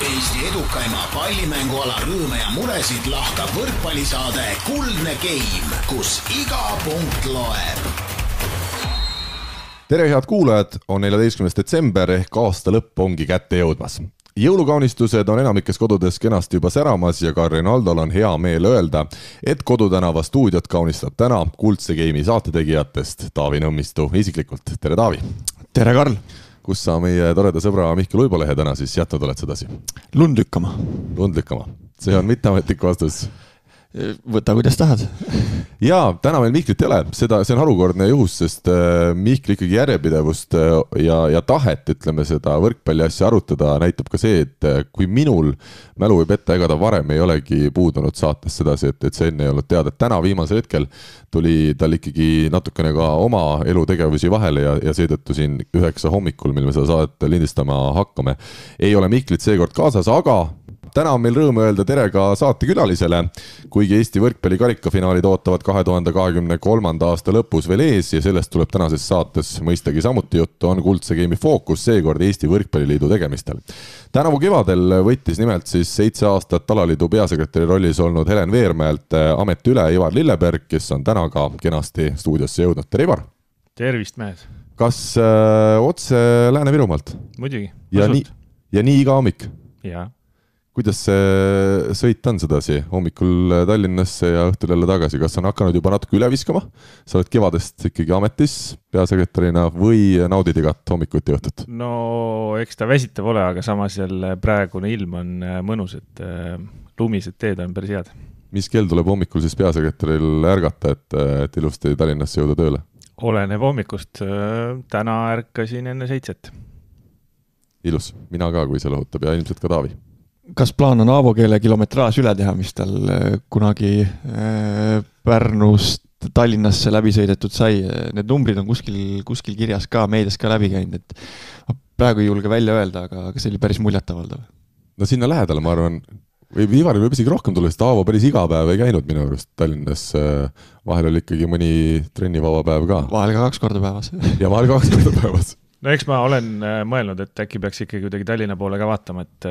Eesti edukaima pallimänguala rõõme ja muresid lahkab võrkpallisaade Kuldne Game, kus iga punkt loeb. Tere head kuulajad, on 14. detsember ehk aasta lõpp ongi kätte jõudmas. Jõulukaunistused on enamikes kodudes kenasti juba säramas ja ka Renaldol on hea meel öelda, et Kodutänava stuudiot kaunistab täna Kuldse Game'i saatetegijatest Taavi Nõmmistu isiklikult. Tere Taavi! Tere Karl! Kus sa meie toreda sõbra Mihkel Uibolehe täna siis jätnud oled sedasi? Lund lükkama. Lund lükkama. See on mitteametlik vastus. Võta kuidas tahad. Jaa, täna meil Mihklit ei ole. See on harukordne juhus, sest Mihkli ikkagi järjepidevust ja tahet, ütleme seda võrkpalli asja arutada, näitab ka see, et kui minul mälu võib ette, ega ta varem ei olegi puudunud saates sedasi, et see enne ei olnud teada. Täna viimasel hetkel tuli tal ikkagi natukene ka oma elutegevusi vahele ja seetõttu siin 9 hommikul, mil me seda saadet lindistama hakkame, ei ole Mihklit seekord kaasas, aga täna on meil rõõm öelda tere ka saatekülalisele, kuigi Eesti võrkpalli karikafinaalid ootavad 2023. aasta lõpus veel ees ja sellest tuleb tänases saates mõistagi samuti juttu, on Kuldse Game'i fookus seekord Eesti Võrkpalliliidu tegemistel. Tänavu kevadel võttis nimelt siis 7 aastat alaliidu peasekretäri rollis olnud Helen Veermäelt amet üle Ivar Lilleberg, kes on täna ka kenasti stuudiosse jõudnud. Tere Ivar! Tervist mehed! Kas otse Lääne-Virumaalt? Muidugi. Ja nii iga hommik? Jaa. Kuidas see sõit on sedasi hommikul Tallinnasse ja õhtul jälle tagasi? Kas on hakanud juba natuke üle viskama? Sa oled kevadest ikkagi ametis peasekretärina või naudid igat hommikuti õhtut? No eks ta väsitav ole, aga samas jälle praegune ilm on mõnus, et lumised teed on päris head. Mis kell tuleb hommikul siis peasekretäril ärgata, et ilusti Tallinnasse jõuda tööle? Oleneb hommikust. Täna ärkasin enne 7. Ilus. Mina ka, kui see lohutab ja ilmselt ka Taavi. Kas plaan on Aavokeele kilometraaž üle teha, mis tal kunagi Pärnust Tallinnasse läbi sõidetud sai? Need numbrid on kuskil kirjas ka, meedias ka läbi käinud, et praegu ei julge välja öelda, aga see oli päris muljetavaldav. No sinna lähedale, ma arvan, või Ivaril võib isegi rohkem tulla, sest Aavo päris iga päev ei käinud minu arust Tallinnas. Vahel oli ikkagi mõni trennivaba päev ka. Vahel ka 2 korda päevas. Ja vahel 2 korda päevas. No eks ma olen mõelnud, et äkki peaks ikkagi kuidagi Tallinna poole ka vaatama, et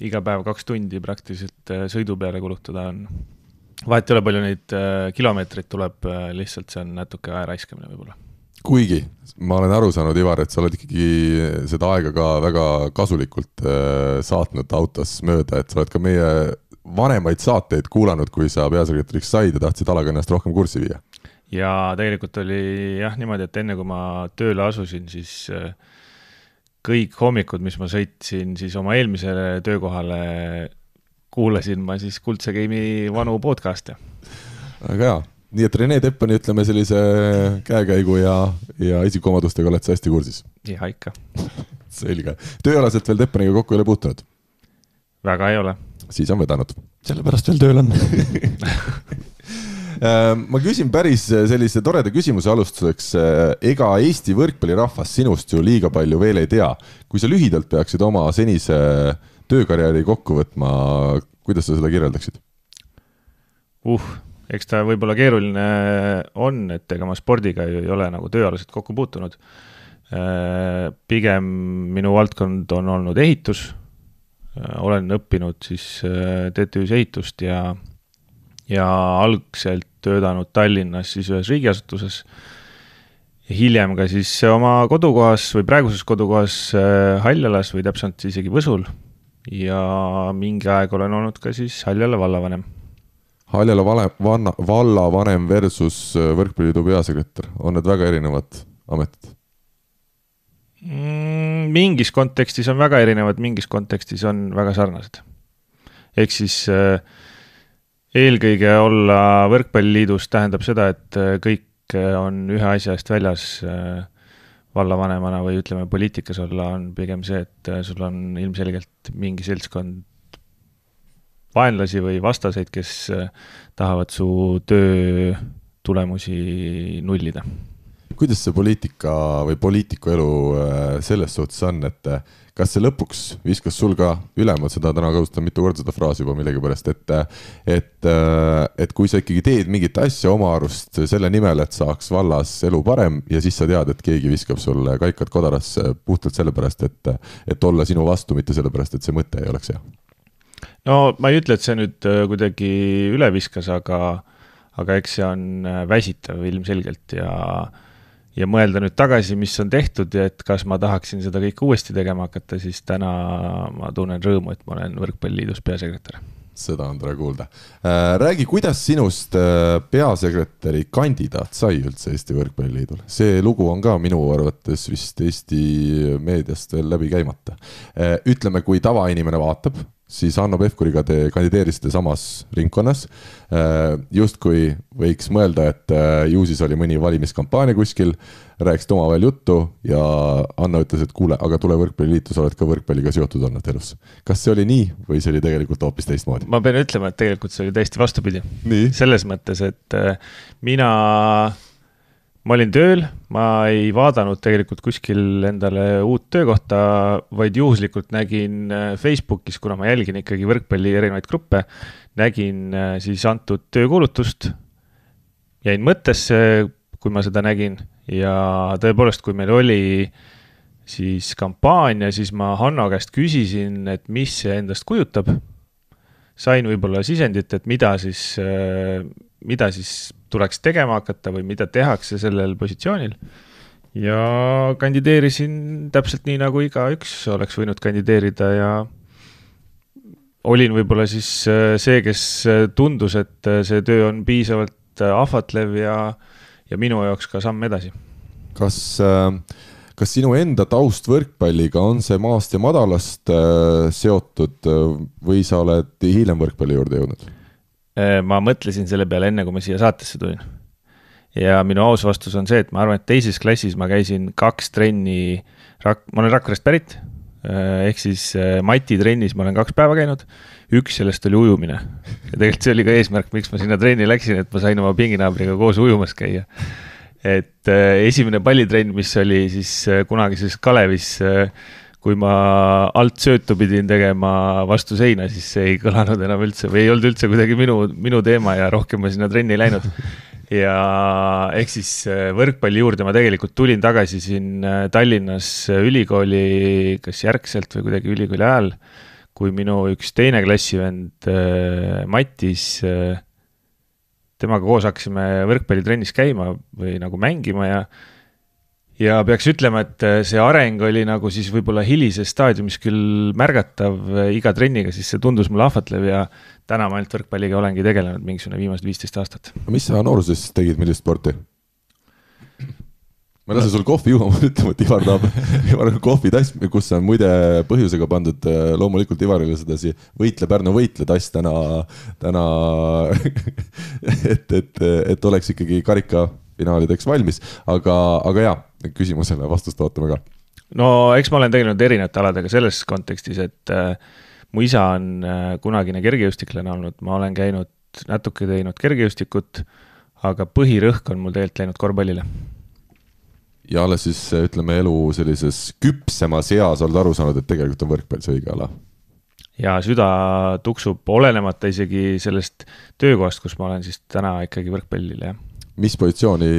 iga päev 2 tundi praktiliselt sõidu peale kulutada on. Vahet ei ole palju neid kilomeetreid tuleb, lihtsalt see on natuke aja raiskamine võib-olla. Kuigi, ma olen aru saanud, Ivar, et sa oled ikkagi seda aega ka väga kasulikult saatnud autos mööda, et sa oled ka meie vanemaid saateid kuulanud, kui sa peasekretäriks said ja tahtsid alaga ennast rohkem kurssi viia. Ja tegelikult oli niimoodi, et enne kui ma tööle asusin, siis kõik hommikud, mis ma sõitsin siis oma eelmisele töökohale, kuulasin ma siis Kuldse Game'i vanu podcast'e. Aga hea, nii et Rene Teppani ütleme sellise käekäigu ja isikuomadustega oled sa hästi kursis? Ja ikka. Selge. Tööalaselt veel Teppaniga kokku ei ole puutunud? Väga ei ole. Siis on vedanud. Sellepärast veel tööl on. Ma küsin päris sellise toreda küsimuse alustuseks. Ega Eesti võrkpallirahvas sinust ju liiga palju veel ei tea. Kui sa lühidalt peaksid oma senise töökarjääri kokku võtma, kuidas sa seda kirjeldaksid? Eks ta võib-olla keeruline on, et ega ma spordiga ei ole nagu tööalaselt kokku puutunud. Pigem minu valdkond on olnud ehitus. Olen õppinud siis TTÜs ehitust ja algselt töötanud Tallinnas siis ühes riigiasutuses. Hiljem ka siis oma kodukohas või praeguses kodukohas Haljalas või täpselt isegi Võsul. Ja mingi aeg olen olnud ka siis Haljala vallavanem. Haljala vallavanem versus võrkpalliliidu peasekretär. On need väga erinevad ametid? Mingis kontekstis on väga erinevad, mingis kontekstis on väga sarnased. Ehk siis eelkõige olla võrkpalliliidus tähendab seda, et kõik on ühe asja eest väljas vallavanemana või ütleme poliitikas olla on pigem see, et sul on ilmselgelt mingi seltskond vaenlasi või vastaseid, kes tahavad su töö tulemusi nullida. kuidas see poliitika või poliitiku elu selles suhtes on, et kas see lõpuks viskas sul ka üle, ma seda täna kasutan mitu korda seda fraasi juba millegi pärast, et kui sa ikkagi teed mingit asja oma arust selle nimel, et saaks vallas elu parem ja siis sa tead, et keegi viskab sulle kaikad kodarasse puhtalt sellepärast, et olla sinu vastu, mitte sellepärast, et see mõte ei oleks hea. No ma ei ütle, et see nüüd kuidagi üle viskas, aga eks see on väsitav ilmselgelt ja mõelda nüüd tagasi, mis on tehtud ja et kas ma tahaksin seda kõik uuesti tegema hakata, siis täna ma tunnen rõõmu, et ma olen Võrkpalliliidus peasekretär. Seda on tore kuulda. Räägi, kuidas sinust peasekretäri kandidaat sai üldse Eesti Võrkpalliliidul? See lugu on ka minu arvates vist Eesti meediast veel läbi käimata. Ütleme, kui tavainimene vaatab, siis Hanno Pevkuriga te kandideerisite samas ringkonnas. Just kui võiks mõelda, et ju siis oli mõni valimiskampaania kuskil, rääkisite oma veel juttu ja Hanno ütles, et kuule, aga tule Võrkpalliliitu, sa oled ka võrkpalliga seotud olnud elus. Kas see oli nii või see oli tegelikult hoopis teistmoodi? Ma pean ütlema, et tegelikult see oli täiesti vastupidi. Nii? Selles mõttes, et ma olin tööl, ma ei vaadanud tegelikult kuskil endale uut töökohta, vaid juhuslikult nägin Facebookis, kuna ma jälgin ikkagi võrkpalli erinevaid gruppe, nägin siis antud töökuulutust, jäin mõttesse, kui ma seda nägin ja tõepoolest, kui meil oli siis kampaania, siis ma Hanno käest küsisin, et mis see endast kujutab. Sain võib-olla sisendit, et mida siis tuleks tegema hakata või mida tehakse sellel positsioonil. Ja kandideerisin täpselt nii, nagu iga üks oleks võinud kandideerida ja olin võib-olla siis see, kes tundus, et see töö on piisavalt ahvatlev ja minu jaoks ka samm edasi. Kas sinu enda taust võrkpalliga on see maast ja madalast seotud või sa oled hiljem võrkpalli juurde jõudnud? Ma mõtlesin selle peale enne, kui ma siia saatesse tulin. Ja minu aus vastus on see, et ma arvan, et teises klassis ma käisin 2 trenni, ma olen Rakverest pärit, ehk siis Mati trennis ma olen 2 päeva käinud, 1 sellest oli ujumine. Ja tegelikult see oli ka eesmärk, miks ma sinna trenni läksin, et ma sain oma pinginaabriga koos ujumas käia. Et esimene pallitrenn, mis oli siis kunagises Kalevis, kui ma alt söötu pidin tegema vastu seina, siis see ei kõlanud enam üldse või ei olnud üldse kuidagi minu teema ja rohkem ma sinna trenni ei läinud. Ja ehk siis võrkpalli juurde ma tegelikult tulin tagasi siin Tallinnas ülikooli, kas järgselt või kuidagi ülikooli ajal, kui minu üks teine klassivend Matis, temaga koos hakkasime võrkpallitrennis käima või nagu mängima ja peaks ütlema, et see areng oli nagu siis võib-olla hilises staadiumis küll märgatav iga trenniga, siis see tundus mulle ahvatlev ja täna ma ainult võrkpalliga olengi tegelenud mingisugune viimased 15 aastat. Mis sa nooruses tegid, millist sporti? Ma lasen sul kohvi juua, ma ütlema, et Ivar on kohvitass, kus on muide põhjusega pandud loomulikult Ivarile sedasi võitle Pärnu võitle tass täna et oleks ikkagi karikafinaalideks valmis, aga jaa, küsimusele vastust ootame ka. No eks ma olen tegelenud erinevate aladega selles kontekstis, et mu isa on kunagine kergejõustiklane olnud, ma olen käinud natuke teinud kergejõustikut, aga põhirõhk on mul tegelikult läinud korvpallile. Ja alles siis, ütleme, elu sellises küpsemas eas oled aru saanud, et tegelikult on võrkpall see õige ala. Ja süda tuksub olenemata isegi sellest töökohast, kus ma olen siis täna ikkagi võrkpallile. Mis positsiooni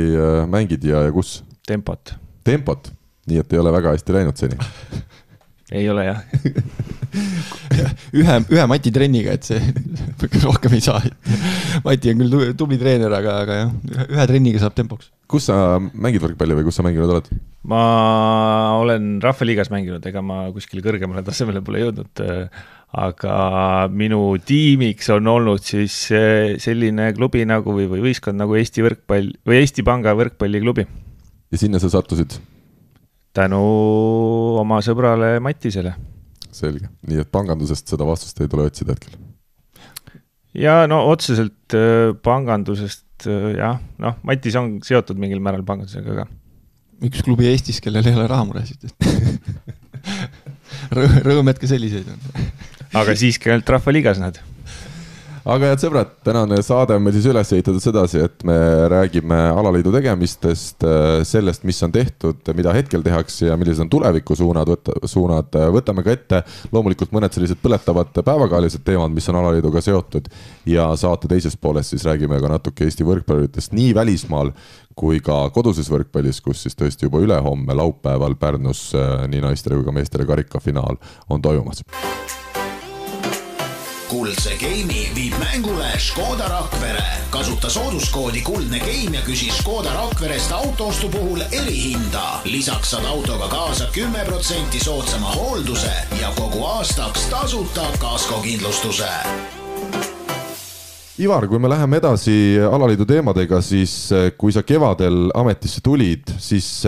mängid ja kus? Tempot. Tempot? Nii, et ei ole väga hästi läinud seni? Ei ole, jah. ühe Mati trenniga, et see rohkem ei saa. Mati on küll tubli treener, aga jah, ühe trenniga saab tempoks. Kus sa mängid võrkpalli või kus sa mänginud oled? Ma olen Rahvaliigas mänginud, ega ma kuskil kõrgemale tasemele pole jõudnud, aga minu tiimiks on olnud siis selline klubi nagu või võistkond nagu Eesti Panga võrkpalliklubi. Ja sinna sa sattusid? Tänu oma sõbrale Matisele. Selge. Nii et pangandusest seda vastust ei tule otsida hetkel? Ja no otseselt pangandusest, jah, Matis on seotud mingil määral pangandusega ka. Üks klubi Eestis, kellel ei ole rahamuresid. Rõõm, et ka selliseid on. Aga siiski ainult Rahvaliigas nad. aga head sõbrad, tänane saade on meil siis üles ehitatud sedasi, et me räägime alaliidu tegemistest, sellest, mis on tehtud, mida hetkel tehakse ja millised on tulevikusuunad, võtame ka ette loomulikult mõned sellised põletavad päevakajalised teemad, mis on alaliiduga seotud ja saate teises pooles siis räägime ka natuke Eesti võrkpalluritest nii välismaal kui ka koduses võrkpallis, kus siis tõesti juba ülehomme laupäeval Pärnus nii naistele kui ka meestele karikafinaal on toimumas. Kuldse Game'i viib mängule Škoda Rakvere. Kasuta sooduskoodi Kuldne Game ja küsi Škoda Rakverest autoostu puhul erihinda. Lisaks saad autoga kaasa 10% soodsama hoolduse ja kogu aastaks tasuta kaskokindlustuse. Ivar, kui me läheme edasi alaliidu teemadega, siis kui sa kevadel ametisse tulid, siis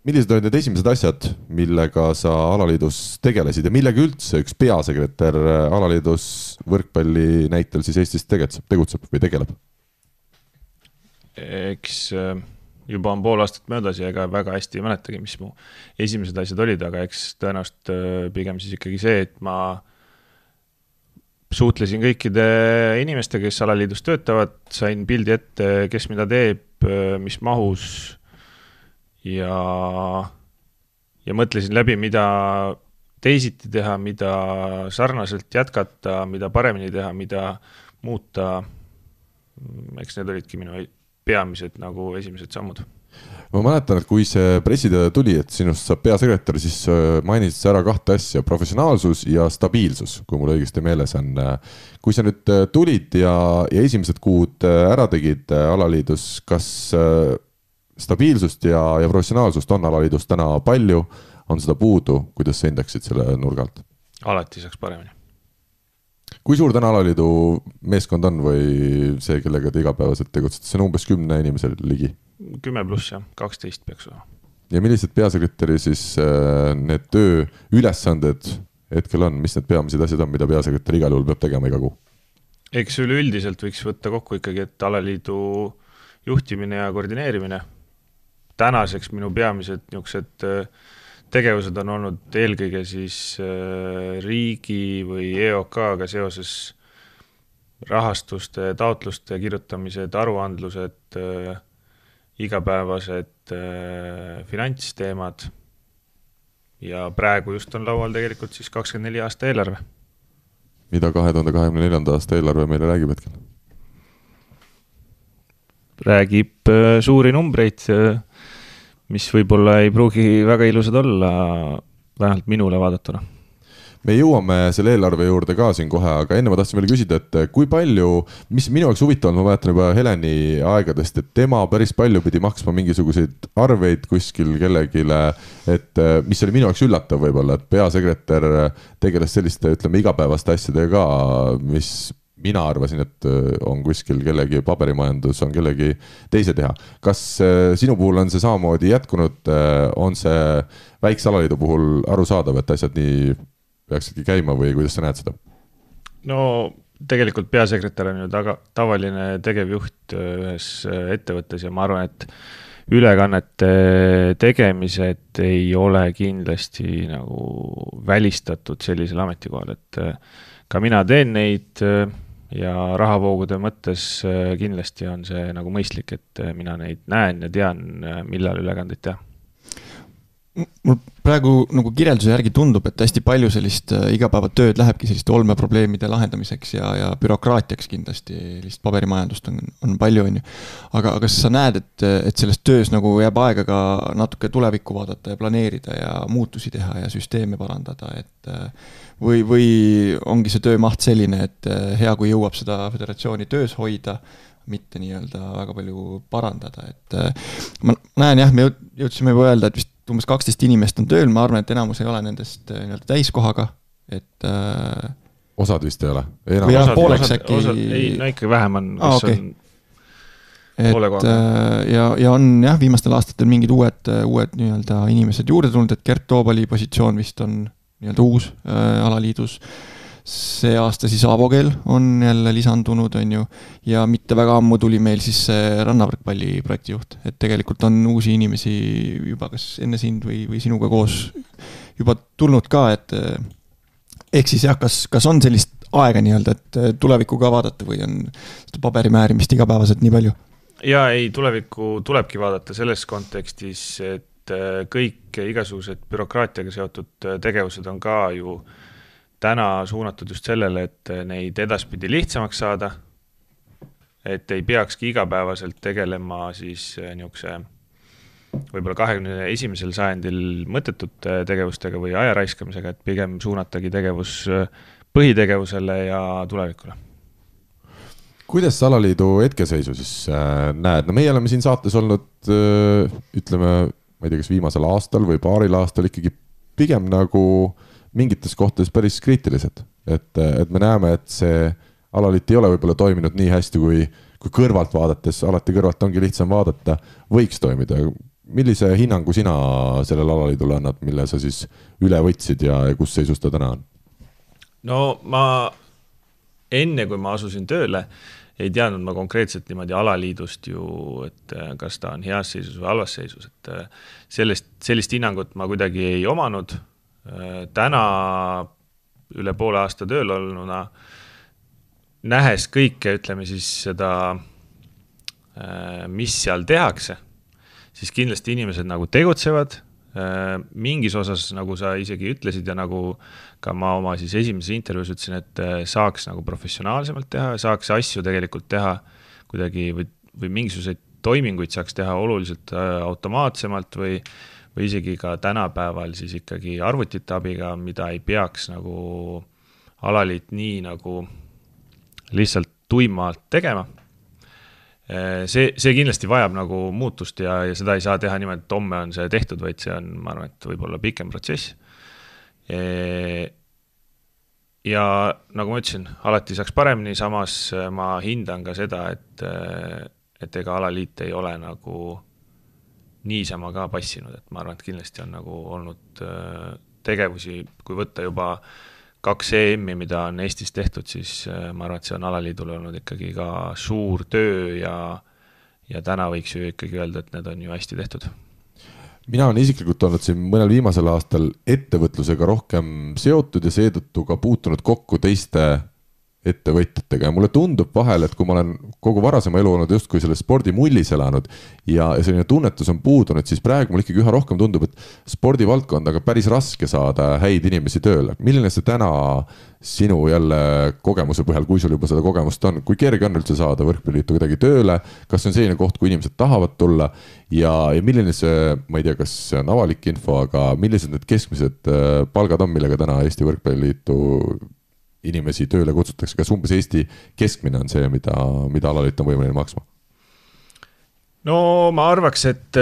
millised olid need esimesed asjad, millega sa alaliidus tegelesid ja millega üldse üks peasekretär alaliidus võrkpalli näitel siis Eestis tegutseb või tegeleb? Eks juba on pool aastat möödas ja ega väga hästi ei mäletagi, mis mu esimesed asjad olid, aga eks tõenäoliselt pigem siis ikkagi see, et ma suhtlesin kõikide inimestega, kes alaliidus töötavad, sain pildi ette, kes mida teeb, mis mahus ja mõtlesin läbi, mida teisiti teha, mida sarnaselt jätkata, mida paremini teha, mida muuta. Eks need olidki minu peamised nagu esimesed sammud. Ma mäletan, et kui see pressiteade tuli, et sinust saab peasekretär, siis mainisid sa ära kahte asja, professionaalsus ja stabiilsus, kui mul õigesti meeles on. Kui sa nüüd tulid ja esimesed kuud ära tegid alaliidus, kas stabiilsust ja professionaalsust on alaliidus täna palju, on seda puudu, kuidas sa hindaksid selle nurgalt? Alati saaks paremini. Kui suur täna alaliidu meeskond on või see, kellega te igapäevaselt tegutsete? See on umbes 10 inimesel ligi? 10 pluss, jah, 12 peaks olema. Ja millised peasekretäri siis need töö ülesanded hetkel on? Mis need peamised asjad on, mida peasekretär igal juhul peab tegema iga kuu? Eks üleüldiselt võiks võtta kokku ikkagi, et alaliidu juhtimine ja koordineerimine. Tänaseks minu peamised niisugused tegevused on olnud eelkõige siis riigi või EOK-ga seoses rahastuste, taotluste kirjutamised, aruandlused, igapäevased finantsteemad ja praegu just on laual tegelikult siis 24 aasta eelarve. Mida 2024. aasta eelarve meile räägib hetkel? Räägib suuri numbreid, mis võib-olla ei pruugi väga ilusad olla, vähemalt minule vaadatuna. Me jõuame selle eelarve juurde ka siin kohe, aga enne ma tahtsin veel küsida, et kui palju, mis minu jaoks huvitav on, ma mäletan juba Heleni aegadest, et tema päris palju pidi maksma mingisuguseid arveid kuskil kellegile, et mis oli minu jaoks üllatav võib-olla, et peasekretär tegeles selliste, ütleme, igapäevaste asjadega ka, mis mina arvasin, et on kuskil kellegi paberimajandus, on kellegi teise teha. Kas sinu puhul on see samamoodi jätkunud, on see väikse alaliidu puhul arusaadav, et asjad nii peaksidki käima või kuidas sa näed seda? No tegelikult peasekretär on ju tavaline tegevjuht ühes ettevõttes ja ma arvan, et ülekannete tegemised ei ole kindlasti nagu välistatud sellisel ametikohal, et ka mina teen neid ja rahavoogude mõttes kindlasti on see nagu mõistlik, et mina neid näen ja tean, millal ülekandeid teha. Mul praegu nagu kirjelduse järgi tundub, et hästi palju sellist igapäevatööd lähebki selliste olmeprobleemide lahendamiseks ja bürokraatiaks kindlasti, lihtsalt paberimajandust on palju, on ju. Aga kas sa näed, et selles töös nagu jääb aega ka natuke tulevikku vaadata ja planeerida ja muutusi teha ja süsteeme parandada, et või ongi see töömaht selline, et hea, kui jõuab seda föderatsiooni töös hoida, mitte nii-öelda väga palju parandada, et ma näen jah, me jõudsime juba öelda, et vist umbes 12 inimest on tööl, ma arvan, et enamus ei ole nendest nii-öelda täiskohaga, et osad vist ei ole? Või jah, pooleks äkki... Ei, no ikka vähem on, kes okay. On poole kohaga. Ja on jah, viimastel aastatel mingid uued nii-öelda inimesed juurde tulnud, et Gert Toobali positsioon vist on nii-öelda uus alaliidus. See aasta siis Avogel on jälle lisandunud, on ju, ja mitte väga ammu tuli meil siis rannavõrkpalli projektijuht, et tegelikult on uusi inimesi juba kas enne sind või sinuga koos juba tulnud ka, et ehk siis jah, kas on sellist aega nii-öelda, et tulevikku ka vaadata või on seda paberimäärimist igapäevaselt nii palju? Ja ei, tulevikku tulebki vaadata selles kontekstis, et kõik igasugused bürokraatiaga seotud tegevused on ka ju täna suunatud just sellele, et neid edaspidi lihtsamaks saada, et ei peakski igapäevaselt tegelema siis niisuguse võib-olla 21. sajandil mõttetut tegevustega või aja raiskamisega, et pigem suunatagi tegevus põhitegevusele ja tulevikule. Kuidas sa alaliidu hetkeseisu siis näed? No meie oleme siin saates olnud, ütleme, ma ei tea, kas viimasel aastal või paaril aastal ikkagi pigem nagu mingites kohtades päris kriitilised. Et me näeme, et see alaliit ei ole võib-olla toiminud nii hästi, kui kõrvalt vaadates, alati kõrvalt ongi lihtsam vaadata, võiks toimida. Millise hinnangu sina sellel alaliidule annad, mille sa siis üle võtsid ja kus seisus ta täna on? No ma enne, kui ma asusin tööle, ei teadnud ma konkreetselt niimoodi alaliidust ju, et kas ta on heas seisus või halvas seisus. Et sellist hinnangut ma kuidagi ei omanud. Täna üle poole aasta tööl olnuna, nähes kõike, ütleme siis seda, mis seal tehakse, siis kindlasti inimesed nagu tegutsevad, mingis osas, nagu sa isegi ütlesid ja nagu ka ma oma siis esimeses intervjuus ütlesin, et saaks nagu professionaalsemalt teha, saaks asju tegelikult teha kuidagi või mingisuguseid toiminguid saaks teha oluliselt automaatsemalt või isegi ka tänapäeval siis ikkagi arvutite abiga, mida ei peaks nagu alaliit nii nagu lihtsalt tuimalt tegema. See kindlasti vajab nagu muutust ja seda ei saa teha niimoodi, et homme on see tehtud, vaid see on, ma arvan, et võib-olla pikem protsess. Ja nagu ma ütlesin, alati saaks paremini, samas ma hindan ka seda, et ega alaliit ei ole nagu niisama ka passinud, et ma arvan, et kindlasti on nagu olnud tegevusi, kui võtta juba 2 EM-i, mida on Eestis tehtud, siis ma arvan, et see on alaliidul olnud ikkagi ka suur töö ja täna võiks ju ikkagi öelda, et need on ju hästi tehtud. Mina olen isiklikult olnud siin mõnel viimasel aastal ettevõtlusega rohkem seotud ja seetõttu ka puutunud kokku teiste ettevõtjatega ja mulle tundub vahel, et kui ma olen kogu varasema elu olnud just kui selle spordimullis elanud ja selline tunnetus on puudunud, siis praegu mul ikkagi üha rohkem tundub, et spordivaldkond on päris raske saada häid inimesi tööle. Milline see täna sinu jälle kogemuse põhjal, kui sul juba seda kogemust on, kui kerge on üldse saada võrkpalliliitu kuidagi tööle, kas see on selline koht, kui inimesed tahavad tulla ja milline see, ma ei tea, kas see on avalik info, aga millised need keskmised palgad on, millega täna Eesti võrkpalliliitu inimesi tööle kutsutakse, kas umbes Eesti keskmine on see, mida alaliit on võimeline maksma? No ma arvaks, et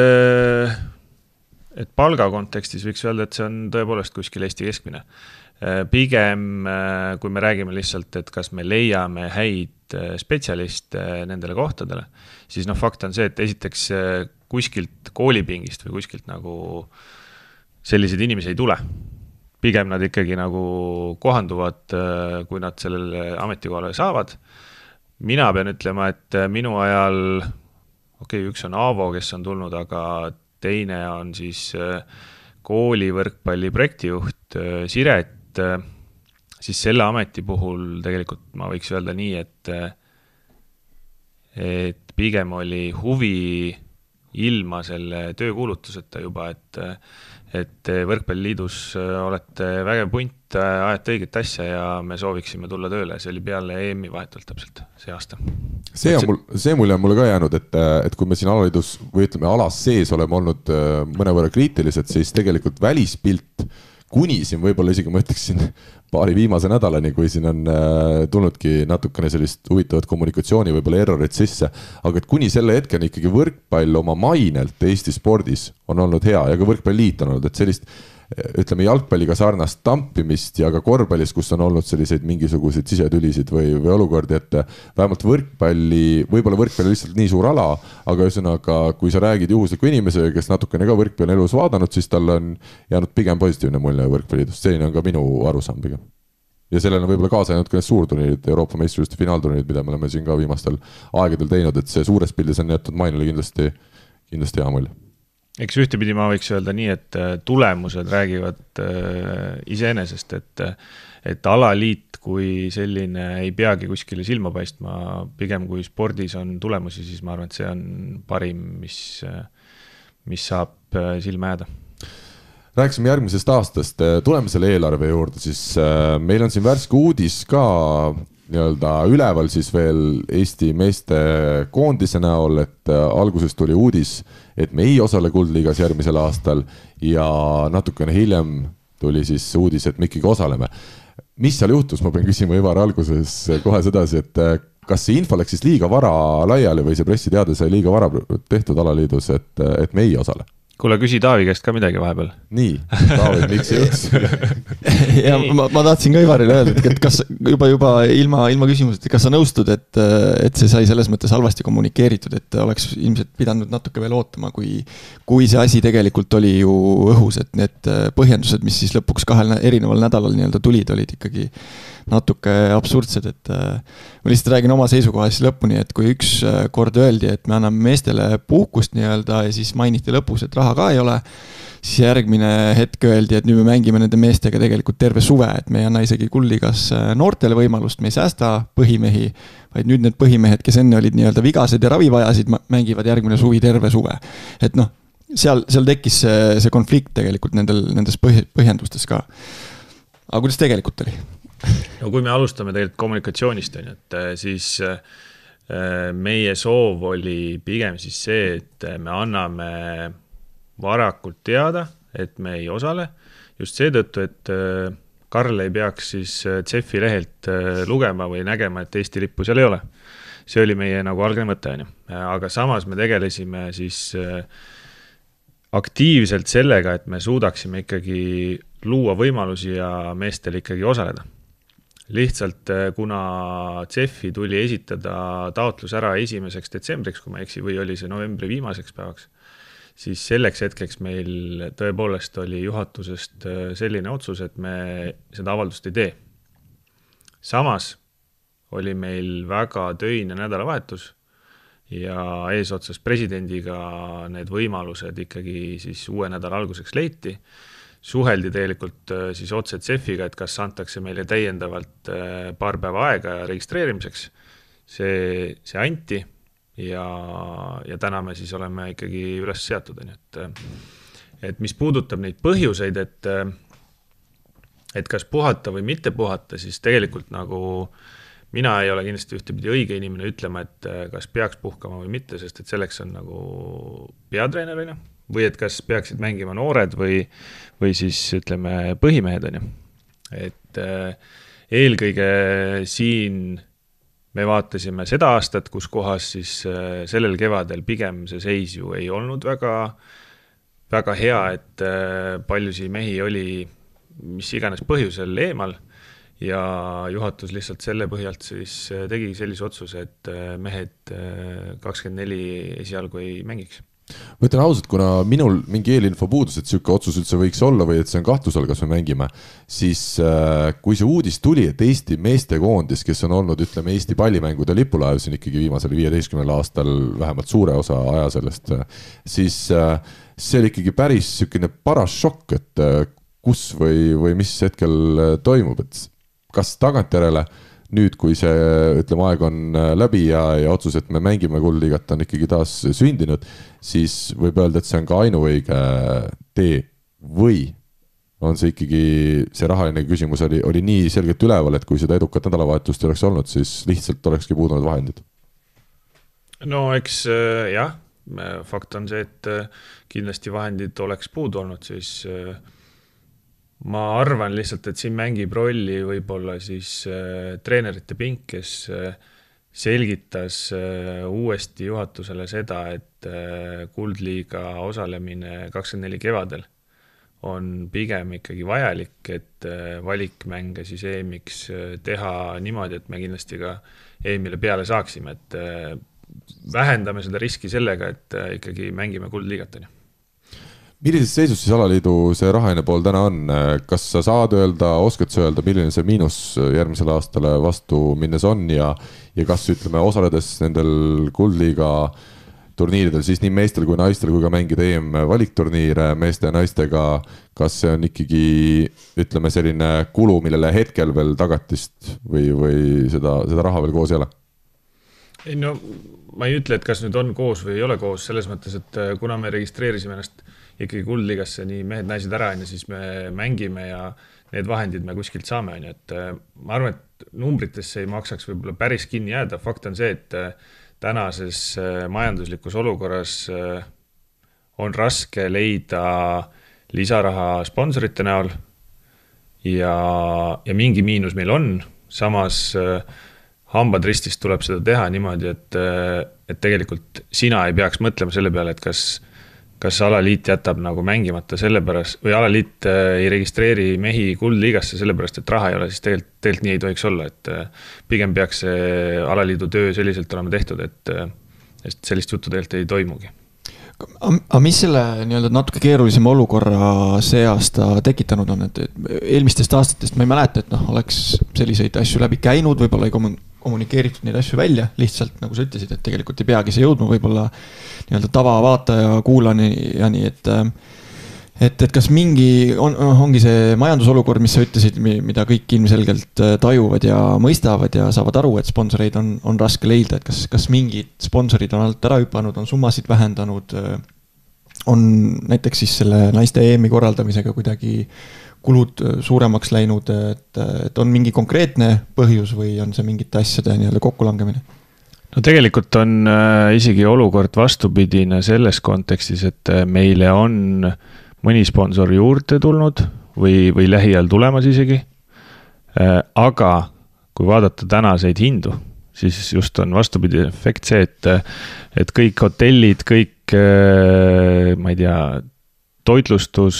palga kontekstis võiks öelda, et see on tõepoolest kuskil Eesti keskmine. Pigem, kui me räägime lihtsalt, et kas me leiame häid spetsialiste nendele kohtadele, siis fakt on see, et esiteks kuskilt koolipingist või kuskilt nagu sellised inimesi ei tule. Pigem nad ikkagi nagu kohanduvad, kui nad sellele ametikohale saavad. Mina pean ütlema, et minu ajal, üks on Aavo, kes on tulnud, aga teine on siis kooli võrkpalli projektijuht Siret, siis selle ameti puhul tegelikult ma võiks öelda nii, et pigem oli huvi ilma selle töökuulutuseta juba, et võrkpalliliidus olete vägev punt, ajate õiget asja ja me sooviksime tulla tööle. See oli peale EM-i vahetult täpselt see aasta. See mulje on mulle ka jäänud, et kui me siin alaliidus või ütleme alas sees oleme olnud mõnevõrra kriitilised, siis tegelikult välispilt kuni siin võib-olla isegi ma ütleksin paari viimase nädalani, kui siin on tulnudki natukene sellist huvitavat kommunikatsiooni võib-olla errorit sisse, aga et kuni selle hetkeni ikkagi võrkpall oma mainelt Eesti spordis on olnud hea ja ka võrkpalliliit on olnud, et sellist ütleme jalgpalliga sarnast tampimist ja ka korvpallis, kus on olnud selliseid mingisuguseid sisetülisid või olukordi, et vähemalt võib-olla võrkpall on lihtsalt nii suur ala, aga ühesõnaga, kui sa räägid juhusliku inimesega, kes natukene ka võrkpalli elus vaadanud, siis tal on jäänud pigem positiivne mulje võrkpalliliidust. Selline on ka minu arusaam pigem. Ja sellele on võib-olla kaasa jäänud ka need suurturniirid, Euroopa meistrivõistluste finaalturniirid, mida me oleme siin ka viimastel aegadel teinud, et see suures pildis on jäetud mainele kindlasti hea mulje. eks ühtepidi ma võiks öelda nii, et tulemused räägivad iseenesest, et alaliit kui selline ei peagi kuskile silma paistma, pigem kui spordis on tulemusi, siis ma arvan, et see on parim, mis saab silma jääda. Rääkisime järgmisest aastast, tuleme selle eelarve juurde, siis meil on siin värske uudis ka nii-öelda üleval siis veel Eesti meeste koondise näol, et alguses tuli uudis, et me ei osale Kuldliigas järgmisel aastal ja natukene hiljem tuli siis uudis, et me ikkagi osaleme. Mis seal juhtus, ma pean küsima Ivar alguses kohe sedasi, et kas see info läks siis liiga vara laiali või see pressiteade sai liiga vara tehtud alaliidus, et me ei osale? Kuule, küsi Taavi käest ka midagi vahepeal. Nii, Taavi, miks see juhtus? Ja ma tahtsin ka Ivarile öelda, et kas juba ilma küsimusest, kas sa nõustud, et see sai selles mõttes halvasti kommunikeeritud, et oleks ilmselt pidanud natuke veel ootama, kui see asi tegelikult oli ju õhus, et need põhjendused, mis siis lõpuks 2 erineval nädalal nii-öelda tulid, olid ikkagi natuke absurdsed, et ma lihtsalt räägin oma seisukoha siis lõpuni, et kui üks kord öeldi, et me anname meestele puhkust nii-öelda ja siis mainiti lõpus, et raha ka ei ole, siis järgmine hetk öeldi, et nüüd me mängime nende meestega tegelikult terve suve, et me ei anna isegi Kuldliigas noortele võimalust, me ei säästa põhimehi, vaid nüüd need põhimehed, kes enne olid nii-öelda vigased ja ravivajasid, mängivad järgmine suvi terve suve. Et noh, seal tekkis see konflikt tegelikult nendes põhjendustes ka. Aga kuidas tegelikult oli? No kui me alustame tegelikult kommunikatsioonist, et siis meie soov oli pigem siis see, et me anname varakult teada, et me ei osale. Just seetõttu, et Karl ei peaks siis CEF-i lehelt lugema või nägema, et Eesti lippu seal ei ole. See oli meie nagu algne mõte. Aga samas me tegelesime siis aktiivselt sellega, et me suudaksime ikkagi luua võimalusi ja meestel ikkagi osaleda. Lihtsalt kuna CEF-i tuli esitada taotlus ära 1. detsembriks, kui ma eksi, või oli see novembri viimaseks päevaks, siis selleks hetkeks meil tõepoolest oli juhatusest selline otsus, et me seda avaldust ei tee. Samas oli meil väga töine nädalavahetus ja eesotsas presidendiga need võimalused ikkagi siis uue nädala alguseks leiti. Suheldi tegelikult siis otse CEF-iga, et kas antakse meile täiendavalt paar päeva aega registreerimiseks. See anti ja täna me siis oleme ikkagi üles seatud. Et mis puudutab neid põhjuseid, et kas puhata või mitte puhata, siis tegelikult nagu mina ei ole kindlasti ühtepidi õige inimene ütlema, et kas peaks puhkama või mitte, sest et selleks on nagu peatreenerina. Või et kas peaksid mängima noored või siis ütleme põhimehed. Et eelkõige siin me vaatasime seda aastat, kus kohas siis sellel kevadel pigem see seis ju ei olnud väga hea, et paljusi mehi oli mis iganes põhjusel eemal ja juhatus lihtsalt selle põhjalt siis tegi sellise otsuse, et mehed 24 esialgu ei mängiks. Ma ütlen ausalt, kuna minul mingi eelinfo puudus, et selline otsus üldse võiks olla või et see on kahtlus all, kas me mängime, siis kui see uudis tuli, et Eesti meestekoondis, kes on olnud, ütleme, Eesti pallimängude lipulaev siin ikkagi viimasel 15 aastal vähemalt suure osa aja sellest, siis see oli ikkagi päris selline paras šokk, et kus või mis hetkel toimub, et kas tagantjärele nüüd, kui see, ütleme, aeg on läbi ja otsus, et me mängime Kuldliigat on ikkagi taas sündinud, siis võib öelda, et see on ka ainuõige tee või on see ikkagi, see rahaline küsimus oli nii selgelt üleval, et kui seda edukat nädalavahetust oleks olnud, siis lihtsalt olekski puudunud vahendid? No eks jah, fakt on see, et kindlasti vahendid oleks puudu olnud, siis ma arvan lihtsalt, et siin mängib rolli võib-olla siis treenerite pink, kes selgitas uuesti juhatusele seda, et Kuldliiga osalemine 24 kevadel on pigem ikkagi vajalik, et valikmänge siis EM-iks teha niimoodi, et me kindlasti ka EM-ile peale saaksime, et vähendame seda riski sellega, et ikkagi mängime Kuldliigat. Millises seisus siis alaliidu see rahaline pool täna on? Kas sa saad öelda, oskad sa öelda, milline see miinus järgmisele aastale vastu minnes on ja kas ütleme osaledes nendel Kuldliiga turniiridel siis nii meestel kui naistel kui ka mängida EM-valikturniire meeste ja naistega, kas see on ikkagi, ütleme, selline kulu, millele hetkel veel tagatist või seda raha veel koos ei ole? Ei no, ma ei ütle, et kas nüüd on koos või ei ole koos, selles mõttes, et kuna me registreerisime ennast ikkagi kuldligasse nii mehed-naised ära, siis me mängime ja need vahendid me kuskilt saame. Et ma arvan, et numbritesse ei maksaks võib-olla päris kinni jääda. Fakt on see, et tänases majanduslikus olukorras on raske leida lisaraha sponsorite näol ja mingi miinus meil on. Samas hambad ristist tuleb seda teha niimoodi, et tegelikult sina ei peaks mõtlema selle peale, et kas alaliit jätab nagu mängimata sellepärast või alaliit ei registreeri mehi kuldliigasse sellepärast, et raha ei ole, siis tegelikult nii ei tohiks olla, et pigem peaks see alaliidu töö selliselt olema tehtud, et sellist juttu tegelikult ei toimugi. Aga mis selle nii-öelda natuke keerulisema olukorra see aasta tekitanud on, et eelmistest aastatest ma ei mäleta, et oleks selliseid asju läbi käinud, võib-olla ei kommunikeeritud neid asju välja, lihtsalt nagu sa ütlesid, et tegelikult ei peagi see jõudma võib-olla nii-öelda tavavaataja kuulani ja nii, et kas ongi see majandusolukord, mis sa ütlesid, mida kõik ilmselgelt tajuvad ja mõistavad ja saavad aru, et sponsoreid on raske leida, et kas mingid sponsorid on alt ära hüpanud, on summasid vähendanud, on näiteks siis selle naiste EM-i korraldamisega kuidagi kulud suuremaks läinud, et on mingi konkreetne põhjus või on see mingite asjade nii-öelda kokkulangemine? No tegelikult on isegi olukord vastupidine selles kontekstis, et meile on mõni sponsor juurde tulnud või lähiajal tulemas isegi. Aga kui vaadata tänaseid hindu, siis just on vastupidine efekt see, et kõik hotellid, kõik, ma ei tea, toitlustus,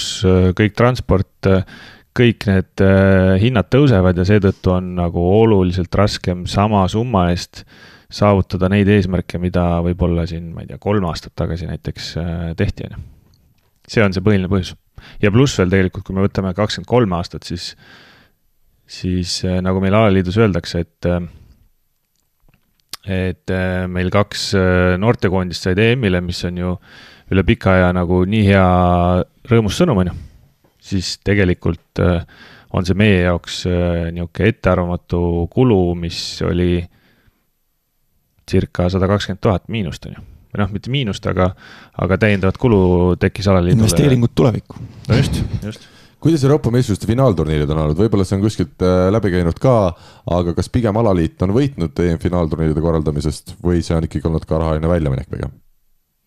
kõik transport, kõik need hinnad tõusevad ja seetõttu on nagu oluliselt raskem sama summa eest saavutada neid eesmärke, mida võib-olla siin, ma ei tea, 3 aastat tagasi näiteks tehti. See on see põhiline põhjus. Ja pluss veel tegelikult, kui me võtame 23 aastat, siis nagu meil alaliidus öeldakse, et meil 2 noortekoondist said EM-ile, mis on ju üle pika aja nagu nii hea rõõmus sõnum, siis tegelikult on see meie jaoks niisugune ettearvamatu kulu, mis oli circa 120 000 miinust. Või mitte miinust, aga täiendavat kulu tekkis alaliidule. Investeeringud tulevikku. No just. Kuidas Euroopa meistrivõistluste finaalturniirid on olnud? Võib-olla see on kuskilt läbi käinud ka, aga kas pigem alaliit on võitnud finaalturniiride korraldamisest või see on ikkagi olnud ka rahaline väljaminek pigem?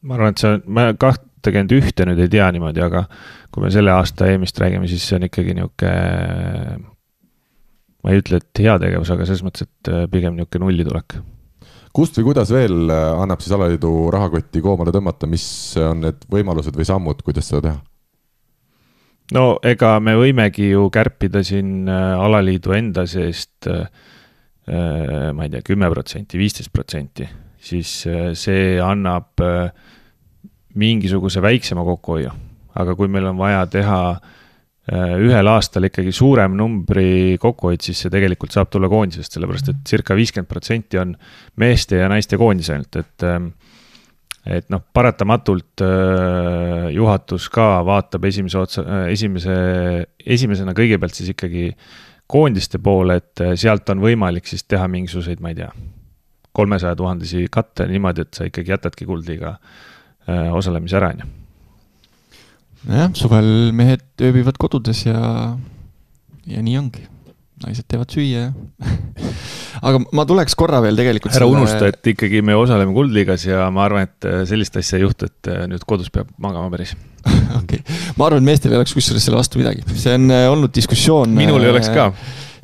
Ma arvan, et ma 21 nüüd ei tea niimoodi, aga kui me selle aasta EM-ist räägime, siis see on ikkagi niisugune, ma ei ütle, et hea tegevus, aga selles mõttes, et pigem niisugune nullitulek. Kust või kuidas veel annab siis alaliidu rahakotti koomale tõmmata, mis on need võimalused või sammud, kuidas seda teha? No ega me võimegi ju kärpida siin alaliidu enda seest, ma ei tea, 10%, 15%, siis see annab mingisuguse väiksema kokkuhoiu. Aga kui meil on vaja teha ühel aastal ikkagi suurem numbri kokkuhoid, siis see tegelikult saab tulla koondisest, sellepärast et circa 50% on meeste ja naiste koondis ainult, et paratamatult juhatus ka vaatab esimesena kõigepealt siis ikkagi koondiste poole, et sealt on võimalik siis teha mingisuguseid, ma ei tea, 300 000 katte niimoodi, et sa ikkagi jätadki kuldliiga osalemise ära. Jah, suvel mehed ööbivad kodudes ja nii ongi. Naised teevad süüa. Aga ma tuleks korra veel tegelikult ära unusta, et ikkagi me osaleme kuldliigas ja ma arvan, et sellist asja ei juhtu, et nüüd kodus peab magama päris. Okay. Ma arvan, et meestel ei oleks kusjuures selle vastu midagi. See on olnud diskussioon. Minul ei oleks ka.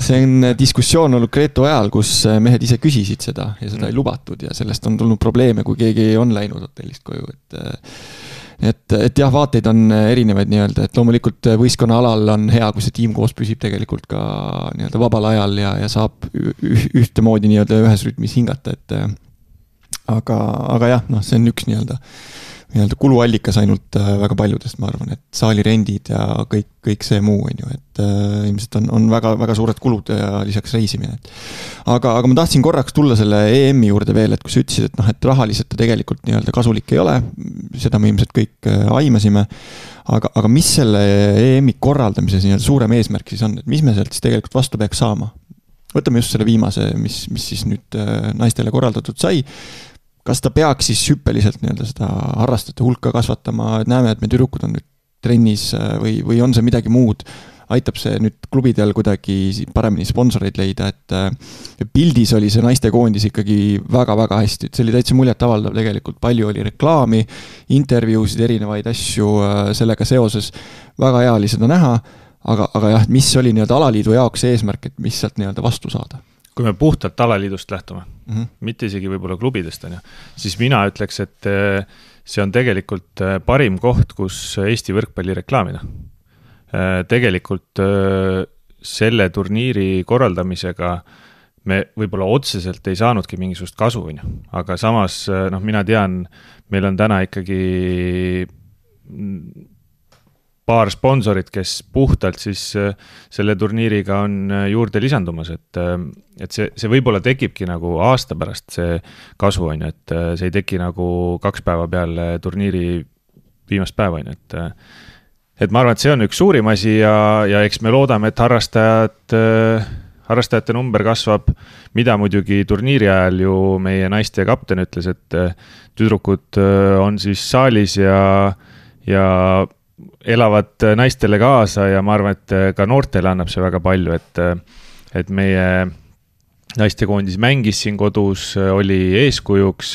See on diskussioon olnud Gretu ajal, kus mehed ise küsisid seda ja seda ei lubatud ja sellest on tulnud probleeme, kui keegi on läinud hotellist koju. Et jah, vaateid on erinevaid nii-öelda, et loomulikult võistkonna alal on hea, kui see tiim koos püsib tegelikult ka nii-öelda vabal ajal ja saab ühtemoodi nii-öelda ühes rütmis hingata, et aga jah, see on üks nii-öelda nii-öelda kuluallikas ainult väga paljudest, ma arvan, et saalirendid ja kõik see muu, on ju, et ilmselt on väga, väga suured kulud ja lisaks reisimine. Aga ma tahtsin korraks tulla selle EM-i juurde veel, et kui sa ütlesid, et rahaliselt ta tegelikult nii-öelda kasulik ei ole, seda me ilmselt kõik aimasime, aga mis selle EM-i korraldamises nii-öelda suurem eesmärk siis on, et mis me sealt siis tegelikult vastu peaks saama? Võtame just selle viimase, mis siis nüüd naistele korraldatud sai. Kas ta peaks siis hüppeliselt nii-öelda seda harrastajate hulka kasvatama, et näeme, et me tüdrukud on nüüd trennis või on see midagi muud, aitab see nüüd klubidel kuidagi paremini sponsoreid leida, et pildis oli see naistekoondis ikkagi väga-väga hästi, et see oli täitsa muljet avaldav tegelikult, palju oli reklaami, intervjuusid, erinevaid asju sellega seoses, väga hea oli seda näha, aga jah, mis oli nii-öelda alaliidu jaoks eesmärk, et mis sealt nii-öelda vastu saada? Kui me puhtalt alaliidust lähtume, mitte isegi võib-olla klubidest, siis mina ütleks, et see on tegelikult parim koht, kus Eesti võrkpalli reklaamida. Tegelikult selle turniiri korraldamisega me võib-olla otseselt ei saanudki mingisugust kasu, aga samas mina tean, meil on täna ikkagi paar sponsorit, kes puhtalt siis selle turniiriga on juurde lisandumas, et see võib-olla tekibki nagu aasta pärast see kasu, et see ei teki nagu 2 päeva peale turniiri viimast päeva, et ma arvan, et see on üks suurim asi ja eks me loodame, et harrastajate number kasvab, mida muidugi turniiri ajal ju meie naiste kapten ütles, et tüdrukud on siis saalis ja elavad naistele kaasa ja ma arvan, et ka noortele annab see väga palju, et meie naistekoondis mängis siin kodus, oli eeskujuks,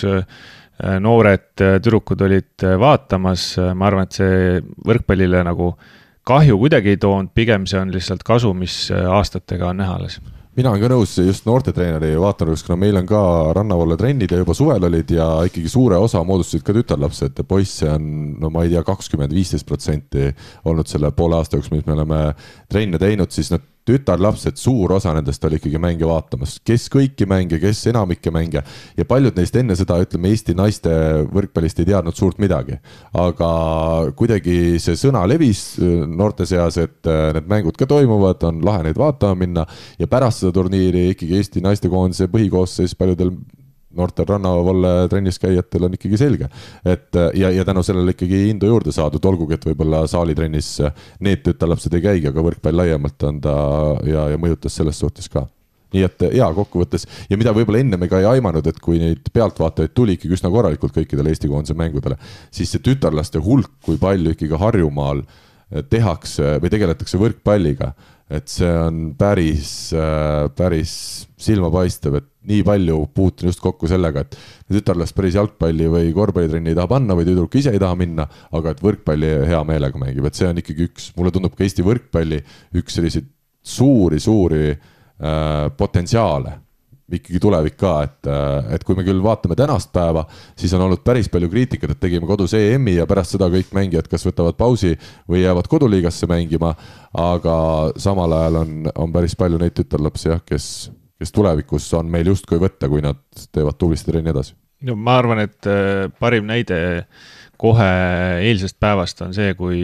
noored tüdrukud olid vaatamas, ma arvan, et see võrkpallile nagu kahju kuidagi ei toonud, pigem see on lihtsalt kasu, mis aastatega on näha alles. Mina olen ka nõus just noortetreeneri vaatanurgas, kuna meil on ka rannavalle trennid ja juba suvel olid ja ikkagi suure osa moodustasid ka tütarlapsed. Poisse on, no ma ei tea, 20-15% olnud selle poole aasta jooksul, mis me oleme trenne teinud, siis nad tütarlapsed, suur osa nendest oli ikkagi mänge vaatamas, kes kõiki mänge, kes enamikke mänge ja paljud neist enne seda, ütleme, Eesti naiste võrkpallist ei teadnud suurt midagi. Aga kuidagi see sõna levis noorte seas, et need mängud ka toimuvad, on lahe neid vaatama minna ja pärast seda turniiri ikkagi Eesti naistekoondise põhikoosseis paljudel noortel rannavalle trennis käijatel on ikkagi selge, et ja tänu sellele ikkagi hindu juurde saadud, olgugi, et võib-olla saalitrennis need tütarlapsed ei käigi, aga võrkpall laiemalt on ta ja mõjutas selles suhtes ka. Nii et kokkuvõttes ja mida võib-olla enne me ka ei aimanud, et kui neid pealtvaatajaid tuli ikkagi üsna korralikult kõikidele Eesti koondise mängudele, siis see tütarlaste hulk, kui palju ikkagi Harjumaal tehakse või tegeletakse võrkpalliga, et see on päris silmapaistev, et nii palju puutun just kokku sellega, et tütarlast päris jalgpalli või korvpallitrenni ei taha panna või tüdruk ise ei taha minna, aga et võrkpalli hea meelega mängib, et see on ikkagi mulle tundub ka Eesti võrkpalli üks selliseid suuri potentsiaale ikkagi tulevik ka, et kui me küll vaatame tänast päeva, siis on olnud päris palju kriitikat, et tegime kodus EM-i ja pärast seda kõik mängijad kas võtavad pausi või jäävad koduliigasse mängima, aga samal ajal on päris palju neid tütarlapsi, kes tulevikus on meil justkui võtta, kui nad teevad tublisti trenni edasi. No, ma arvan, et parim näide kohe eilsest päevast on see, kui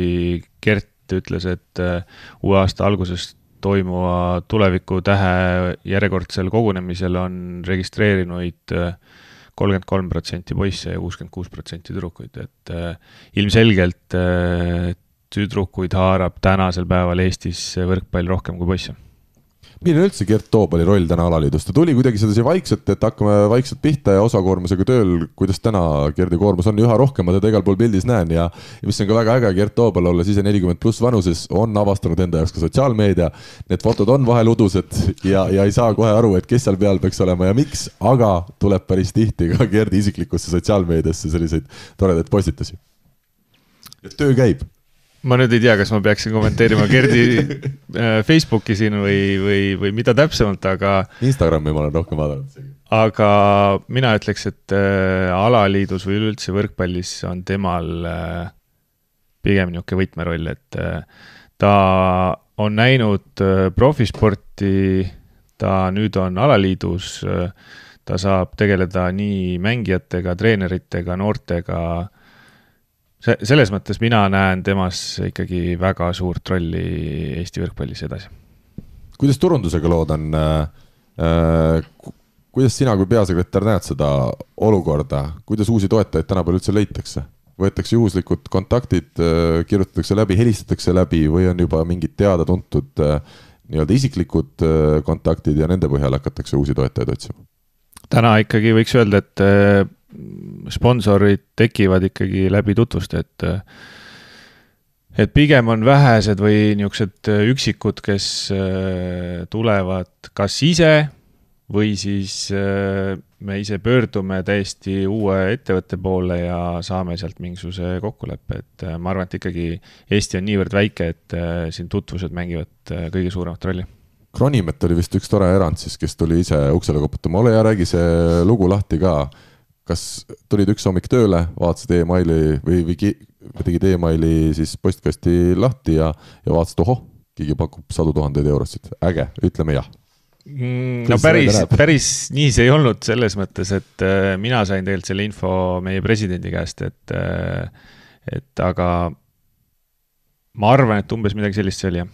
Gert ütles, et uue aasta algusest toimuva tuleviku tähe järjekordsel kogunemisel on registreerinuid 33% poisse ja 66% tüdrukuid, et ilmselgelt tüdrukuid haarab tänasel päeval Eestis võrkpall rohkem kui poisse. Milline üldse Gert Toobali roll täna alaliidus? Ta tuli kuidagi sedasi vaikselt, et hakkame vaikselt pihta ja osakoormusega tööl, kuidas täna Gerdi koormus on üha rohkem, ma teda igal pool pildis näen ja mis on ka väga äge, Gert Toobal olles ise 40+ vanuses on avastanud enda jaoks ka sotsiaalmeedia, need fotod on vahel udused ja ei saa kohe aru, et kes seal peal peaks olema ja miks, aga tuleb päris tihti ka Gerdi isiklikusse sotsiaalmeediasse selliseid toredaid postitusi. Et töö käib. Ma nüüd ei tea, kas ma peaksin kommenteerima Gerdi Facebooki siin või mida täpsemalt, aga Instagrami ma olen rohkem vaadanud. Aga mina ütleks, et alaliidus või üldse võrkpallis on temal pigem niisugune võtmeroll, et ta on näinud profisporti, ta nüüd on alaliidus, ta saab tegeleda nii mängijatega, treeneritega, noortega, selles mõttes mina näen temas ikkagi väga suurt rolli Eesti võrkpallis edasi. Kuidas turundusega lood on? Kuidas sina kui peasekretär näed seda olukorda? Kuidas uusi toetajaid tänapäeval üldse leitakse? Võetakse juhuslikud kontaktid, kirjutatakse läbi, helistatakse läbi või on juba mingid teada-tuntud nii-öelda isiklikud kontaktid ja nende põhjal hakatakse uusi toetajaid otsima? Täna ikkagi võiks öelda, et sponsorid tekivad ikkagi läbi tutvuste, et pigem on vähesed või niisugused üksikud, kes tulevad kas ise või siis me ise pöördume täiesti uue ettevõtte poole ja saame sealt mingisuguse kokkuleppe, et ma arvan, et ikkagi Eesti on niivõrd väike, et siin tutvused mängivad kõige suuremat rolli. Kronimet oli vist üks tore erand siis, kes tuli ise uksele koputama. Ole ja räägi see lugu lahti ka. Kas tulid üks hommik tööle, vaatasid e-maili või tegid e-maili siis postkasti lahti ja vaatasid, keegi pakub 100 000 eurosid. Äge, ütleme jah. No päris nii see ei olnud selles mõttes, et mina sain tegelikult selle info meie presidendi käest, et aga ma arvan, et umbes midagi sellist see oli, jah.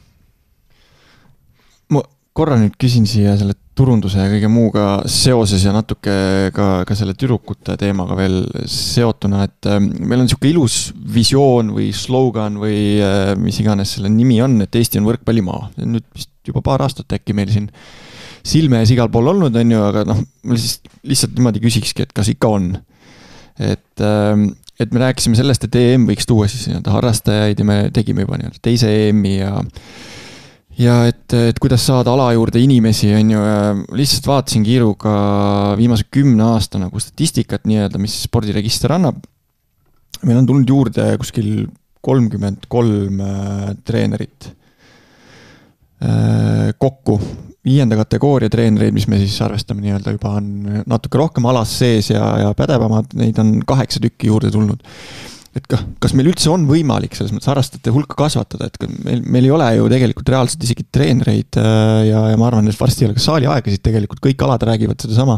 Ma korra nüüd küsin siia selle turunduse ja kõige muuga seoses ja natuke ka selle tüdrukute teemaga veel seotuna, et meil on niisugune ilus visioon või slogan või mis iganes selle nimi on, et Eesti on võrkpallimaa. Nüüd vist juba paar aastat äkki meil siin silme ees igal pool olnud on ju, aga ma lihtsalt niimoodi küsikski, et kas ikka on. Et me rääkisime sellest, et EM võiks tuua siis harrastajaid ja me tegime juba teise EM-i ja et kuidas saada ala juurde inimesi on ju, lihtsalt vaatasin kiiruga viimase 10 aasta nagu statistikat nii-öelda, mis spordiregister annab. Meil on tulnud juurde kuskil 33 treenerit kokku. 5. kategooria treenereid, mis me siis arvestame nii-öelda juba on natuke rohkem alas sees ja pädevamad, neid on 8 tükki juurde tulnud. Et kas meil üldse on võimalik selles mõttes harrastajate hulka kasvatada, et meil ei ole ju tegelikult reaalselt isegi treenereid ja ma arvan, et varsti ei ole ka saali aegasid tegelikult, kõik alad räägivad seda sama,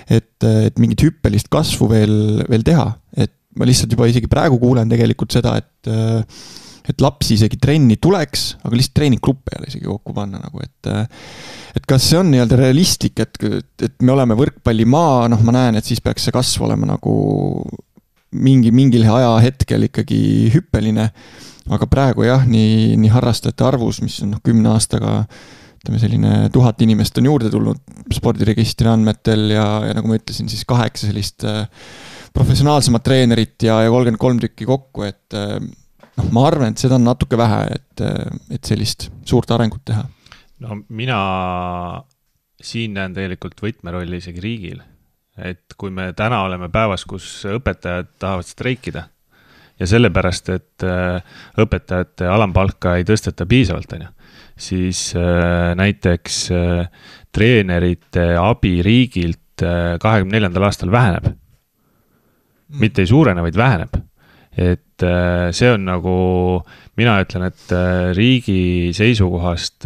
et mingit hüppelist kasvu veel teha. Et ma lihtsalt juba isegi praegu kuulen tegelikult seda, et lapsi isegi trenni tuleks, aga lihtsalt treeninggruppe ei ole isegi kokku panna nagu, et kas see on nii-öelda realistlik, et me oleme võrkpallimaa, ma näen, et siis peaks see kasv olema nagu mingil ajahetkel ikkagi hüppeline, aga praegu jah, nii harrastajate arvus, mis on 10 aastaga selline 1000 inimest on juurde tulnud spordiregistri andmetel ja nagu ma ütlesin, siis 8 sellist professionaalsemat treenerit ja 33 tükki kokku, et ma arvan, et seda on natuke vähe, et sellist suurt arengut teha. No mina siin näen tegelikult võtmerolli isegi riigil, et kui me täna oleme päevas, kus õpetajad tahavad streikida ja sellepärast, et õpetajate alampalka ei tõsteta piisavalt, siis näiteks treenerite abi riigilt 24. aastal väheneb. Mitte ei suurene, vaid väheneb. Et see on nagu, mina ütlen, et riigi seisukohast,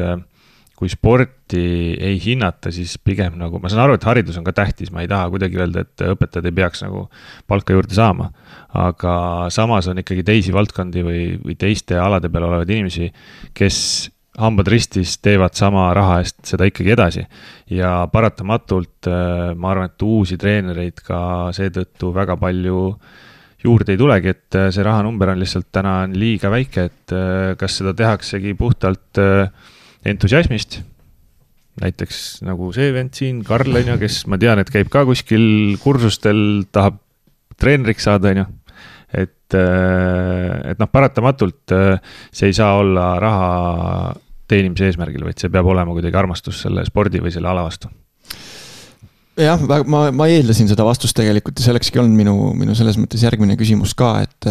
kui sporti ei hinnata, siis pigem nagu, ma saan aru, et haridus on ka tähtis, ma ei taha kuidagi öelda, et õpetajad ei peaks nagu palka juurde saama, aga samas on ikkagi teisi valdkondi või teiste alade peal olevad inimesi, kes hambad ristis teevad sama raha eest seda ikkagi edasi ja paratamatult ma arvan, et uusi treenereid ka seetõttu väga palju juurde ei tulegi, et see rahanumber on lihtsalt täna liiga väike, et kas seda tehaksegi puhtalt entusiasmist, näiteks nagu see vend siin, Karl, kes ma tean, et käib ka kuskil kursustel, tahab treeneriks saada, et paratamatult see ei saa olla raha teenimise eesmärgil, vaid see peab olema kuidagi armastus selle spordi või selle ala vastu. Jah, ma eeldasin seda vastust tegelikult ja sellekski on minu selles mõttes järgmine küsimus ka, et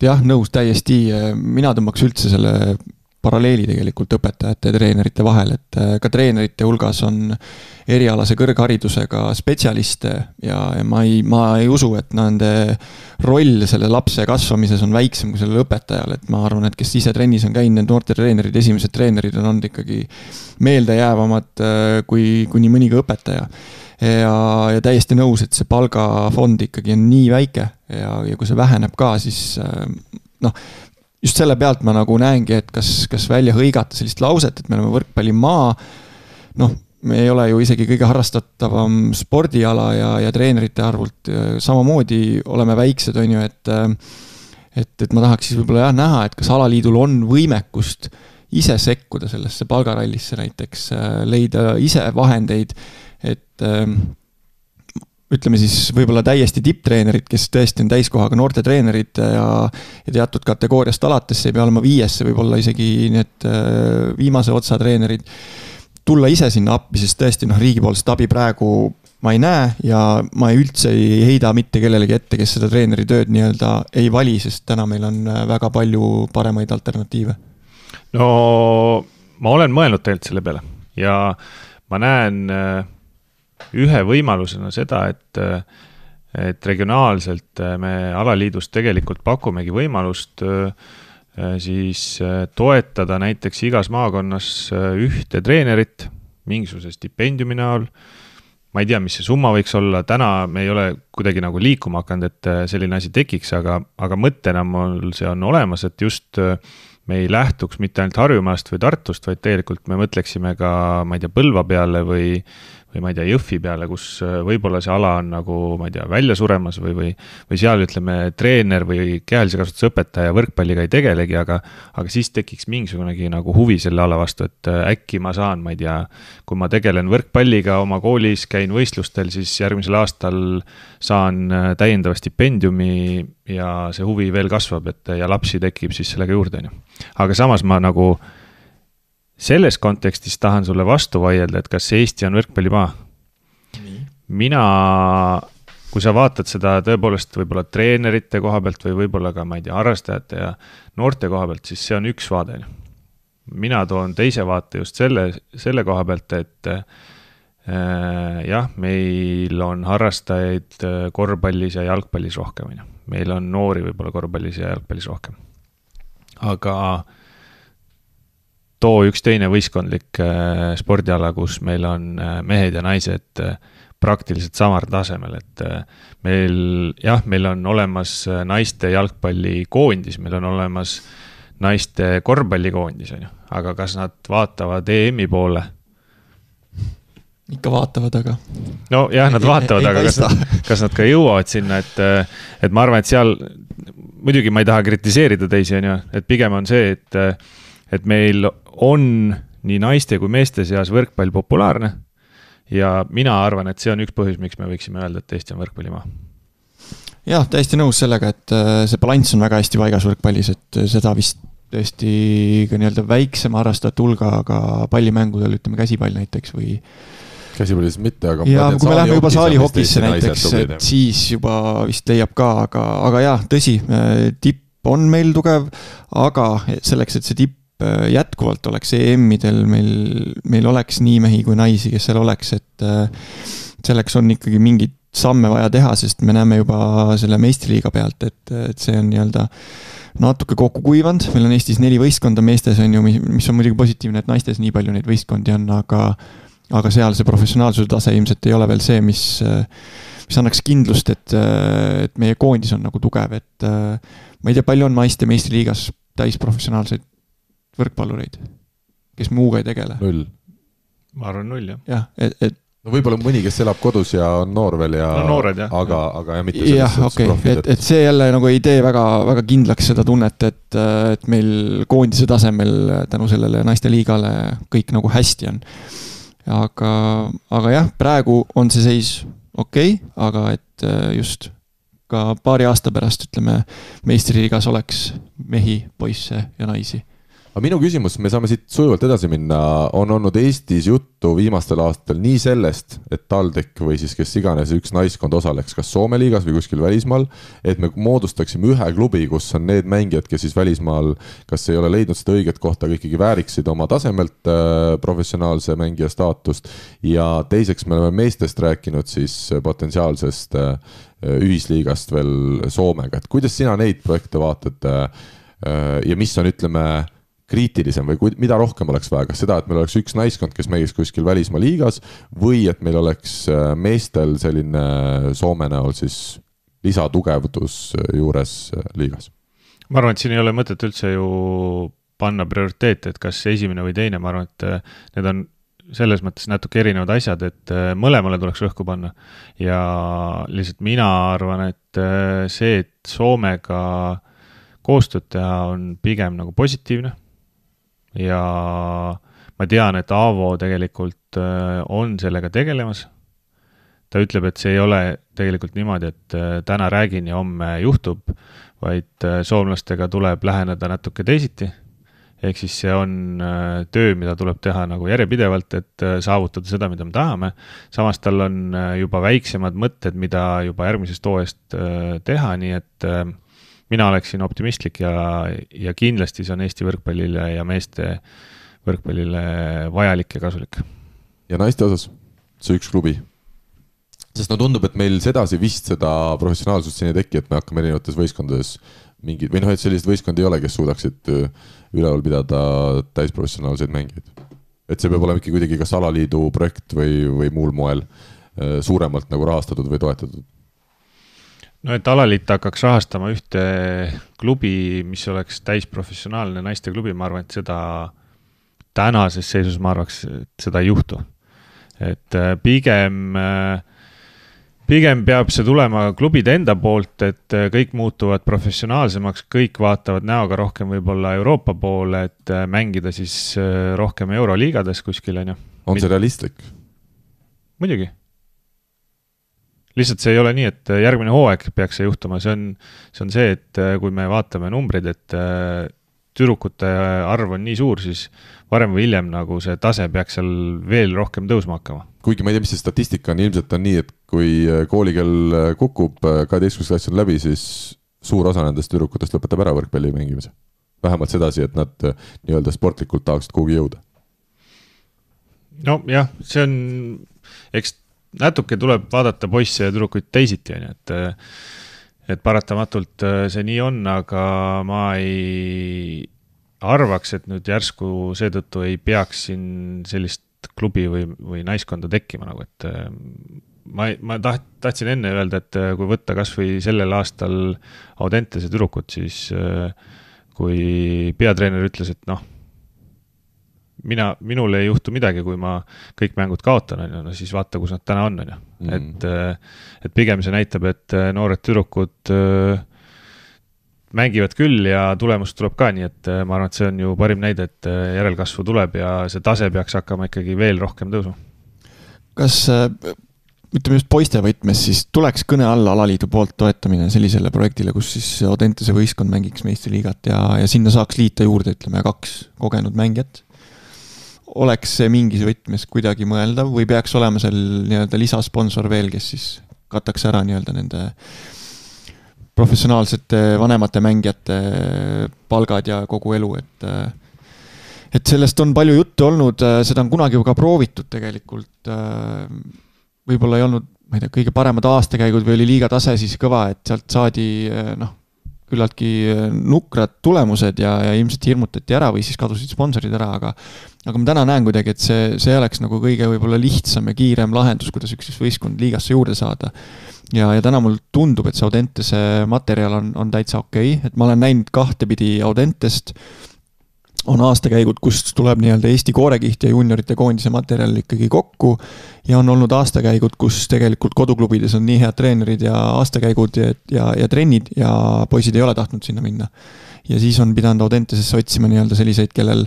jah, nõus täiesti, mina tõmbaks üldse selle paralleeli tegelikult õpetajate ja treenerite vahel, et ka treenerite hulgas on erialase kõrgharidusega spetsialiste ja ma ei usu, et nende roll selle lapse kasvamises on väiksem kui sellel õpetajal, et ma arvan, et kes ise trennis on käinud, need noorte treenerid, esimesed treenerid on olnud ikkagi meeldejäävamad kui nii mõni ka õpetaja. ja täiesti nõus, et see palgafond ikkagi on nii väike ja kui see väheneb ka, siis just selle pealt ma nagu näengi, et kas välja hõigata sellist lauset, et me oleme võrkpallimaa, me ei ole ju isegi kõige harrastatavam spordiala ja treenerite arvult, samamoodi oleme väiksed, on ju, et ma tahaks siis võib-olla näha, et kas alaliidul on võimekust ise sekkuda sellesse palgarallisse näiteks, leida ise vahendeid, et ütleme siis võib-olla täiesti tipptreenerid, kes tõesti on täiskohaga noorte treenerid ja teatud kategooriast alates, see ei pea olema 5, võib olla isegi need viimase otsa treenerid, tulla ise sinna appi, sest tõesti riigipoolset abi praegu ma ei näe ja ma üldse ei heida mitte kellelegi ette, kes seda treeneri tööd nii-öelda ei vali, sest täna meil on väga palju paremaid alternatiive. No ma olen mõelnud tegelikult selle peale ja ma näen ühe võimalusena seda, et regionaalselt me alaliidust tegelikult pakumegi võimalust siis toetada näiteks igas maakonnas ühte treenerit mingisuguse stipendiumi näol. Ma ei tea, mis see summa võiks olla, täna me ei ole kuidagi nagu liikuma hakanud, et selline asi tekiks, aga mõttena mul see on olemas, et just me ei lähtuks mitte ainult Harjumaast või Tartust, vaid tegelikult me mõtleksime ka, ma ei tea, Põlva peale või ma ei tea, Jõhvi peale, kus võib-olla see ala on nagu, ma ei tea, välja suremas või seal ütleme treener või kehalise kasvatuse õpetaja võrkpalliga ei tegelegi, aga siis tekiks mingisugunegi nagu huvi selle ala vastu, et äkki ma saan, ma ei tea, kui ma tegelen võrkpalliga oma koolis, käin võistlustel, siis järgmisel aastal saan täiendava stipendiumi ja see huvi veel kasvab, ja lapsi tekib siis sellega juurde. Aga samas ma nagu selles kontekstis tahan sulle vastu vaielda, et kas Eesti on võrkpallimaa. Mina, kui sa vaatad seda tõepoolest võib-olla treenerite koha pealt või võib-olla ka, ma ei tea, harrastajate ja noorte koha pealt, siis see on üks vaade. Mina toon teise vaate just selle koha pealt, et jah, meil on harrastajaid korvpallis ja jalgpallis rohkem. Meil on noori võib-olla korvpallis ja jalgpallis rohkem. Aga too üks teine võistkondlik spordiala, kus meil on mehed ja naised praktiliselt samar tasemel, et meil on olemas naiste jalgpallikoondis, meil on olemas naiste korvpallikoondis, aga kas nad vaatavad EM-i poole? Ikka vaatavad, aga... No jah, nad vaatavad, aga kas nad ka jõuavad sinna, et ma arvan, et seal, muidugi ma ei taha kritiseerida teisi, et pigem on see, et meil on nii naiste kui meeste seas võrkpall populaarne ja mina arvan, et see on üks põhjus, miks me võiksime öelda, et Eesti on võrkpallimaa. Jah, täiesti nõus sellega, et see balanss on väga hästi paigas võrkpallis, et seda vist tõesti ka nii-öelda väiksema harrastajate hulga, aga pallimängudel, ütleme käsipall näiteks või käsipallis mitte, aga ja kui me läheme juba saalihokisse näiteks, et siis juba vist leiab ka, aga jah, tõsi, tipp on meil tugev, aga selleks, et see tipp jätkuvalt oleks EM-idel, meil oleks nii mehi kui naisi, kes seal oleks, et selleks on ikkagi mingid samme vaja teha, sest me näeme juba selle meistriliiga pealt, et see on nii-öelda natuke kokku kuivanud, meil on Eestis 4 võistkonda meestes, on ju, mis on muidugi positiivne, et naistes nii palju neid võistkondi on, aga seal see professionaalsuse tase ilmselt ei ole veel see, mis annaks kindlust, et meie koondis on nagu tugev, et ma ei tea, palju on naiste meistriliigas täisprofessionaalseid võrkpallureid, kes muuga ei tegele? 0. Ma arvan 0, jah. Jah, no võib-olla mõni, kes elab kodus ja on noor veel ja noored, jah. Aga mitte selles profid. Et see jälle nagu ei tee väga, väga kindlaks seda tunnet, et meil koondise tasemel tänu sellele naiste liigale kõik nagu hästi on. Aga jah, praegu on see seis okei, aga et just ka paari aasta pärast, ütleme, meistriliigas oleks mehi, poisse ja naisi. Aga minu küsimus, me saame siit sujuvalt edasi minna, on olnud Eestis juttu viimastel aastatel nii sellest, et TalTech või siis kes iganes üks naiskond osaleks kas Soome liigas või kuskil välismaal, et me moodustaksime ühe klubi, kus on need mängijad, kes siis välismaal kas ei ole leidnud seda õiget kohta, aga ikkagi vääriksid oma tasemelt professionaalse mängija staatust ja teiseks me oleme meestest rääkinud siis potentsiaalsest ühisliigast veel Soomega, et kuidas sina neid projekte vaatad ja mis on, ütleme, kriitilisem või mida rohkem oleks vaja, kas seda, et meil oleks üks naiskond, kes mängis kuskil välismaa liigas või et meil oleks meestel selline Soome näol siis lisatugevdus juures liigas? Ma arvan, et siin ei ole mõtet üldse ju panna prioriteete, et kas esimene või teine, ma arvan, et need on selles mõttes natuke erinevad asjad, et mõlemale tuleks rõhku panna ja lihtsalt mina arvan, et see, et Soomega koostööd teha on pigem nagu positiivne ja ma tean, et Aavo tegelikult on sellega tegelemas. Ta ütleb, et see ei ole tegelikult niimoodi, et täna räägin ja homme juhtub, vaid soomlastega tuleb läheneda natuke teisiti. Ehk siis see on töö, mida tuleb teha nagu järjepidevalt, et saavutada seda, mida me tahame. Samas tal on juba väiksemad mõtted, mida juba järgmisest hooajast teha, nii et mina oleksin optimistlik ja kindlasti see on Eesti võrkpallile ja meeste võrkpallile vajalik ja kasulik. Ja naiste osas, see üks klubi. Sest tundub, et meil sedasi vist seda professionaalsust siin ei teki, et me hakkame erinevates võistkondades mingid, või et sellised võistkond ei ole, kes suudaksid üleval pidada täisprofessionaalseid mängijaid. Et see peab olema ikkagi kuidagi kas alaliidu projekt või muul moel suuremalt nagu rahastatud või toetatud. No et alaliit hakkaks rahastama ühte klubi, mis oleks täisprofessionaalne naiste klubi, ma arvan, et seda tänases seisus ma arvaks, et seda ei juhtu. Et pigem peab see tulema klubide enda poolt, et kõik muutuvad professionaalsemaks, kõik vaatavad näoga rohkem võib-olla Euroopa poole, et mängida siis rohkem Euroliigades kuskil. On see realistlik? Muidugi. Lihtsalt see ei ole nii, et järgmine hooaeg peaks see juhtuma. See on see, et kui me vaatame numbreid, et tüdrukute arv on nii suur, siis varem või hiljem nagu see tase peaks seal veel rohkem tõusma hakkama. Kuigi ma ei tea, mis see statistika on, ilmselt on nii, et kui koolikell kukub, 12. klass on läbi, siis suur osa nendest tüdrukutest lõpetab ära võrkpalli mängimise. Vähemalt sedasi, et nad nii-öelda sportlikult tahaksid kuhugi jõuda. No jah, see on, eks natuke tuleb vaadata poisse ja tüdrukuid teisiti, et paratamatult see nii on, aga ma ei arvaks, et nüüd järsku seetõttu ei peaks siin sellist klubi või naiskonda tekkima. Nagu, et ma tahtsin enne öelda, et kui võtta kas või sellel aastal Audentese tüdrukut, siis kui peatreener ütles, et minul ei juhtu midagi, kui ma kõik mängud kaotan, siis vaata, kus nad täna on. Et pigem see näitab, et noored tüdrukud mängivad küll ja tulemust tuleb ka, nii et ma arvan, et see on ju parim näide, et järelkasvu tuleb ja see tase peaks hakkama ikkagi veel rohkem tõusma. Kas, ütleme just poiste võtmes, siis tuleks kõne alla alaliidu poolt toetamine sellisele projektile, kus siis Audentese võistkond mängiks meistriliigat ja sinna saaks liita juurde, ütleme, 2 kogenud mängijat? Oleks see mingis võtmes kuidagi mõeldav või peaks olema seal nii-öelda lisasponsor veel, kes siis kataks ära nii-öelda nende professionaalsete vanemate mängijate palgad ja kogu elu, et sellest on palju juttu olnud, seda on kunagi ka proovitud tegelikult, võib-olla ei olnud, ma ei tea, kõige paremad aastakäigud või oli liiga tase siis kõva, et sealt saadi küllaltki nukrad tulemused ja ilmselt hirmutati ära või siis kadusid sponsorid ära, aga ma täna näen kuidagi, et see oleks nagu kõige võib-olla lihtsam ja kiirem lahendus, kuidas üks võistkond liigasse juurde saada. Ja täna mul tundub, et see Audentese materjal on täitsa okei, et ma olen näinud kahtepidi Audentest, on aastakäigud, kust tuleb nii-öelda Eesti koorekiht ja juniorite koondise materjal ikkagi kokku ja on olnud aastakäigud, kus tegelikult koduklubides on nii head treenerid ja aastakäigud ja trennid ja poisid ei ole tahtnud sinna minna. Ja siis on pidanud Audentesesse otsima nii-öelda selliseid, kellel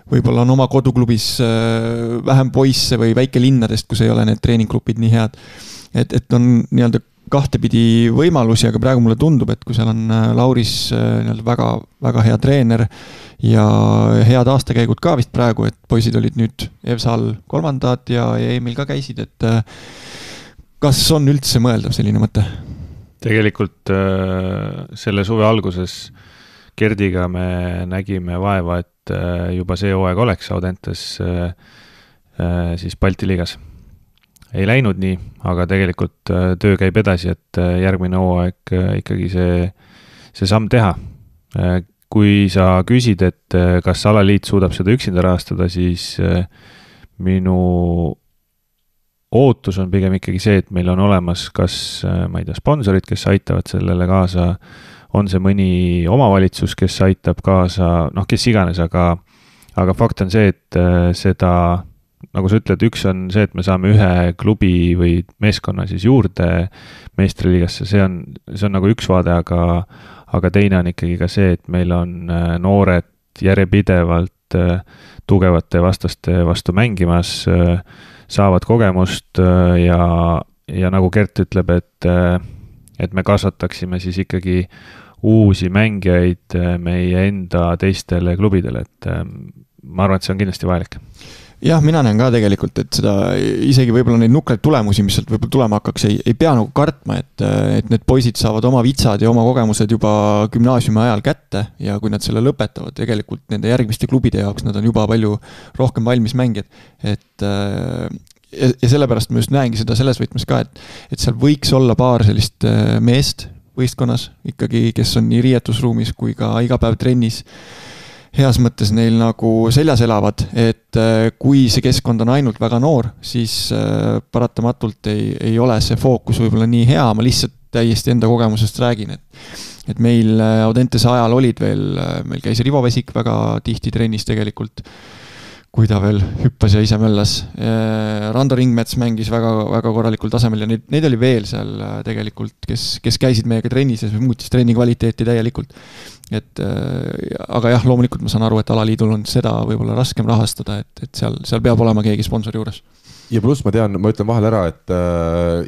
võib-olla on oma koduklubis vähem poisse või väikelinnadest, kus ei ole need treeningklubid nii head. Et on nii-öelda kahtepidi võimalusi, aga praegu mulle tundub, et kui seal on Lauris väga, väga hea treener ja head aastakäigud ka vist praegu, et poisid olid nüüd EVSAL 3. ja Emil ka käisid, et kas on üldse mõeldav selline mõte? Tegelikult selle suve alguses Gerdiga me nägime vaeva, et juba see hooaeg oleks Audentes siis Balti liigas. Ei läinud nii, aga tegelikult töö käib edasi, et järgmine hooaeg ikkagi see samm teha. kui sa küsid, et kas alaliit suudab seda üksinda rahastada, siis minu ootus on pigem ikkagi see, et meil on olemas kas, ma ei tea, sponsorid, kes aitavad sellele kaasa, on see mõni omavalitsus, kes aitab kaasa, noh, kes iganes, aga fakt on see, et seda, nagu sa ütled, üks on see, et me saame ühe klubi või meeskonna siis juurde meistriliigasse, see on nagu üks vaade, aga teine on ikkagi ka see, et meil on noored järjepidevalt tugevate vastaste vastu mängimas, saavad kogemust ja nagu Gert ütleb, et me kasvataksime siis ikkagi uusi mängijaid meie enda teistele klubidele, et ma arvan, et see on kindlasti vajalik. Jah, mina näen ka tegelikult, et seda isegi võib-olla neid nukraid tulemusi, mis sealt võib-olla tulema hakkaks, ei pea nagu kartma, et need poisid saavad oma vitsad ja oma kogemused juba gümnaasiumi ajal kätte ja kui nad selle lõpetavad, tegelikult nende järgmiste klubide jaoks nad on juba palju rohkem valmis mängijad. Ja sellepärast ma just näengi seda selles võtmes ka, et seal võiks olla paar sellist meest võistkonnas ikkagi, kes on nii riietusruumis kui ka iga päev trennis heas mõttes neil nagu seljas elavad, et kui see keskkond on ainult väga noor, siis paratamatult ei ole see fookus võib-olla nii hea, ma lihtsalt täiesti enda kogemusest räägin, et meil Audentese ajal olid veel, meil käis Rivo Vesik väga tihti trennis tegelikult, kui ta veel hüppas ja ise möllas. Rando Ringmets mängis väga, väga korralikul tasemel ja neid oli veel seal tegelikult, kes käisid meiega trennis ja muutis trenni kvaliteeti täielikult. Aga jah, loomulikult ma saan aru, et alaliidul on seda võib-olla raskem rahastada, et seal peab olema keegi sponsori juures. Ja pluss ma tean, ma ütlen vahel ära, et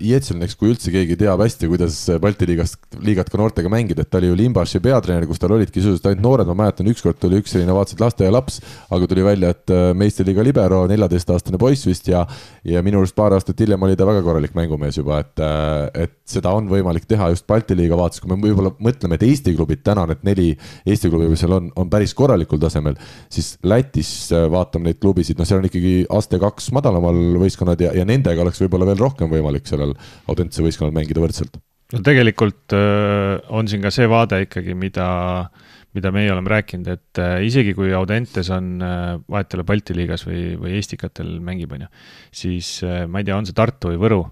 Ietselneks, kui üldse keegi teab hästi, kuidas Balti liigat ka noortega mängida, et ta oli ju Limbaši peatreener, kus tal olidki sisuliselt ainult noored, ma mäletan, ükskord tuli üks selline vaatasid lasteaia laps, aga tuli välja, et meistriliiga libero, 14-aastane poiss vist ja minu arust paar aastat hiljem oli ta väga korralik mängumees juba, et seda on võimalik teha just Balti liiga vaates, kui me võib-olla mõtleme, et Eesti klubid täna, need 4 Eesti klubi, mis seal on päris korralikul tasemel, siis Lätis vaatame neid klubisid, no seal on ikkagi aste 2 madalamal võistkonnad ja nendega oleks võib-olla veel rohkem võimalik sellel Audentese võistkonnal mängida võrdselt. No tegelikult on siin ka see vaade ikkagi, mida meie oleme rääkinud, et isegi kui Audentes on vahetele Balti liigas või Eestikatel mängib, siis ma ei tea, on see Tartu või Võru,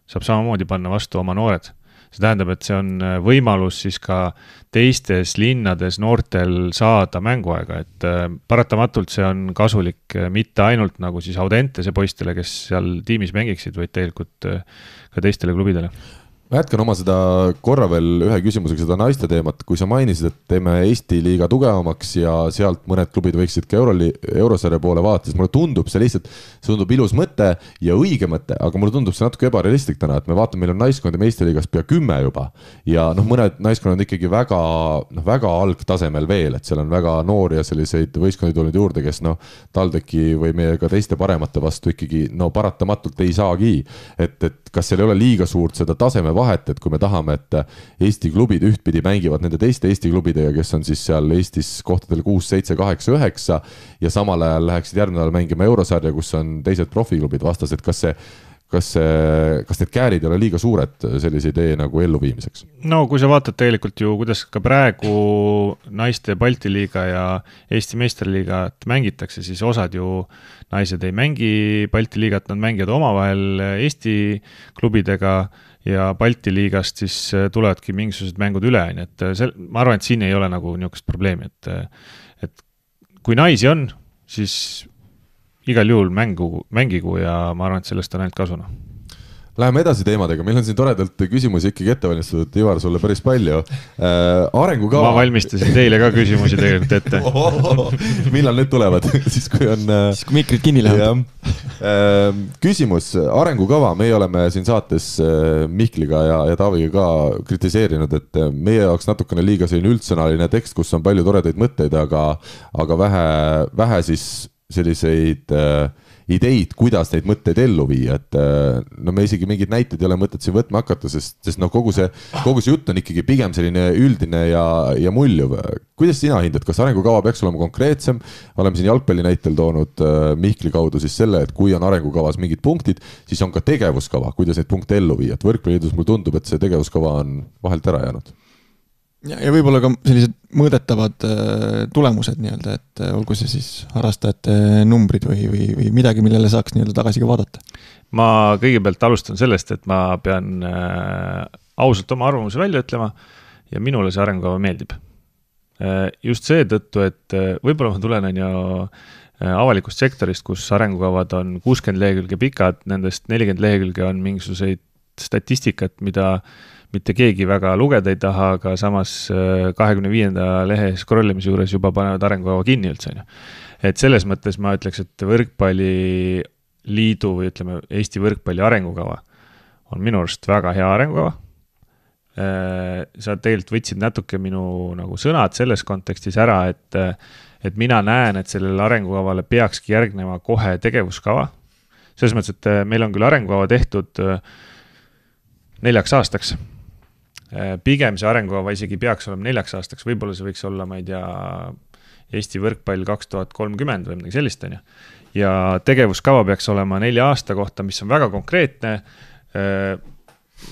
saab samamoodi panna vastu oma noored. See tähendab, et see on võimalus siis ka teistes linnades noortel saada mänguaega, et paratamatult see on kasulik mitte ainult nagu siis Audentese poistele, kes seal tiimis mängiksid, vaid tegelikult ka teistele klubidele. Ma jätkan oma seda korra veel ühe küsimusega seda naiste teemat, kui sa mainisid, et teeme Eesti liiga tugevamaks ja sealt mõned klubid võiksid ka eurosarja poole vaadates, mulle tundub see lihtsalt, see tundub ilus mõte ja õige mõte, aga mulle tundub see natuke ebarealistlik täna, et me vaatame, meil on naiskondi Eesti liigas pea 10 juba ja mõned naiskonnad on ikkagi väga algtasemel veel, et seal on väga noori ja selliseid võistkondi tulnud juurde, kes TalTechi või meie ka teiste paremate vastu ikkagi paratamatult ei saagi, et kas seal ei ole liiga suurt seda taseme vahet, et kui me tahame, et Eesti klubid ühtpidi mängivad nende teiste Eesti klubidega, kes on siis seal Eestis kohtadel 6, 7, 8, 9 ja samal ajal läheksid järgmine ajal mängima eurosarja, kus on teised profiklubid vastas, et kas need käärid ei ole liiga suured sellise idee nagu elluviimiseks? No kui sa vaatad tegelikult ju, kuidas ka praegu naiste Balti liiga ja Eesti meistriliigat mängitakse, siis osad ju naised ei mängi Balti liigat, nad mängivad omavahel Eesti klubidega ja Balti liigast siis tulevadki mingisugused mängud üle, et ma arvan, et siin ei ole nagu niisugust probleemi, et kui naisi on, siis igal juhul mängigu ja ma arvan, et sellest on ainult kasuna. Läheme edasi teemadega, meil on siin toredalt küsimusi ikkagi ette valmistatud, Ivar, sulle päris palju. Arengukava... Ma valmistasin teile ka küsimusi tegelikult ette. Millal need tulevad? Siis kui mikrid kinni lähevad. Küsimus, arengukava, meie oleme siin saates Mihkliga ja Taaviga ka kritiseerinud, et meie jaoks natukene liiga selline üldsõnaline tekst, kus on palju toredaid mõtteid, aga vähe siis selliseid ideid, kuidas neid mõtteid ellu viia, et me isegi mingid näited ei ole mõtet siin võtma hakata, sest kogu see jutt on ikkagi pigem selline üldine ja muljuv. Kuidas sina hindad, kas arengukava peaks olema konkreetsem? Oleme siin jalgpalli näitel toonud Mihkli kaudu siis selle, et kui on arengukavas mingid punktid, siis on ka tegevuskava, kuidas neid punkte ellu viia. Et võrkpalliliidus mulle tundub, et see tegevuskava on vahelt ära jäänud. Ja võib-olla ka sellised mõõdetavad tulemused nii-öelda, et olgu see siis harrastajate numbrid või midagi, millele saaks nii-öelda tagasi ka vaadata. Ma kõigepealt alustan sellest, et ma pean ausalt oma arvamuse välja ütlema ja minule see arengukava meeldib. Just see tõttu, et võib-olla ma tulen avalikust sektorist, kus arengukavad on 60 lehekülge pikad, nendest 40 lehekülge on mingisuguseid statistikat, mida mitte keegi väga lugeda ei taha, aga samas 25. lehe scrollimise juures juba panevad arengukava kinni üldse. Et selles mõttes ma ütleks, et võrkpalliliidu või ütleme Eesti võrkpalli arengukava on minu arust väga hea arengukava. Sa tegelikult võtsid natuke minu nagu sõnad selles kontekstis ära, et mina näen, et sellele arengukavale peakski järgnema kohe tegevuskava. Selles mõttes, et meil on küll arengukava tehtud 4 aastaks. Pigem see arengukava isegi peaks olema 4 aastaks, võib-olla see võiks olla, ma ei tea, Eesti võrkpall 2030 või midagi sellist, on ju. Ja tegevuskava peaks olema 4 aasta kohta, mis on väga konkreetne.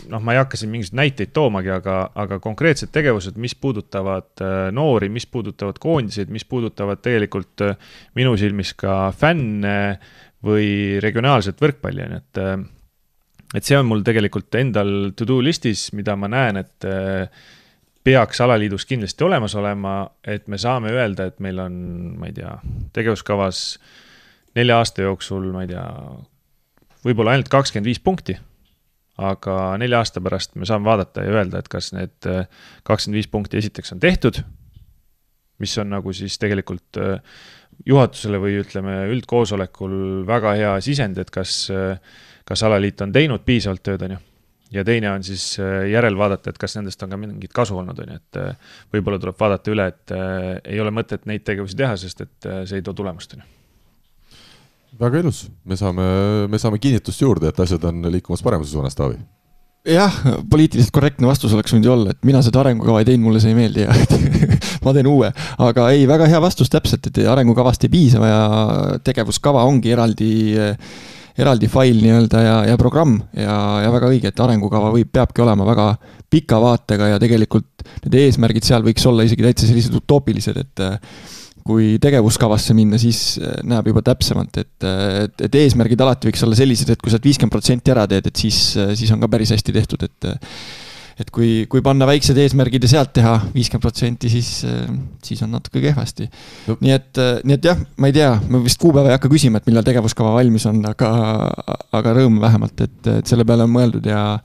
Ma ei hakka siin mingisugused näiteid toomagi, aga konkreetsed tegevused, mis puudutavad noori, mis puudutavad koondiseid, mis puudutavad tegelikult minu silmis ka fänne või regionaalset võrkpalli, et see on mul tegelikult endal to-do listis, mida ma näen, et peaks alaliidus kindlasti olemas olema, et me saame öelda, et meil on, ma ei tea, tegevuskavas 4 aasta jooksul, ma ei tea, võib-olla ainult 25 punkti, aga 4 aasta pärast me saame vaadata ja öelda, et kas need 25 punkti esiteks on tehtud, mis on nagu siis tegelikult juhatusele või ütleme üldkoosolekul väga hea sisend, et kas alaliit on teinud piisavalt tööd, on ju. Ja teine on siis järel vaadata, et kas nendest on ka mingit kasu olnud, on ju. Et võib-olla tuleb vaadata üle, et ei ole mõtet neid tegevusi teha, sest et see ei too tulemust, on ju. Väga ilus. Me saame kinnitust juurde, et asjad on liikumas paremuse suunas, Taavi. Jah, poliitiliselt korrektne vastus oleks võinud olla, et mina seda arengukava ei teinud, mulle see ei meeldi ja ma teen uue. Aga ei, väga hea vastus täpselt, et arengukavast ei piisa ja tegevuskava ongi eraldi fail nii-öelda ja programm ja väga õige, et arengukava peabki olema väga pika vaatega ja tegelikult need eesmärgid seal võiks olla isegi täitsa sellised utoopilised, et kui tegevuskavasse minna, siis näeb juba täpsemalt, et eesmärgid alati võiks olla sellised, et kui sa 50% ära teed, et siis on ka päris hästi tehtud, et kui panna väiksed eesmärgid ja sealt teha 50%, siis on natuke kehvasti. No. Nii et jah, ma ei tea, ma vist kuupäeva ei hakka küsima, et millal tegevuskava valmis on, aga rõõm vähemalt, et selle peale on mõeldud ja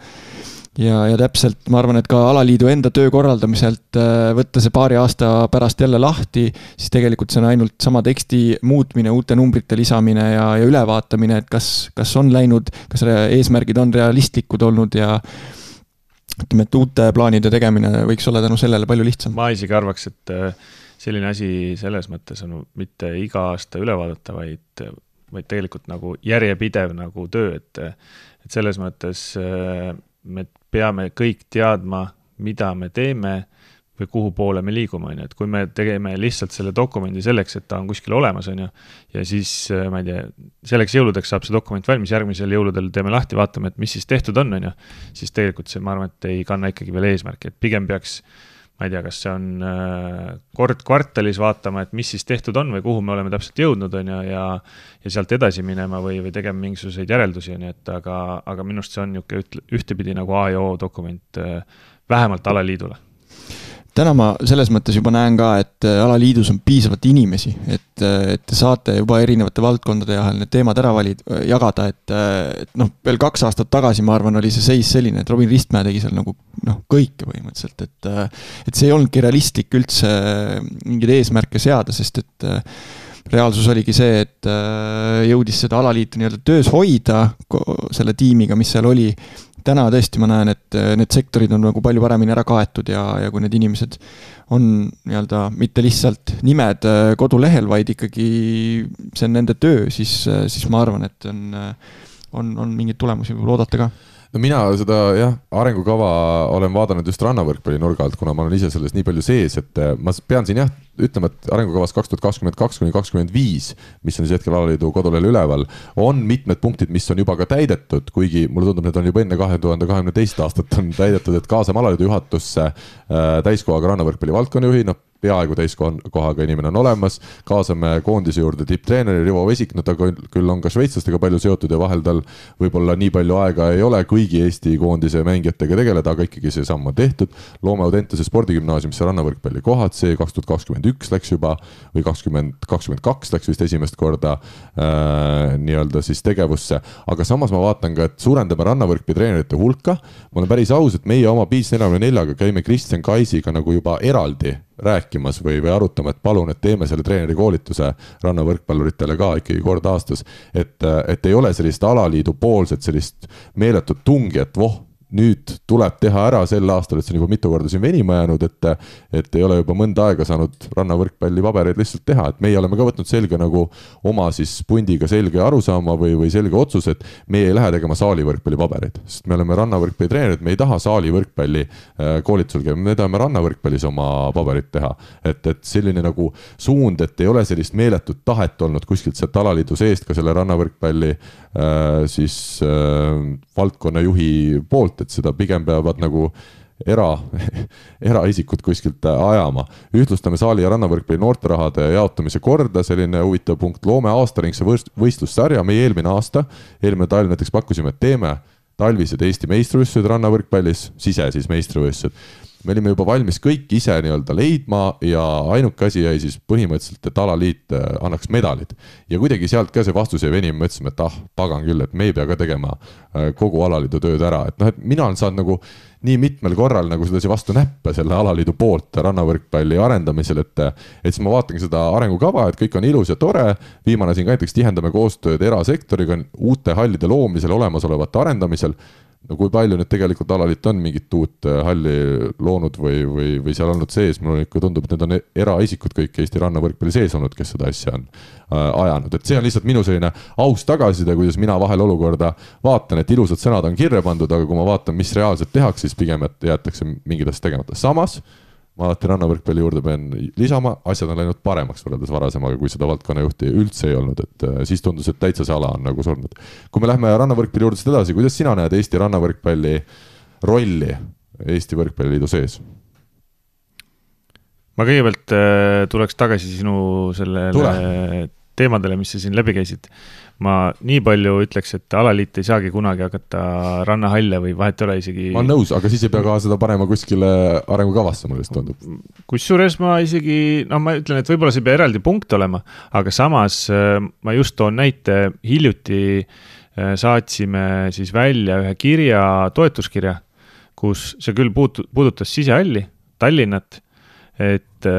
täpselt, ma arvan, et ka alaliidu enda töö korraldamiselt võtta see paari aasta pärast jälle lahti, siis tegelikult see on ainult sama teksti muutmine, uute numbrite lisamine ja ülevaatamine, et kas on läinud, kas eesmärgid on realistlikud olnud ja ütleme, et uute plaanide tegemine võiks olla tänu sellele palju lihtsam. Ma isegi arvaks, et selline asi selles mõttes on mitte iga aasta üle vaadata, vaid tegelikult nagu järjepidev nagu töö, et selles mõttes me peame kõik teadma, mida me teeme või kuhu poole me liigume, on ju. Et kui me tegeme lihtsalt selle dokumendi selleks, et ta on kuskil olemas, on ju, ja siis, ma ei tea, selleks jõuludeks saab see dokument valmis, järgmisel jõuludel teeme lahti, vaatame, et mis siis tehtud on ju, siis tegelikult see, ma arvan, et ei kanna ikkagi veel eesmärki, et pigem peaks, ma ei tea, kas see on kord kvartalis vaatama, et mis siis tehtud on või kuhu me oleme täpselt jõudnud, on ju, ja sealt edasi minema või tegema mingisuguseid järeldusi, on ju, et aga minust see on ühtepidi nagu A ja O dokument vähemalt alaliidule. Täna ma selles mõttes juba näen ka, et alaliidus on piisavalt inimesi, et te saate juba erinevate valdkondade vahel need teemad ära jagada, et veel 2 aastat tagasi, ma arvan, oli see seis selline, et Robin Ristmäe tegi seal nagu kõike põhimõtteliselt, et see ei olnudki realistlik üldse mingeid eesmärke seada, sest et reaalsus oligi see, et jõudis seda alaliitu nii-öelda töös hoida selle tiimiga, mis seal oli. Täna tõesti ma näen, et need sektorid on nagu palju paremini ära kaetud ja kui need inimesed on nii-öelda mitte lihtsalt nimed kodulehel, vaid ikkagi see on nende töö, siis ma arvan, et on mingeid tulemusi võib oodata ka. no mina seda arengukava olen vaadanud just rannavõrkpalli nurga alt, kuna ma olen ise selles nii palju sees, et ma pean siin ütlema, et arengukavas 2022–2025, mis on siis hetkel alaliidu kodulehel üleval, on mitmed punktid, mis on juba ka täidetud, kuigi mulle tundub, need on juba enne 2022. aastat on täidetud, et kaasame alaliidu juhatusse täiskohaga rannavõrkpalli valdkonnajuhi, peaaegu täiskohaga inimene on olemas, kaasame koondise juurde tipptreeneri Rivo Vesik, ta küll on ka šveitslastega palju seotud ja vahel tal võib-olla nii palju aega ei ole kõigi Eesti koondise mängijatega tegeleda, aga ikkagi see samm on tehtud. Loome Audentese spordigümnaasiumisse rannavõrkpalli kohad, see 2021 läks juba või 2022 läks vist esimest korda nii-öelda siis tegevusse, aga samas ma vaatan ka, et suurendame rannavõrkpalli treenerite hulka. Ma olen päris aus, et meie oma Beats 44-ga käime Kristjan Kaisiga nagu juba eraldi rääkimas või arutama, et palun, et teeme selle treeneri koolituse rannavõrkpalluritele ka ikkagi kord aastas, et ei ole sellist alaliidu poolset sellist meeletut tungi, et nüüd tuleb teha ära sel aastal, et see on juba mitu korda siin venima jäänud, et ei ole juba mõnda aega saanud rannavõrkpalli pabereid lihtsalt teha, et meie oleme ka võtnud selge nagu oma siis pundiga selge arusaama või selge otsus, et meie ei lähe tegema saalivõrkpalli pabereid, sest me oleme rannavõrkpalli treenerid, me ei taha saalivõrkpalli koolitusel käia, me tahame rannavõrkpallis oma paberit teha, et selline nagu suund, et ei ole sellist meeletut tahet olnud kuskilt sealt alaliidu seest ka selle rannavõrkpalli siis valdkonnajuhi poolt, et seda pigem peavad nagu eraisikud kuskilt ajama. Ühtlustame saali ja rannavõrkpalli noorterahade jaotamise korda, selline huvitav punkt, loome aastaringse võistlussarja, meie eelmine talv näiteks pakkusime, et teeme talvised Eesti meistrivõistlused rannavõrkpallis, siis meistrivõistlused. Me olime juba valmis kõik ise nii-öelda leidma ja ainuke asi jäi siis põhimõtteliselt, et alaliit annaks medalid. Ja kuidagi sealt ka see vastus jäi venim, mõtlesime, et pagan küll, et me ei pea ka tegema kogu alaliidu tööd ära. Et mina olen saanud nagu nii mitmel korral nagu sedasi vastu näppe selle alaliidu poolt rannavõrkpalli arendamisel, et siis ma vaatangi seda arengukava, et kõik on ilus ja tore. Viimane siin ka näiteks tihendame koostööd erasektoriga uute hallide loomisel, olemasolevate arendamisel. No kui palju nüüd tegelikult alaliit on mingit uut halli loonud või seal olnud sees, mulle ikka tundub, et need on eraisikud kõik Eesti rannavõrkpalli sees olnud, kes seda asja on ajanud. Et see on lihtsalt minu selline aus tagasiside, kuidas mina vahel olukorda vaatan, et ilusad sõnad on kirja pandud, aga kui ma vaatan, mis reaalselt tehakse, siis pigem, et jäetakse mingid asjad tegemata. Samas, ma alati rannavõrkpalli juurde pean lisama, asjad on läinud paremaks võrreldes varasemaga, kui seda valdkonnajuhti üldse ei olnud, et siis tundus, et täitsa see ala on nagu surnud. Kui me lähme rannavõrkpalli juurde edasi, kuidas sina näed Eesti rannavõrkpalli rolli Eesti võrkpalliliidu sees? Ma kõigepealt tuleks tagasi sinu sellele teemadele, mis sa siin läbi käisid. Ma nii palju ütleks, et alaliit ei saagi kunagi hakata rannahalle või vahet ei ole isegi... Ma olen nõus, aga siis ei pea ka seda panema kuskile arengukavasse, mulle vist tundub. Kusjuures ma isegi, ma ütlen, et võib-olla see pea eraldi punkt olema, aga samas ma just toon näite, hiljuti saatsime siis välja ühe kirja, toetuskirja, kus see küll puudutas sisehalli, Tallinnat, et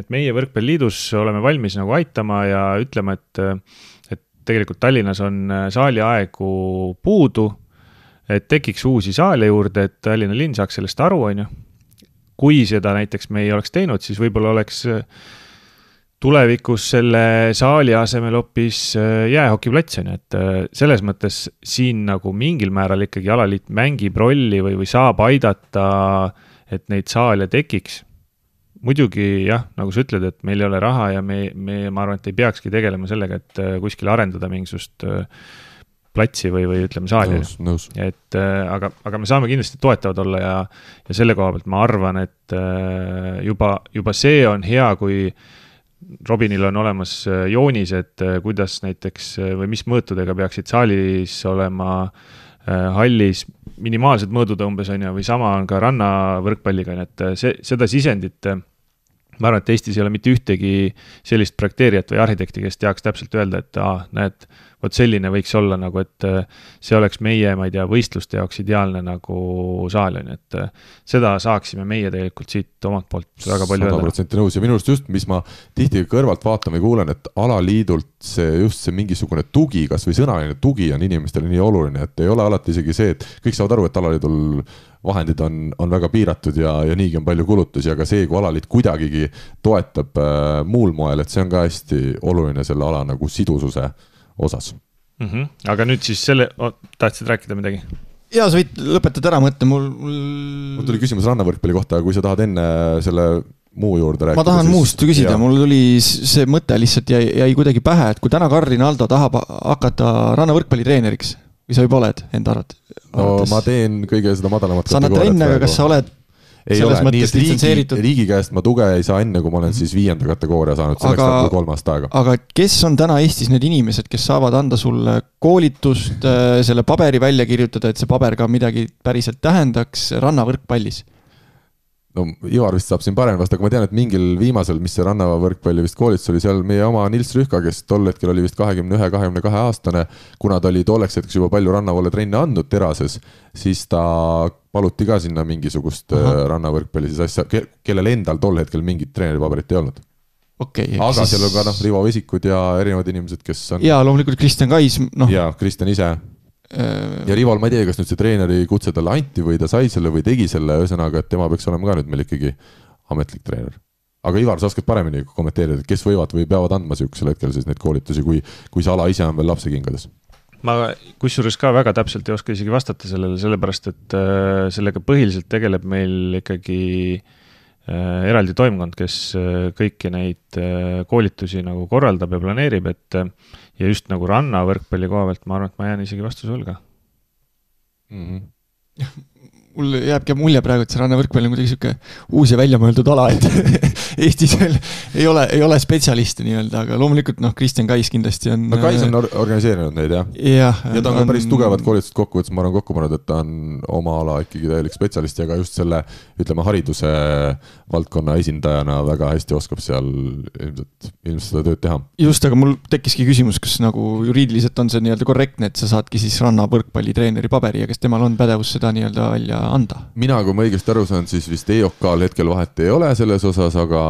meie võrkpalliliidus oleme valmis nagu aitama ja ütlema, et tegelikult Tallinnas on saaliaegu puudu, et tekiks uusi saale juurde, et Tallinna linn saaks sellest aru, on ju. Kui seda näiteks me ei oleks teinud, siis võib-olla oleks tulevikus selle saali asemel hoopis jäähokiplats, on ju, et selles mõttes siin nagu mingil määral ikkagi alaliit mängib rolli või saab aidata, et neid saale tekiks. Muidugi jah, nagu sa ütled, et meil ei ole raha ja ma arvan, et ei peakski tegelema sellega, et kuskil arendada mingisugust platsi või ütleme saali. Nõus. Aga me saame kindlasti toetavad olla ja selle koha pealt ma arvan, et juba see on hea, kui Robinil on olemas joonis, et kuidas näiteks või mis mõõtudega peaksid saalis olema hallis minimaalsed mõõdud umbes on ja või sama on ka rannavõrkpalliga, et seda sisendit ma arvan, et Eestis ei ole mitte ühtegi sellist projekteerijat või arhitekti, kes teaks täpselt öelda, et näed, võt selline võiks olla nagu, et see oleks meie, ma ei tea, võistluste jaoks ideaalne nagu saal on, et seda saaksime meie tegelikult siit omalt poolt väga palju 100% nõus ja minust just, mis ma tihti kõrvalt vaatan või kuulen, et alaliidult see mingisugune tugi, kas või sõnaline tugi on inimestele nii oluline, et ei ole alati isegi see, et kõik saavad aru, et alaliidul vahendid on väga piiratud ja niigi on palju kulutusi, aga see, kui alaliit kuidagigi toetab muul moel, et see on ka hästi oluline selle ala nagu sidususe osas. Aga nüüd siis tahtsid rääkida midagi? Jaa, sa võid lõpetada ära mõtte, mul tuli küsimus rannavõrkpalli kohta, kui sa tahad enne selle muu juurde rääkida. Ma tahan muust küsida, mul tuli see mõte lihtsalt jäi kuidagi pähe, et kui täna Carl Rinaldo tahab hakata rannavõrkpalli treeneriks, või sa juba oled enda arvates? No ma teen kõige seda madalamat sa annad trenni, aga kas sa oled ei ole, nii et riigi käest ma tuge ei saa enne, kui ma olen siis 5. kategooria saanud, selleks läheb 3 aasta aega. Aga kes on täna Eestis need inimesed, kes saavad anda sulle koolitust, selle paberi välja kirjutada, et see paber ka midagi päriselt tähendaks rannavõrkpallis? No Ivar vist saab siin parem vast, aga ma tean, et mingil viimasel, mis see rannavõrkpalli vist koolitus oli, seal meie oma Nils Rühka, kes tol hetkel oli vist 21-22 aastane, kuna ta oli tolleks hetkeks juba palju rannavoole trenne andnud Terases, siis ta paluti ka sinna mingisugust rannavõrkpalli siis asja, kellel endal tol hetkel mingit treeneripaberit ei olnud. Aga seal on ka Rivo Vesikud ja erinevad inimesed, kes on... Jaa, loomulikult Kristjan Kais. Ja Kristjan ise... Ja Rival, ma ei tea, kas nüüd see treeneri kutse talle anti või ta sai selle või tegi selle, ühesõnaga, et tema peaks olema ka nüüd meil ikkagi ametlik treener. Aga Ivar, sa oskad paremini kommenteerida, kes võivad või peavad andma sihukesel hetkel siis neid koolitusi, kui see ala ise on veel lapse kingades? Ma kusjuures ka väga täpselt ei oska isegi vastata sellele, sellepärast, et sellega põhiliselt tegeleb meil ikkagi eraldi toimkond, kes kõiki neid koolitusi nagu korraldab ja planeerib, et ja just nagu rannavõrkpalli koha pealt ma arvan, et ma jään isegi vastuse hulga. Mul jääbki mulje praegu, et see rannavõrkpall on kuidagi siuke uus ja väljamõeldud ala, et Eestis veel ei ole spetsialiste nii-öelda, aga loomulikult Kristjan Kais kindlasti on... No Kais on organiseerinud neid, jah. Ja ta on ka päris tugevad koolitused kokkuvõttes, ma olen kokku pannud, et ta on oma ala ikkagi täielik spetsialist ja ka just selle, ütleme, hariduse valdkonna esindajana väga hästi oskab seal ilmselt seda tööd teha. Just, aga mul tekkiski küsimus, kas nagu juriidiliselt on see nii-öelda korrektne, et sa saadki siis rannavõrkpalli treeneri paberi ja kas temal on pädevus seda nii-öelda välja anda? Mina, kui ma õigesti aru saan, siis vist EOK-l hetkel vahet ei ole selles osas, aga...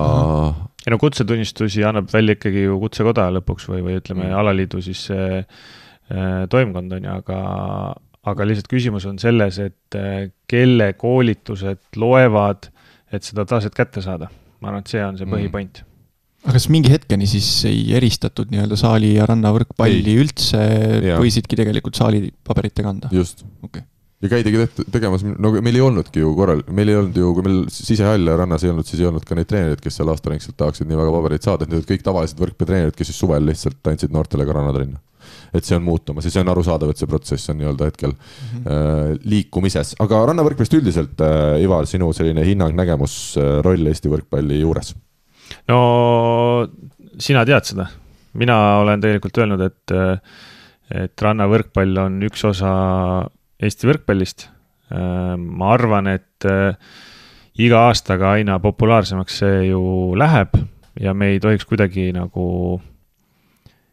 Ja kutsetunnistusi annab välja ikkagi ju kutsekoda lõpuks või ütleme alaliidu siis toimkond on, aga lihtsalt küsimus on selles, et kelle koolitused loevad, et seda taset kätte saada. Ma arvan, et see on see põhipoint. Aga kas mingi hetkeni siis ei eristatud nii-öelda saali ja rannavõrkpalli üldse võisidki tegelikult saali paberitega anda? Just. Ja käidegi tegemas, meil ei olnudki ju korral, meil ei olnud ju, kui meil sisehall ja rannas ei olnud, siis ei olnud ka neid treenerid, kes seal aastaringselt tahaksid nii väga paberit saada, et need kõik tavalised võrkpallitreenerid, kes siis suvel lihtsalt andsid noortele ka rannatrenni. Et see on muutumas ja see on arusaadav, et see protsess on nii-öelda hetkel liikumises. Aga rannavõrkpallist üldiselt, Ivar, sinu selline hinnang, nägemus, roll Eesti võrkpalli juures? No, sina tead seda. Mina olen tegelikult öelnud, et rannavõrkpall on üks osa Eesti võrkpallist. Ma arvan, et iga aastaga aina populaarsemaks see ju läheb ja me ei tohiks kuidagi nagu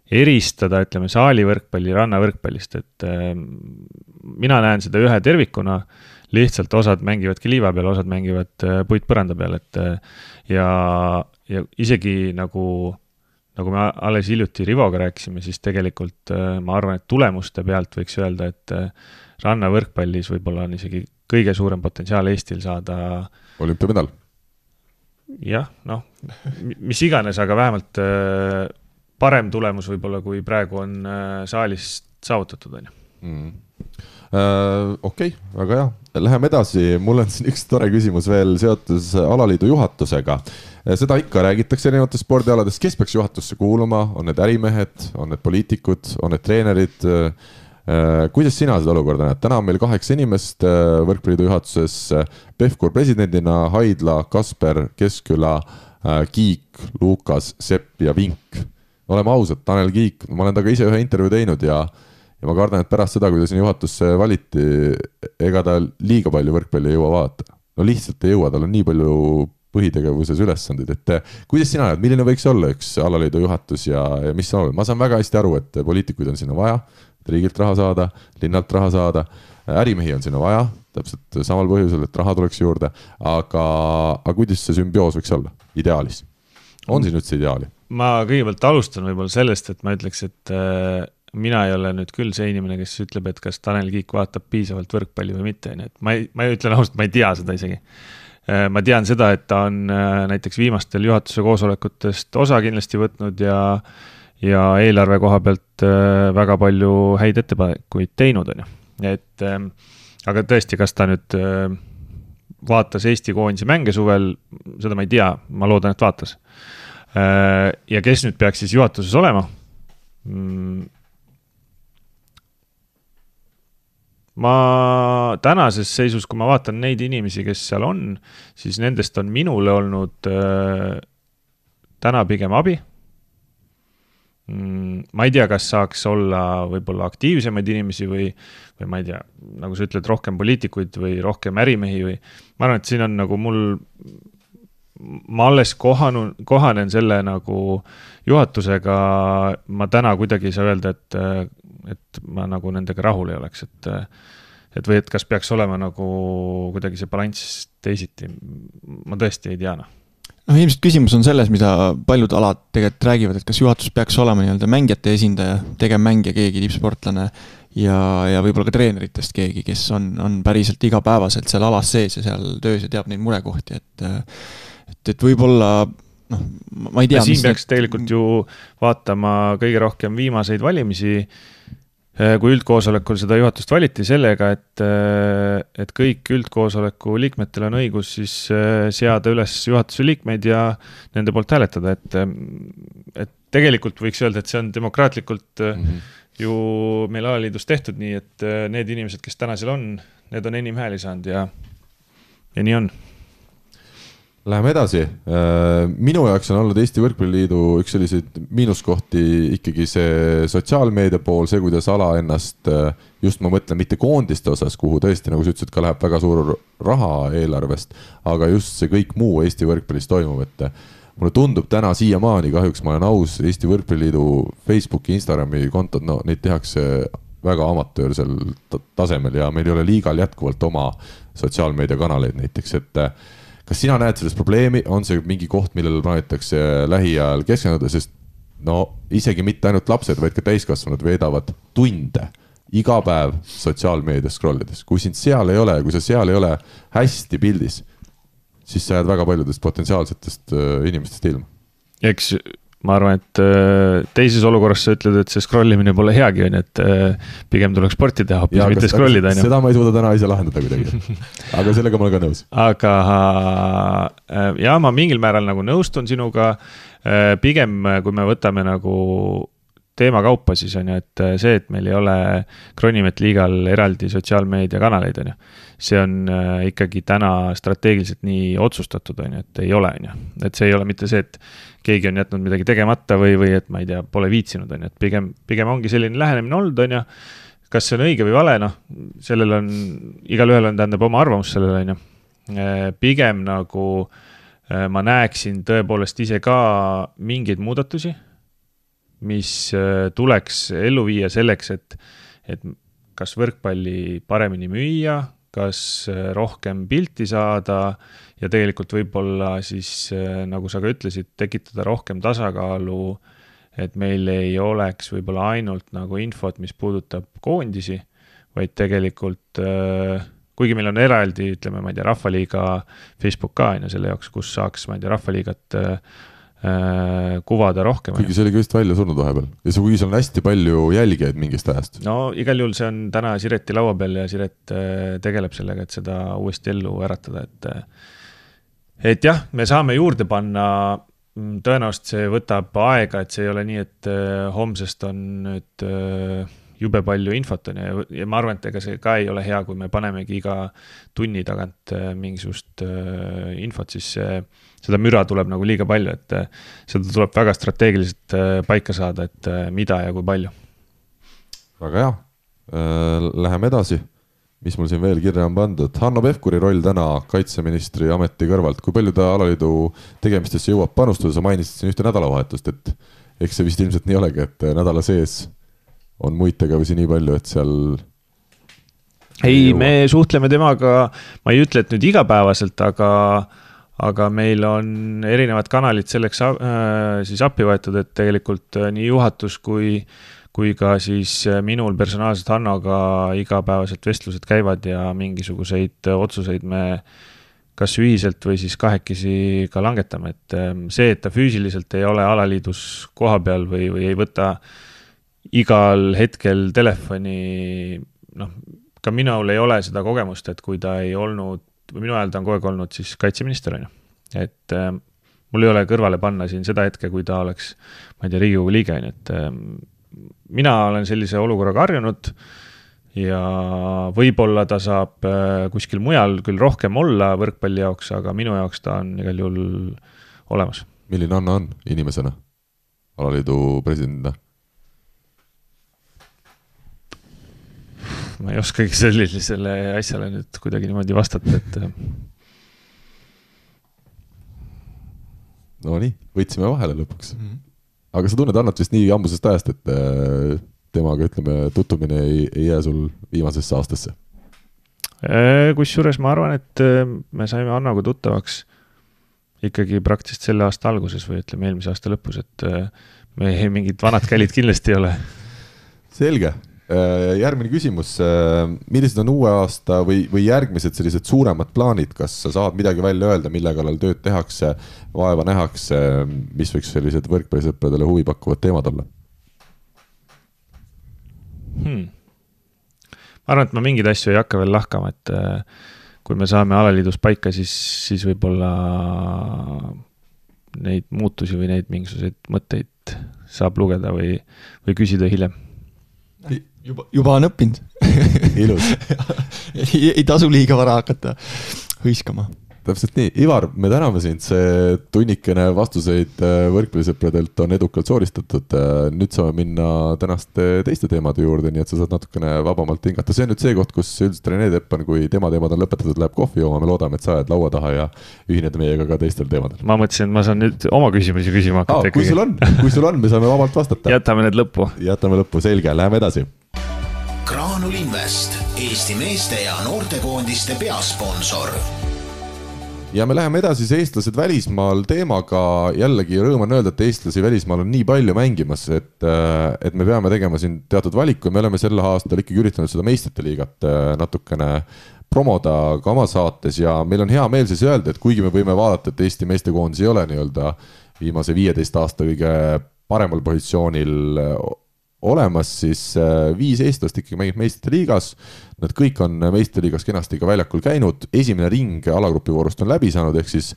eristada, ütleme, saalivõrkpalli rannavõrkpallist, et mina näen seda ühe tervikuna, lihtsalt osad mängivadki liiva peal, osad mängivad puitpõranda peal, et ja isegi nagu me alles hiljuti Rivoga rääkisime, siis tegelikult ma arvan, et tulemuste pealt võiks öelda, et rannavõrkpallis võib-olla on isegi kõige suurem potentsiaal Eestil saada olümpiamedal. Jah, mis iganes, aga vähemalt parem tulemus võib-olla, kui praegu on saalis saavutatud. Okei, väga hea. Läheme edasi. Mul on siin üks tore küsimus veel seotus alaliidu juhatusega. Seda ikka räägitakse erinevates spordialades. Kes peaks juhatusse kuuluma? On need ärimehed, on need poliitikud, on need treenerid? Kuidas sina seda olukorda näed? Täna on meil 8 inimest võrkpalliidu juhatuses, Pevkur presidendina, Haidla, Kasper, Keskküla, Kiik, Lukas, Sepp ja Vink. Oleme ausad, Tanel Kiik, ma olen taga ise ühe intervjuu teinud ja ma kardan, et pärast seda, kui ta sinna juhatusse valiti, ega ta liiga palju võrkpalli ei jõua vaadata. No lihtsalt ei jõua, tal on nii palju põhitegevuses ülesandid, et kuidas sina näed, milline võiks olla üks alaliidu juhatus ja mis on? Ma saan väga hästi aru, et poliitikuid on sinna vaja, riigilt raha saada, linnalt raha saada, ärimehi on sinna vaja, täpselt samal põhjusel, et raha tuleks juurde, aga kuidas see sümbioos võiks olla ideaalis? On siin üldse ideaali? Ma kõigepealt alustan võib-olla sellest, et ma ütleks, et mina ei ole nüüd küll see inimene, kes ütleb, et kas Tanel Kiik vaatab piisavalt võrkpalli või mitte. Ma ütlen ausalt, ma ei tea seda isegi. Ma tean seda, et ta on näiteks viimastel juhatuse koosolekutest osa kindlasti võtnud ja eelarve koha pealt väga palju häid ettepanekuid teinud, on ju. Et aga tõesti, kas ta nüüd vaatas Eesti koondise mänge suvel, seda ma ei tea, ma loodan, et vaatas. Ja kes nüüd peaks siis juhatuses olema? Ma tänases seisus, kui ma vaatan neid inimesi, kes seal on, siis nendest on minule olnud täna pigem abi. Ma ei tea, kas saaks olla võib-olla aktiivsemaid inimesi või ma ei tea, nagu sa ütled, rohkem poliitikuid või rohkem ärimehi või ma arvan, et siin on nagu ma alles kohanen selle nagu juhatusega, ma täna kuidagi ei saa öelda, et ma nagu nendega rahul ei oleks, et või et kas peaks olema nagu kuidagi see balanss teisiti, ma tõesti ei tea. Ilmselt küsimus on selles, mida paljud alad tegelikult räägivad, et kas juhatus peaks olema nii-öelda mängijate esindaja, tegevmängija keegi, tippsportlane ja võib-olla ka treeneritest keegi, kes on päriselt igapäevaselt seal alas sees ja seal töös ja teab neid murekohti, et võib-olla ma ei tea. Ja siin peaks tegelikult ju vaatama kõige rohkem viimaseid valimisi, kui üldkoosolekul seda juhatust valiti sellega, et kõik üldkoosoleku liikmetel on õigus siis seada üles juhatuse liikmeid ja nende poolt hääletada, et tegelikult võiks öelda, et see on demokraatlikult ju meil alaliidus tehtud nii, et need inimesed, kes täna seal on, need on enim hääli saanud ja nii on. Läheme edasi. Minu jaoks on olnud Eesti Võrkpalliliidu üks selliseid miinuskohti ikkagi see sotsiaalmeedia pool, see, kuidas ala ennast, just ma mõtlen mitte koondiste osas, kuhu tõesti, nagu sa ütlesid, ka läheb väga suur raha eelarvest, aga just see kõik muu Eesti Võrkpallis toimub, et mulle tundub täna siiamaani, kahjuks ma olen aus, Eesti Võrkpalliliidu Facebooki, Instagrami kontod, neid tehakse väga amatöörsel tasemel ja meil ei ole liigal jätkuvalt oma sotsiaalmeediakanaleid näiteks, et kas sina näed selles probleemi, on see mingi koht, millele plaanitakse lähiajal keskenduda, sest isegi mitte ainult lapsed, vaid ka täiskasvanud veedavad tunde iga päev sotsiaalmeedias scrollides. Kui sind seal ei ole, kui sa seal ei ole hästi pildis, siis sa jääd väga paljudest potentsiaalsetest inimestest ilma. Eks ma arvan, et teises olukorras sa ütled, et see scrollimine pole heagi, et pigem tuleks sporti teha, hoopis mitte scrollida. Seda ma ei suuda täna ise lahendada kuidagi, aga sellega ma olen ka nõus. Aga ja ma mingil määral nagu nõustun sinuga, pigem kui me võtame nagu teema kaupa, siis on ju, et see, et meil ei ole Kronimet liigal eraldi sotsiaalmeedia kanaleid, on ju. See on ikkagi täna strateegiliselt nii otsustatud, on ju, et ei ole, on ju. Et see ei ole mitte see, et keegi on jätnud midagi tegemata või et ma ei tea, pole viitsinud, on ju. Et pigem ongi selline lähenemine olnud, on ju. Kas see on õige või vale, sellel on, igal ühel on tähendab oma arvamus sellele, on ju. Pigem nagu ma näeksin tõepoolest ise ka mingeid muudatusi, mis tuleks ellu viia selleks, et kas võrkpalli paremini müüa, kas rohkem pilti saada ja tegelikult võib-olla siis, nagu sa ka ütlesid, tekitada rohkem tasakaalu, et meil ei oleks võib-olla ainult nagu infot, mis puudutab koondisi, vaid tegelikult, kuigi meil on eraldi, ütleme, ma ei tea, Rahvaliiga Facebook ka, selle jaoks, kus saaks, ma ei tea, Rahvaliigat kuvada rohkem. Kuigi see oli ka just välja surnud vahepeal. Ja see, kuigi seal on hästi palju jälgijaid mingist ajast. No igal juhul see on täna Sireti laua peal ja Siret tegeleb sellega, et seda uuesti ellu äratada. Et jah, me saame juurde panna, tõenäoliselt see võtab aega, et see ei ole nii, et homsest on nüüd jube palju infot on ja ma arvan, et ega see ka ei ole hea, kui me panemegi iga tunni tagant mingisugust infot, siis seda müra tuleb nagu liiga palju, et seda tuleb väga strateegiliselt paika saada, et mida ja kui palju. Väga hea. Läheme edasi. Mis mul siin veel kirja on pandud? Hanno Pevkuri roll täna kaitseministri ameti kõrvalt. Kui palju ta alaliidu tegemistesse jõuab panustada? Sa mainisid siin ühte nädalavahetust, et eks see vist ilmselt nii olegi, et nädala sees on muid tegevusi nii palju, et seal... Ei, me suhtleme temaga, ma ei ütle, et nüüd igapäevaselt, aga meil on erinevad kanalid selleks siis appi võetud, et tegelikult nii juhatus kui ka siis minul personaalselt Hannoga igapäevaselt vestlused käivad ja mingisuguseid otsuseid me kas ühiselt või siis kahekesi ka langetame, et see, et ta füüsiliselt ei ole alaliidus koha peal või ei võta igal hetkel telefoni, ka minul ei ole seda kogemust, et kui ta ei olnud, või minu ajal ta on kogu aeg olnud siis kaitseminister, et mul ei ole kõrvale panna siin seda hetke, kui ta oleks, ma ei tea, Riigikogu liige, et mina olen sellise olukorraga harjunud ja võib-olla ta saab kuskil mujal küll rohkem olla võrkpalli jaoks, aga minu jaoks ta on igal juhul olemas. Milline Anna on inimesena, alaliidu presidendina? Ma ei oskagi sellisele asjale nüüd kuidagi niimoodi vastata, et no nii, võtsime vahele lõpuks. Aga sa tunned Annat vist nii ambusest ajast, et temaga, ütleme, tutumine ei jää sul viimasesse aastasse? Kusjuures ma arvan, et me saime Annaga tuttavaks ikkagi praktiliselt selle aasta alguses või ütleme eelmise aasta lõpus, et me mingid vanad kälid kindlasti ei ole. Selge. Järgmine küsimus, millised on uue aasta või järgmised sellised suuremad plaanid, kas sa saad midagi välja öelda, mille kallal tööd tehakse, vaeva nähakse, mis võiks sellised võrkpallisõpradele huvi pakkuvad teemad olla? Ma arvan, et ma mingeid asju ei hakka veel lahkama, et kui me saame alaliidus paika, siis võib-olla neid muutusi või neid mingisuguseid mõtteid saab lugeda või küsida hiljem. Juba on õppinud. Ilus. ei tasu liiga vara hakata hõiskama. Täpselt nii. Ivar, me täname sind, see tunnikene vastuseid võrkpallisõpradelt on edukalt sooristatud. Nüüd saame minna tänaste teiste teemade juurde, nii et sa saad natukene vabamalt hingata. See on nüüd see koht, kus üldiselt Rene Teppan, kui tema teemad on lõpetatud, läheb kohvi jooma. Me loodame, et sa jääd laua taha ja ühined meiega ka teistel teemadel. Ma mõtlesin, et ma saan nüüd oma küsimusi küsima hakata. Kui sul on, me saame vabalt vastata. Jätame need lõppu. Jätame lõppu, selge. Läheme edasi. Graanul Invest, Eesti meeste ja noortekoondiste peasponsor. Ja me läheme edasi eestlased välismaal teemaga. Jällegi rõõm on öelda, et eestlasi välismaal on nii palju mängimas, et me peame tegema siin teatud valiku. Me oleme selle aastal ikkagi üritanud seda meistrite liigat natukene promoda ka oma saates ja meil on hea meel siis öelda, et kuigi me võime vaadata, et Eesti meestekoondis ei ole nii-öelda viimase 15 aasta kõige paremal positsioonil olemas, siis 5 eestlast ikkagi mängib meistrite liigas. Nad kõik on meistrite liigas kenasti ka väljakul käinud. Esimene ring alagrupi voorust on läbi saanud, ehk siis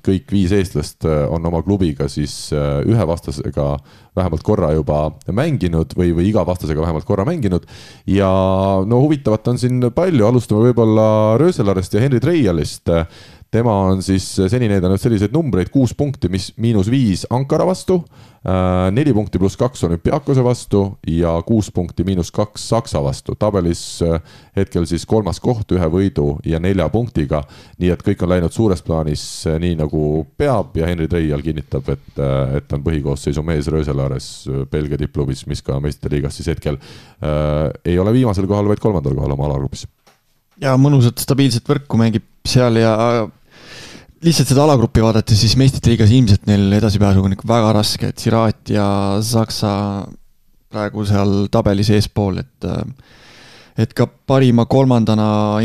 kõik 5 eestlast on oma klubiga siis ühe vastasega vähemalt korra juba mänginud või iga vastasega vähemalt korra mänginud. Ja no huvitavat on siin palju. Alustame võib-olla Rööselarest ja Henri Treialist. Tema on siis seni näidanud selliseid numbreid, 6 punkti, -5 Ankara vastu, 4 punkti +2 Olümpiakose vastu ja 6 punkti -2 Saksa vastu. Tabelis hetkel siis 3. koht 1 võidu ja 4 punktiga, nii et kõik on läinud suures plaanis nii nagu peab ja Henri Treial kinnitab, et on põhikoosseisu mees Rööselares Belgia tippklubis, mis ka meistrite liigas siis hetkel ei ole viimasel kohal, vaid 3. kohal oma alagrupis. Ja mõnusat stabiilset võrku mängib seal ja lihtsalt seda alagruppi vaadata, siis meistrite liigas ilmselt neil edasipääsuga on ikka väga raske, et Siraat ja Saksa praegu seal tabelis eespool, et ka parima kolmandana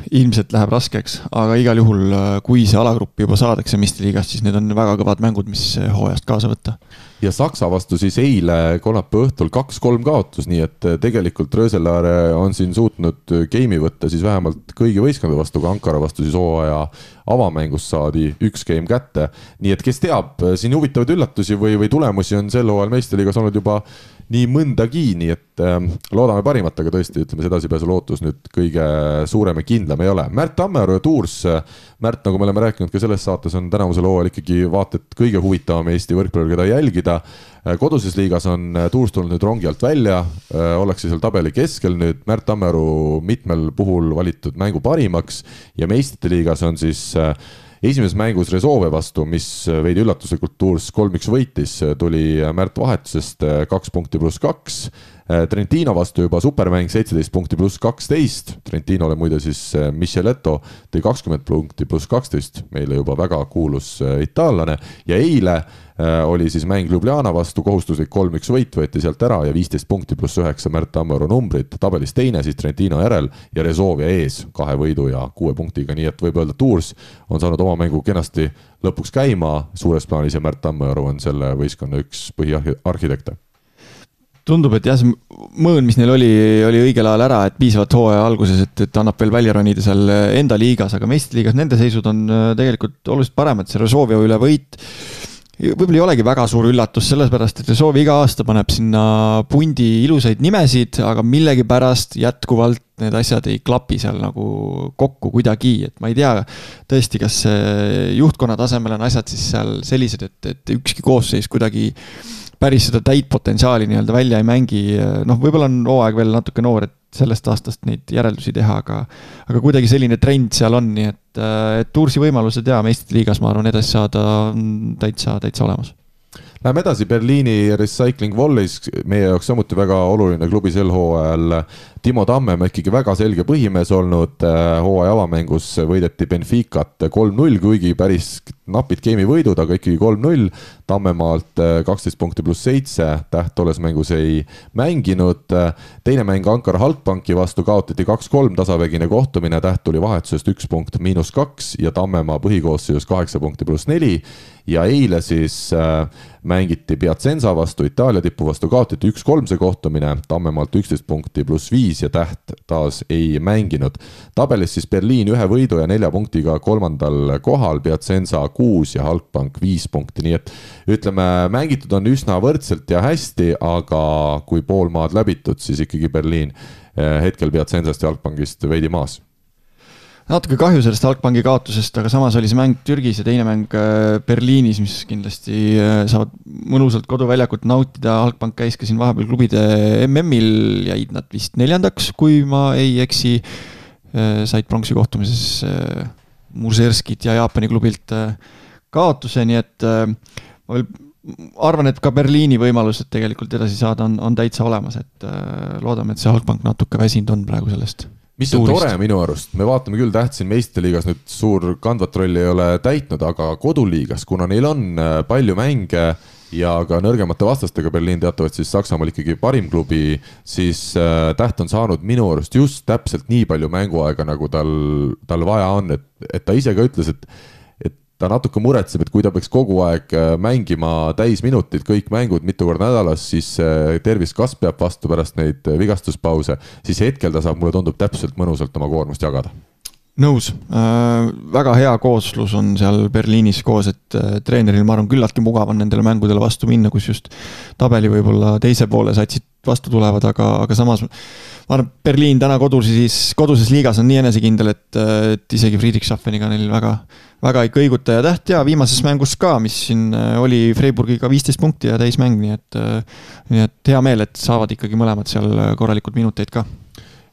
ilmselt läheb raskeks, aga igal juhul, kui see alagrupp juba saadakse meistrite liigast, siis need on väga kõvad mängud, mis hooajast kaasa võtta. Ja Saksa vastu siis eile kolmapäeva õhtul 2-3 kaotus, nii et tegelikult Rööselaare on siin suutnud geimi võtta siis vähemalt kõigi võistkonna vastu, ka Ankara vastu siis hooaja avamängust saadi 1 game kätte. Nii et kes teab, siin huvitavaid üllatusi või tulemusi on sel hooajal meistrite liigas olnud juba nii mõndagi, nii et loodame parimat, aga tõesti, ütleme, see edasipääsu lootus nüüd kõige suurem ja kindlam ei ole. Märt Tammearu ja Tours. Märt, nagu me oleme rääkinud ka selles saates, on tänavusel hooajal ikkagi vaata, et kõige huvitavam Eesti võrkpallur, keda jälgida. Koduses liigas on Tours tulnud nüüd rongi alt välja, ollakse seal tabeli keskel nüüd. Märt Tammearu mitmel puhul valitud mängu parimaks ja meistrite liigas on siis esimeses mängus Resolve vastu, mis veidi üllatuslikult Tours 3-1 võitis, tuli Märt vahetusest 2 punkti +2. Trentino vastu juba supermäng 17 punkti pluss 12, Trentinole muide siis Micheletto tõi 20 punkti pluss 12, meile juba väga kuulus itaallane ja eile oli siis mäng Ljubljana vastu, kohustuslik 3-1 võit võeti sealt ära ja 15 punkti pluss 9 Märt Tammearu numbrid, tabelis teine siis Trentino järel ja Rezovia ees 2 võidu ja 6 punktiga, nii et võib öelda, Tours on saanud oma mängu kenasti lõpuks käima suures plaanis ja Märt Tammearu on selle võistkonna üks põhiarhitekte. Tundub, et jah, see mõõn, mis neil oli õigel ajal ära, et piisavalt hooaja alguses, et annab veel välja ronida seal enda liigas, aga meistriliigas nende seisud on tegelikult oluliselt paremad, see Rezovia üle võit võib-olla ei olegi väga suur üllatus, sellepärast, et Rezovia iga aasta paneb sinna pundi ilusaid nimesid, aga millegipärast jätkuvalt need asjad ei klapi seal nagu kokku kuidagi, et ma ei tea tõesti, kas juhtkonna tasemel on asjad siis seal sellised, et ükski koosseis kuidagi päris seda täit potentsiaali nii-öelda välja ei mängi, võib-olla on hooaeg veel natuke noor, et sellest aastast neid järeldusi teha, aga kuidagi selline trend seal on, nii et Toursi võimalused ja meistrite liigas, ma arvan, edasi saada on täitsa olemas. Läheme edasi Berliini Recycling Volleys, meie jaoks samuti väga oluline klubi sel hooajal. Timo Tammemaa ikkagi väga selge põhimees olnud, hooaja avamängus võideti Benficat 3-0, kuigi päris napid geimi võidud, aga ikkagi 3-0. Tammemaalt 12 punkti pluss 7, Täht tolles mängus ei mänginud. Teine mäng Ankara Halkbanki vastu kaotati 2-3 tasavägine kohtumine, Täht tuli vahetusest 1 punkt -2 ja Tammemaa põhikoosseisus 8 punkti pluss 4. Ja eile siis mängiti Piacenza vastu, Itaalia tippu vastu kaotati 1-3 see kohtumine, Tammemaalt 11 punkti pluss 5 ja Täht taas ei mänginud. Tabelis siis Berliin 1 võidu ja 4 punktiga kolmandal kohal, Piacenza 6 ja Halkbank 5 punkti, nii et ütleme, mängitud on üsna võrdselt ja hästi, aga kui pool maad läbitud, siis ikkagi Berliin hetkel Piacenzast ja Halkbankist veidi maas. Natuke kahju sellest Halkbanki kaotusest, aga samas oli see mäng Türgis ja teine mäng Berliinis, mis kindlasti saavad mõnusalt koduväljakut nautida. Halkbank käis ka siin vahepeal klubide MM-il, jäid nad vist 4. kui ma ei eksi, said pronksi kohtumises Muserskit ja Jaapani klubilt kaotuse, nii et ma veel arvan, et ka Berliini võimalused tegelikult edasi saada on täitsa olemas, et loodame, et see Halkbank natuke väsinud on praegu sellest. Mis on tore minu arust, me vaatame küll Täht siin meistriliigas nüüd suur kandvat rolli ei ole täitnud, aga koduliigas, kuna neil on palju mänge ja ka nõrgemate vastastega Berliin teatavad siis Saksamaal ikkagi parim klubi, siis Täht on saanud minu arust just täpselt nii palju mänguaega, nagu tal vaja on, et ta ise ka ütles, et ta natuke muretseb, et kui ta peaks kogu aeg mängima täisminutid, kõik mängud mitu korda nädalas, siis tervis kas peab vastu pärast neid vigastuspause, siis hetkel ta saab, mulle tundub, täpselt mõnusalt oma koormust jagada. Nõus. Väga hea kooslus on seal Berliinis koos, et treeneril, ma arvan, küllaltki mugav on nendele mängudele vastu minna, kus just tabeli võib-olla teise poole satsid vastu tulevad, aga samas ma arvan, Berliin täna koduses liigas on nii enesekindel, et isegi Friedrichshaffeniga neil väga ei kõiguta ja Täht ja viimases mängus ka, mis siin oli Freiburgiga 15 punkti ja täismäng, nii et hea meel, et saavad ikkagi mõlemad seal korralikud minuteid ka.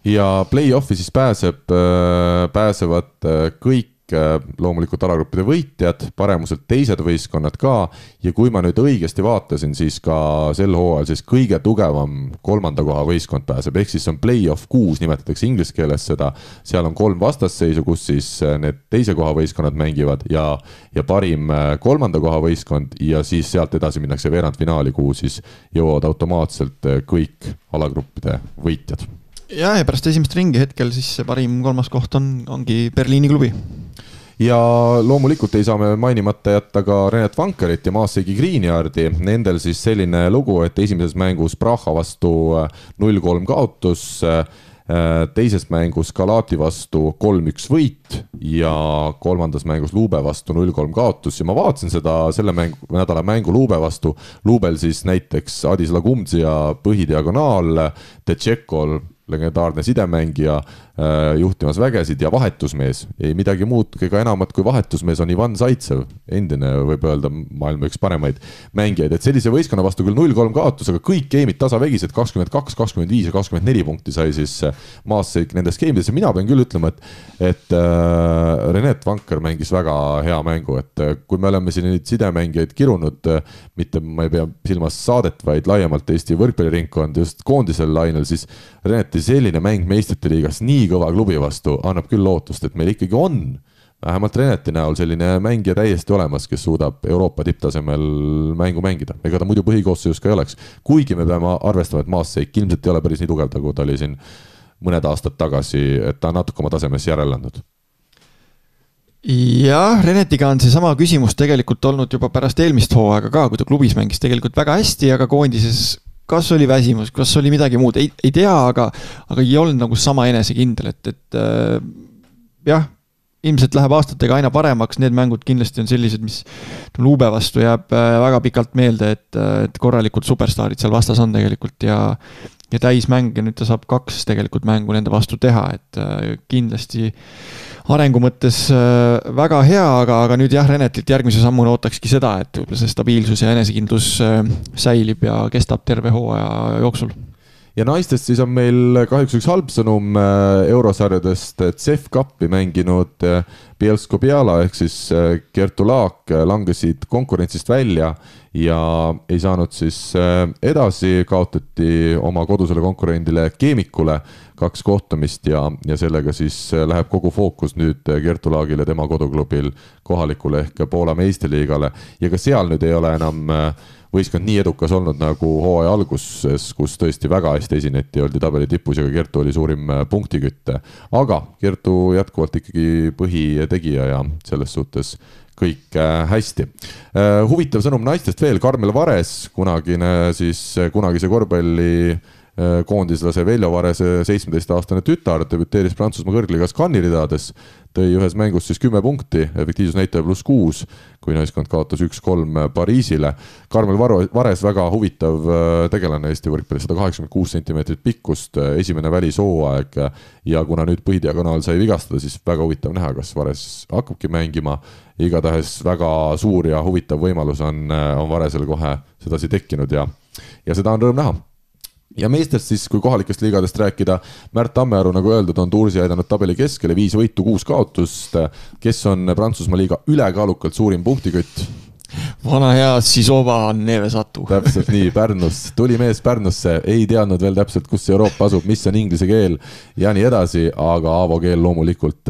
Ja play-offi siis pääsevad kõik loomulikult alagruppide võitjad, paremuselt teised võistkonnad ka ja kui ma nüüd õigesti vaatasin, siis ka sel hooajal siis kõige tugevam 3. koha võistkond pääseb, ehk siis on play-off 6, nimetatakse inglise keeles seda, seal on 3 vastasseisu, kus siis need teise koha võistkonnad mängivad ja parim 3. koha võistkond ja siis sealt edasi minnakse veerandfinaali, kuhu siis jõuavad automaatselt kõik alagruppide võitjad. Ja pärast esimest ringi hetkel siis parim 3. koht ongi Berliini klubi. Ja loomulikult ei saa me mainimata jätta ka Renat Vankerit ja Maaseigi Greenyardi. Nendel siis selline lugu, et esimeses mängus Praha vastu 0-3 kaotus, teises mängus Galati vastu 3-1 võit ja kolmandas mängus Luube vastu 0-3 kaotus ja ma vaatasin selle nädala mängu Luube vastu. Luubel siis näiteks Adis Lagumdzi ja põhidiagonaal, Tšekol legendaarne sidemängija, juhtimas vägesid ja vahetusmees. Ei midagi muud ega enamat kui vahetusmees on Ivan Zaitsev, endine võib öelda maailma üks paremaid mängijaid. Et sellise võistkonna vastu küll 0-3 kaotus, aga kõik geimid tasavägised, 22, 25 ja 24 punkti sai siis Maassik nendes geimides. Ja mina pean küll ütlema, et Renet Vanker mängis väga hea mängu, et kui me oleme siin neid sidemängijaid kirunud, mitte ma ei pea silmas saadet, vaid laiemalt Eesti võrkpalliringkond just koondisel lainel, siis Reneti selline mäng meistrite liigas nii kõva klubi vastu annab küll lootust, et meil ikkagi on vähemalt Reneti näol selline mängija täiesti olemas, kes suudab Euroopa tipptasemel mängu mängida. Ega ta muidu põhikoosseisus ka ei oleks. Kuigi me peame arvestama, et Maassik ilmselt ei ole päris nii tugev, kui ta oli siin mõned aastad tagasi, et ta natuke oma tasemes järellandud. Jah, Renetiga on see sama küsimus tegelikult olnud juba pärast eelmist hooaega ka, kui ta klubis mängis tegelikult väga hästi, aga koondises kas oli väsimus, kas oli midagi muud, ei tea, aga ei olnud nagu sama enesekindel, et jah, ilmselt läheb aastatega aina paremaks, need mängud kindlasti on sellised, mis Luube vastu jääb väga pikalt meelde, et korralikult superstaarid seal vastas on tegelikult ja täismäng ja nüüd ta saab 2 tegelikult mängu nende vastu teha, et kindlasti arengu mõttes väga hea, aga nüüd jah, Renetilt järgmise sammuna ootakski seda, et võib-olla see stabiilsus ja enesekindlus säilib ja kestab terve hooaja jooksul. Ja naistest siis on meil kahjuks üks halb sõnum eurosarjadest, et CEF Cupi mänginud Bielsko-Biala ehk siis Kertu Laak langesid konkurentsist välja ja ei saanud siis edasi, kaotati oma kodusele konkurendile Keemikule 2 kohtumist ja sellega siis läheb kogu fookus nüüd Kertu Laagile tema koduklubil kohalikule ehk Poola meistriliigale ja ka seal nüüd ei ole enam võistkond nii edukas olnud nagu hooaja alguses, kus tõesti väga hästi esineti, oldi tabeli tipus ja Kertu oli suurim punktikütte. Aga Kertu jätkuvalt ikkagi põhitegija ja selles suhtes kõik hästi. Huvitav sõnum naistest veel, Karmel Vares, kunagise korvpalli koondislase Veljo Varese 17-aastane tütar debüteeris Prantsusmaa kõrgligas Cannes'i ridades, tõi ühes mängus siis 10 punkti, efektiivsusnäitaja +6, kui naiskond kaotas 1-3 Pariisile. Karmel Vares väga huvitav tegelane Eesti võrkpallis, 186 cm pikkust, esimene välishooaeg ja kuna nüüd põhidiagonaal sai vigastada, siis väga huvitav näha, kas Vares hakkabki mängima. Igatahes väga suur ja huvitav võimalus on Varesel kohe sedasi tekkinud ja seda on rõõm näha. Ja meestest siis, kui kohalikest liigadest rääkida, Märt Tammearu, nagu öeldud, on Tuursi aidanud tabeli keskele 5 võitu, 6 kaotust, kes on Prantsusmaa liiga ülekaalukalt suurim punktikütt. Vana hea Sisova Nevesatu. Täpselt nii, Pärnus, tuli mees Pärnusse, ei teadnud veel täpselt, kus Euroopa asub, mis on inglise keel ja nii edasi, aga Aavo Keel loomulikult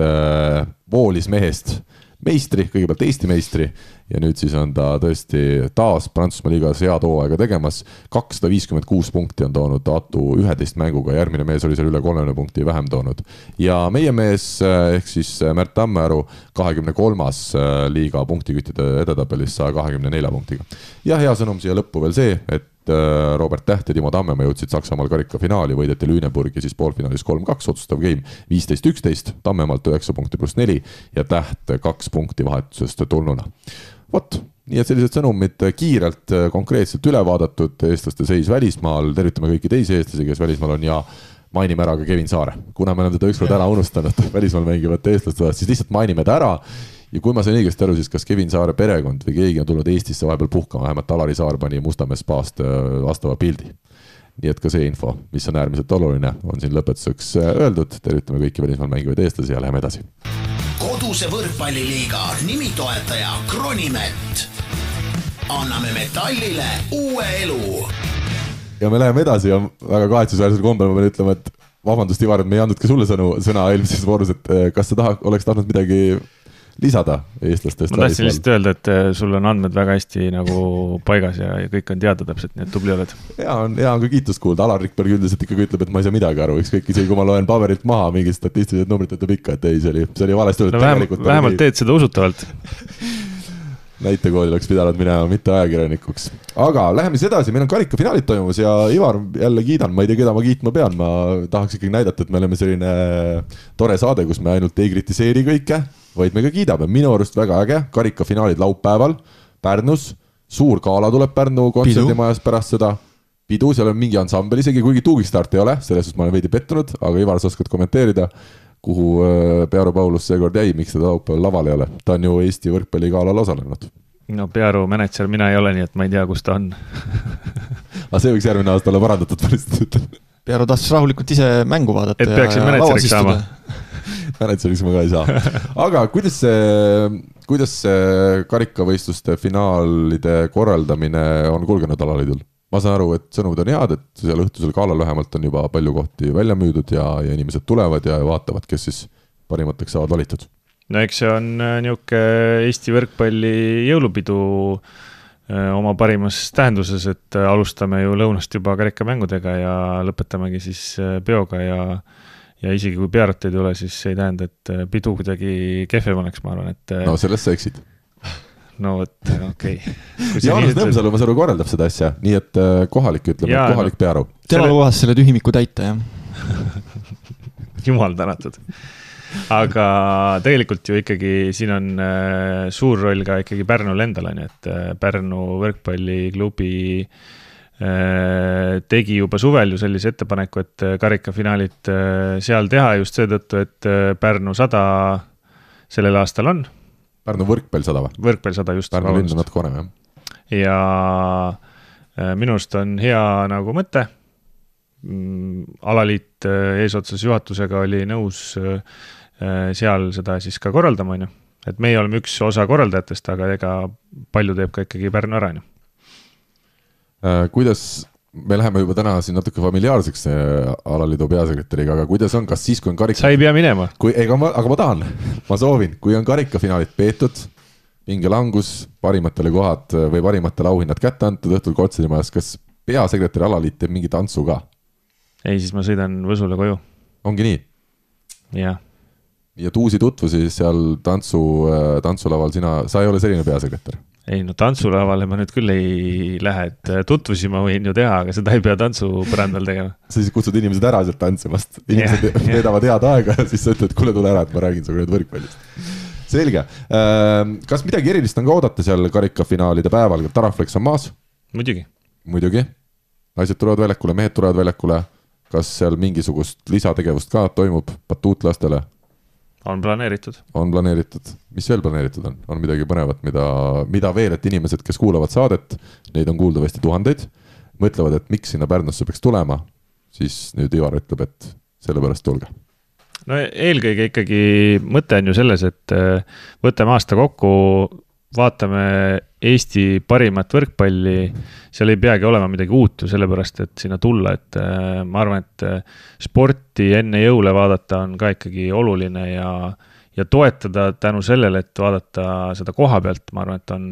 voolis mehest meistri, kõigepealt Eesti meistri ja nüüd siis on ta tõesti taas Prantsusmaa liigas head hooaega tegemas. 256 punkti on toonud Atu 11 mänguga, järgmine mees oli seal üle 30 punkti vähem toonud. Ja meie mees ehk siis Märt Tammearu 23. liiga punktiküttide edetabelis 124 punktiga. Ja hea sõnum siia lõppu veel see, et Robert Täht ja Timo Tammemaa jõudsid Saksamaal karikafinaali, võideti Lüneburgi siis poolfinaalis 3-2, otsustav game 15-11, Tammemaalt 9 punkti +4 ja Täht 2 punkti vahetusest tulnuna. Vot, nii et sellised sõnumid kiirelt konkreetselt üle vaadatud, eestlaste seis välismaal, tervitame kõiki teisi eestlasi, kes välismaal on ja mainime ära ka Kevin Saare. Kuna me oleme teda ükskord ära unustanud välismaal mängivat eestlastada, siis lihtsalt mainime ta ära. Ja kui ma sain õigesti aru, siis kas Kevin Saare perekond või keegi on tulnud Eestisse vahepeal puhkama, vähemalt Alari Saar pani Mustamäe spaast vastava pildi. Nii et ka see info, mis on äärmiselt oluline, on siin lõpetuseks öeldud. Tervitame kõiki välismaal mängivaid eestlasi ja läheme edasi. Koduse võrkpalliliiga nimitoetaja Kronimet. Anname metallile uue elu. Ja me läheme edasi ja väga kahetsusväärsel kombel ma pean ütlema, et vabandust, Ivar, et me ei andnud ka sulle sõna eelmises voorus, et kas sa oleks tahtnud midagi lisada eestlastest? Ma tahtsin lihtsalt öelda, et sul on andmed väga hästi nagu paigas ja kõik on teada täpselt, nii et tubli oled. Ja on ka kiitust kuulda. Alar Rikberg üldiselt ikkagi ütleb, et ma ei saa midagi aru. Ükskõik isegi, kui ma loen paberilt maha mingid statistilised numbrid, ütleb ikka, et ei, see oli valesti. No vähemalt teed seda usutavalt. Näitekooli oleks pidanud minema, mitte ajakirjanikuks. Aga läheme siis edasi, meil on karikafinaalid toimumas ja Ivar, jälle kiidan, ma ei tea, keda ma kiitma pean. Ma tahaks ikkagi näidata, et me oleme selline tore saade, kus me ainult ei kritiseeri kõike, vaid me ka kiidame. Minu arust väga äge, karikafinaalid laupäeval Pärnus, suur gaala tuleb Pärnu kontserdimajas pärast seda. pidu, seal on mingi ansambel isegi, kuigi tuugistart ei ole, selles suhtes ma olen veidi pettunud, aga Ivar, sa oskad kommenteerida, kuhu Pearu Paulus seekord jäi, miks ta laupäeval laval ei ole? Ta on ju Eesti võrkpalligalal osalenud. No Pearu manager mina ei ole, nii et ma ei tea, kus ta on. Aga see võiks järgmine aasta olla parandatud pärast. Pearu tahtis rahulikult ise mängu vaadata. Et peaksin manageriks saama. Manageriks ma ka ei saa. Aga kuidas see karikavõistluste finaalide korraldamine on kulgenud alaliidul? Ma saan aru, et sõnumid on head, et seal õhtusel galal vähemalt on juba palju kohti välja müüdud ja inimesed tulevad ja vaatavad, kes siis parimateks saavad valitud. No eks see on niuke Eesti võrkpalli jõulupidu oma parimas tähenduses, et alustame ju lõunast juba karikamängudega ja lõpetamegi siis peoga ja isegi kui Pearut ei tule, siis ei tähenda, et pidu kuidagi kehvem oleks, ma arvan, et... No sellest sa eksid. No võt, okei. Jaanus Nõmsalu, ma saru, korraldab seda asja, nii et kohalik ütleme, et kohalik Pearu. Tema lubas selle tühimiku täita, jah. Jumal tänatud. Aga tegelikult ju ikkagi siin on suur roll ka ikkagi Pärnul endal, et Pärnu võrkpalliklubi tegi juba suvel ju sellise ettepaneku, et karikafinaalit seal teha just seetõttu, et Pärnu 100 sellel aastal on. Pärnu võrkpall 100 või? Võrkpall 100 just. Pärnu linn on natuke konem, jah. Ja minust on hea nagu mõte. Alaliit eesotsas juhatusega oli nõus seal seda siis ka korraldama. Et meie oleme üks osa korraldajatest, aga ega palju teeb ka ikkagi Pärnu ära. Kuidas... Me läheme juba täna siin natuke familiaarseks alaliidu peasekretäriga, aga kuidas on, kas siis, kui on karika... Sa ei pea minema. Aga ma tahan, ma soovin, kui on karikafinaalit peetud, mingi langus, parimatele kohad või parimatele auhinnad kätte antud õhtul Kotserimajas, kas peasekretäri alaliit teeb mingi tantsu ka? Ei, siis ma sõidan Võsule koju. Ongi nii? Jah. Ja uusi tutvusi seal tantsulaval sa ei ole selline peasekretär? Ei, no tantsulavale ma nüüd küll ei lähe, et tutvusi ma võin ju teha, aga seda ei pea tantsupõrandal tegema. Sa siis kutsud inimesed ära sealt tantsimast. Inimesed veedavad head aega ja siis sa ütled, kuule tule ära, et ma räägin sulle nüüd võrkpallist. Selge. Kas midagi erilist on ka oodata seal karikafinaalide päeval? Taraflex on maas? Muidugi. Naised tulevad väljakule, mehed tulevad väljakule. Kas seal mingisugust lisategevust ka toimub batuutlastele? On planeeritud. Mis veel planeeritud on? On midagi põnevat, mida veel, et inimesed, kes kuulavad saadet, neid on kuuldavasti tuhandeid, mõtlevad, et miks sinna Pärnusse peaks tulema, siis nüüd Ivar ütleb, et sellepärast tulge. No eelkõige ikkagi mõte on ju selles, et võtame aasta kokku, vaatame Eesti parimat võrkpalli, seal ei peagi olema midagi uut ju sellepärast, et sinna tulla, et ma arvan, et sporti enne jõule vaadata on ka ikkagi oluline ja toetada tänu sellele, et vaadata seda koha pealt, ma arvan, et on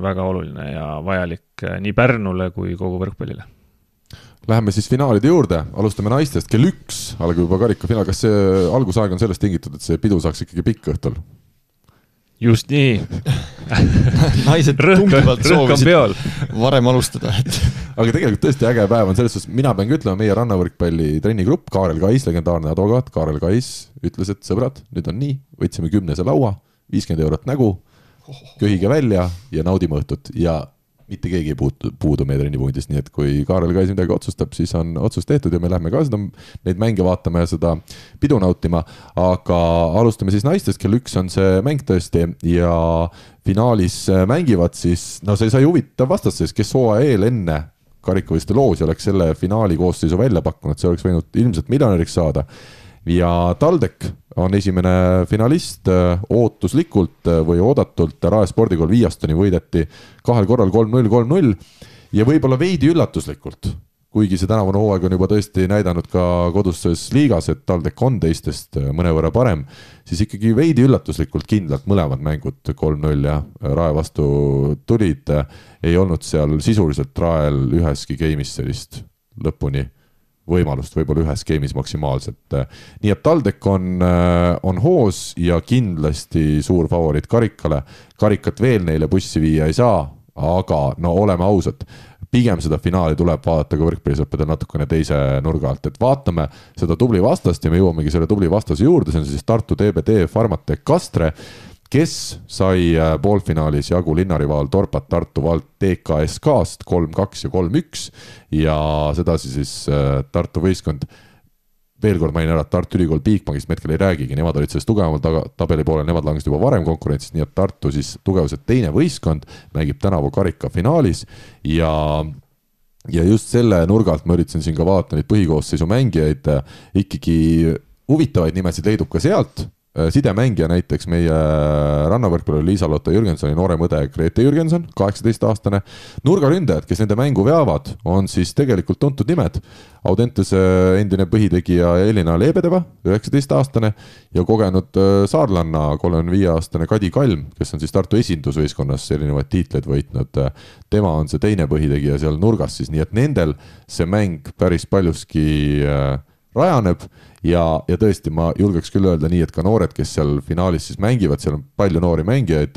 väga oluline ja vajalik nii Pärnule kui kogu võrkpallile. Läheme siis finaalide juurde, alustame naistest, kell 1 algab juba karikafinaal, kas see algusaeg on sellest tingitud, et see pidu saaks ikkagi pikk õhtul? Just nii. Naised tungivalt soovisid varem alustada. Aga tegelikult tõesti äge päev on selles suhtes, mina pean ütlema, meie rannavõrkpalli trennigrupp, Kaarel Kais, legendaarne advokaat, Kaarel Kais ütles, et sõbrad, nüüd on nii, võtsime 10 laua, 50 eurot nägu, köhige välja ja naudime õhtut ja mitte keegi ei puudu meie trennipunktist, nii et kui Kaarel Kais midagi otsustab, siis on otsus tehtud ja me lähme ka seda, neid mänge vaatame ja seda pidu nautima, aga alustame siis naistest, kell 1 on see mäng tõesti ja finaalis mängivad siis, no see sai huvitav vastasseis, kes hooaja eel enne karikavõistluste loosi oleks selle finaali koosseisu välja pakkunud, see oleks võinud ilmselt miljonäriks saada ja TalTech on esimene finalist ootuslikult või oodatult Rae spordikool Viiastoni võideti 2 korral 3-0, 3-0 ja võib-olla veidi üllatuslikult, kuigi see tänavune hooaeg on juba tõesti näidanud ka koduses liigas, et TalTech on teistest mõnevõrra parem, siis ikkagi veidi üllatuslikult kindlalt mõlemad mängud 3-0 ja Rae vastu tulid, ei olnud seal sisuliselt Rael üheski game'is sellist lõpuni võimalust, võib-olla ühes game'is maksimaalselt. Nii et TalTech on hoos ja kindlasti suur favoriit karikale. Karikat veel neile bussi viia ei saa, aga no oleme ausad, pigem seda finaali tuleb vaadata ka võrkpallisõppedel natukene teise nurga alt, et vaatame seda tubli vastast ja me jõuamegi selle tubli vastase juurde, see on siis Tartu TBD Farmatec Kastre, kes sai poolfinaalis jagu linnarivaal Torpat Tartu Vald TKSK-st 3-2 ja 3-1 ja sedasi siis Tartu võistkond, veel kord mainin ära, et Tartu Ülikool Bigbankist me hetkel ei räägigi, nemad olid sellest tugevamal tabeli poole, nemad langesid juba varem konkurentsis, nii et Tartu siis tugevuselt teine võistkond mängib tänavu karika finaalis ja just selle nurgalt ma üritasin siin ka vaadata neid põhikoosseisu mängijaid, ikkagi huvitavaid nimesid leidub ka sealt. Sidemängija näiteks meie rannavõrkpalluri Liisa-Lotta Jürgensoni noorem õde Grete Jürgenson, 18-aastane. Nurgaründajad, kes nende mängu veavad, on siis tegelikult tuntud nimed. Audentese endine põhitegija Elina Leebedeva, 19-aastane ja kogenud saarlanna 35-aastane Kadi Kalm, kes on siis Tartu esindusvõistkonnas erinevaid tiitleid võitnud. Tema on see teine põhitegija seal nurgas siis, nii et nendel see mäng päris paljuski rajaneb ja tõesti ma julgeks küll öelda nii, et ka noored, kes seal finaalis siis mängivad, seal on palju noori mängijaid,